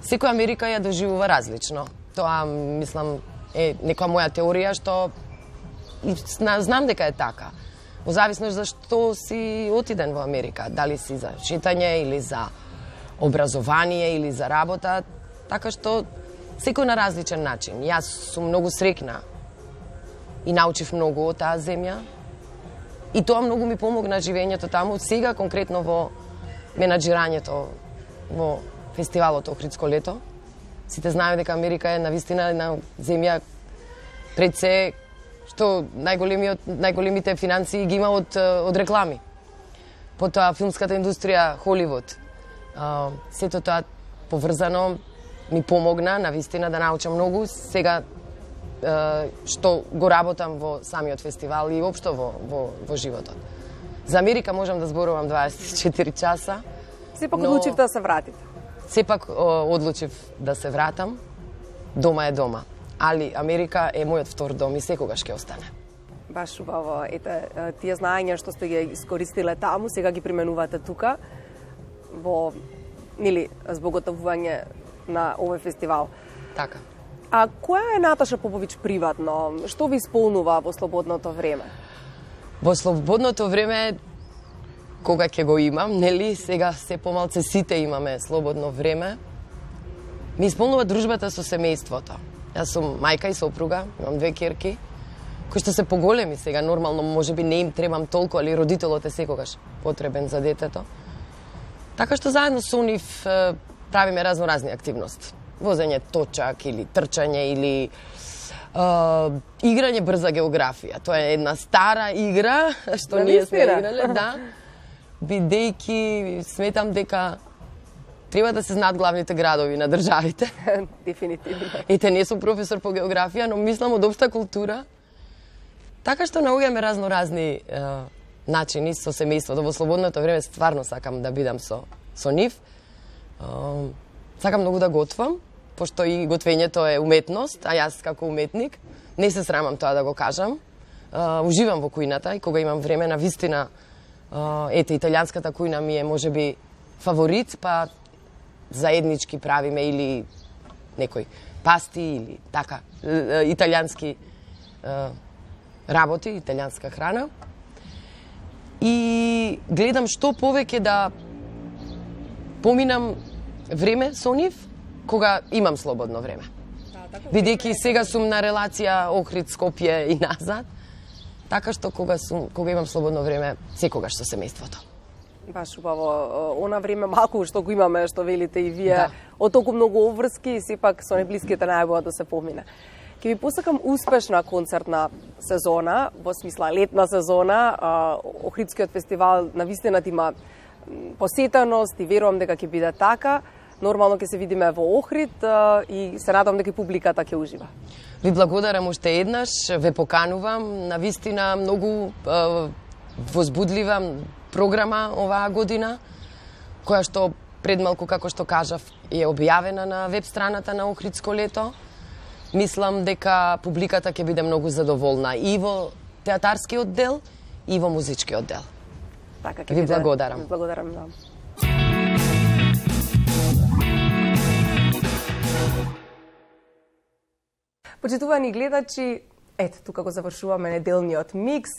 Секоја Америка ја доживува различно. Тоа, мислам, е некоја моја теорија што знам дека е така. Во зависност за што си отиден во Америка, дали си за читање или за образование или за работа, така што секој на различен начин. Јас сум многу срекна и научив многу од таа земја. И тоа многу ми помогна живењето таму, сега конкретно во менаџирањето во фестивалот Охридско лето. Сите знаеме дека Америка е навистина една земја пред се што најголемиот најголемите финансии ги има од од реклами. Потоа филмската индустрија, Холивуд. Сето тоа поврзано ми помогна навистина да научам многу. Сега што го работам во самиот фестивал и општо во, во, во животот. За Америка можам да зборувам дваесет и четири часа. Сепак одлучив да се вратите. Сепак одлучив да се вратам. Дома е дома. Али Америка е мојот втор дом и секогаш ќе остане. Баш убаво. Ете, тие знаења што сте ги искористиле таму, сега ги применувате тука во, нели, збоготовување на овој фестивал. Така. А која е Наташа Поповиќ приватно? Што ви исполнува во слободното време? Во слободното време, кога ќе го имам, нели, сега се помалце сите имаме слободно време, ми исполнува дружбата со семејството. Јас сум мајка и сопруга, имам две ќерки, кои што се поголеми сега, нормално, може би не им требам толку, али родителот е секогаш потребен за детето. Така што заедно со нив правиме разноразни активности. Возење точак или трчање или uh, играње брза географија. Тоа е една стара игра што да ние сме играле, да. Бидејќи сметам дека треба да се знаат главните градови на државите. Дефинитивно. Ете, не сум професор по географија, но мислам од општа култура. Така што наоѓаме разноразни uh, начини со семејството. Во слободното време стварно сакам да бидам со, со нив. Uh, сакам многу да готвам, пошто и готвењето е уметност, а јас како уметник не се срамам тоа да го кажам. Uh, уживам во кујната и кога имам време, на вистина, uh, ете, италијанската кујна ми е можеби фаворит, па заеднички правиме или некој пасти или така, италијански uh, работи, италијанска храна. И гледам што повеќе да поминам време со нив, кога имам слободно време. Бидејќи сега сум на релација Охрид, Скопје и назад, така што кога сум, кога имам слободно време, секогаш со семејството. Баш убаво, она време малку што го имаме, што велите и вие, да. Од толку многу обврски и сепак со неблиските најбоја да се помине. Ке ви посакам успешна концертна сезона, во смисла летна сезона. Охридскиот фестивал навистина има посетеност и верувам дека ќе биде така. Нормално ќе се видиме во Охрид и се надам дека и публиката ќе ужива. Ви благодарам уште еднаш, ве поканувам, навистина многу возбудлива програма оваа година, која што предмалку, како што кажав, е објавена на веб страната на Охридско лето. Мислам дека публиката ќе биде многу задоволна и во театарскиот дел, и во музичкиот дел. Така, ви благодарам. Ви благодарам, да. Почитувани гледачи, ето, тука го завршуваме неделниот микс.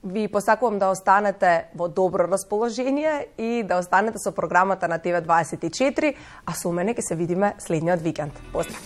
Ви посакувам да останете во добро расположение и да останете со програмата на Т В дваесет и четири, а со мене ќе се видиме следниот викенд. Поздрав!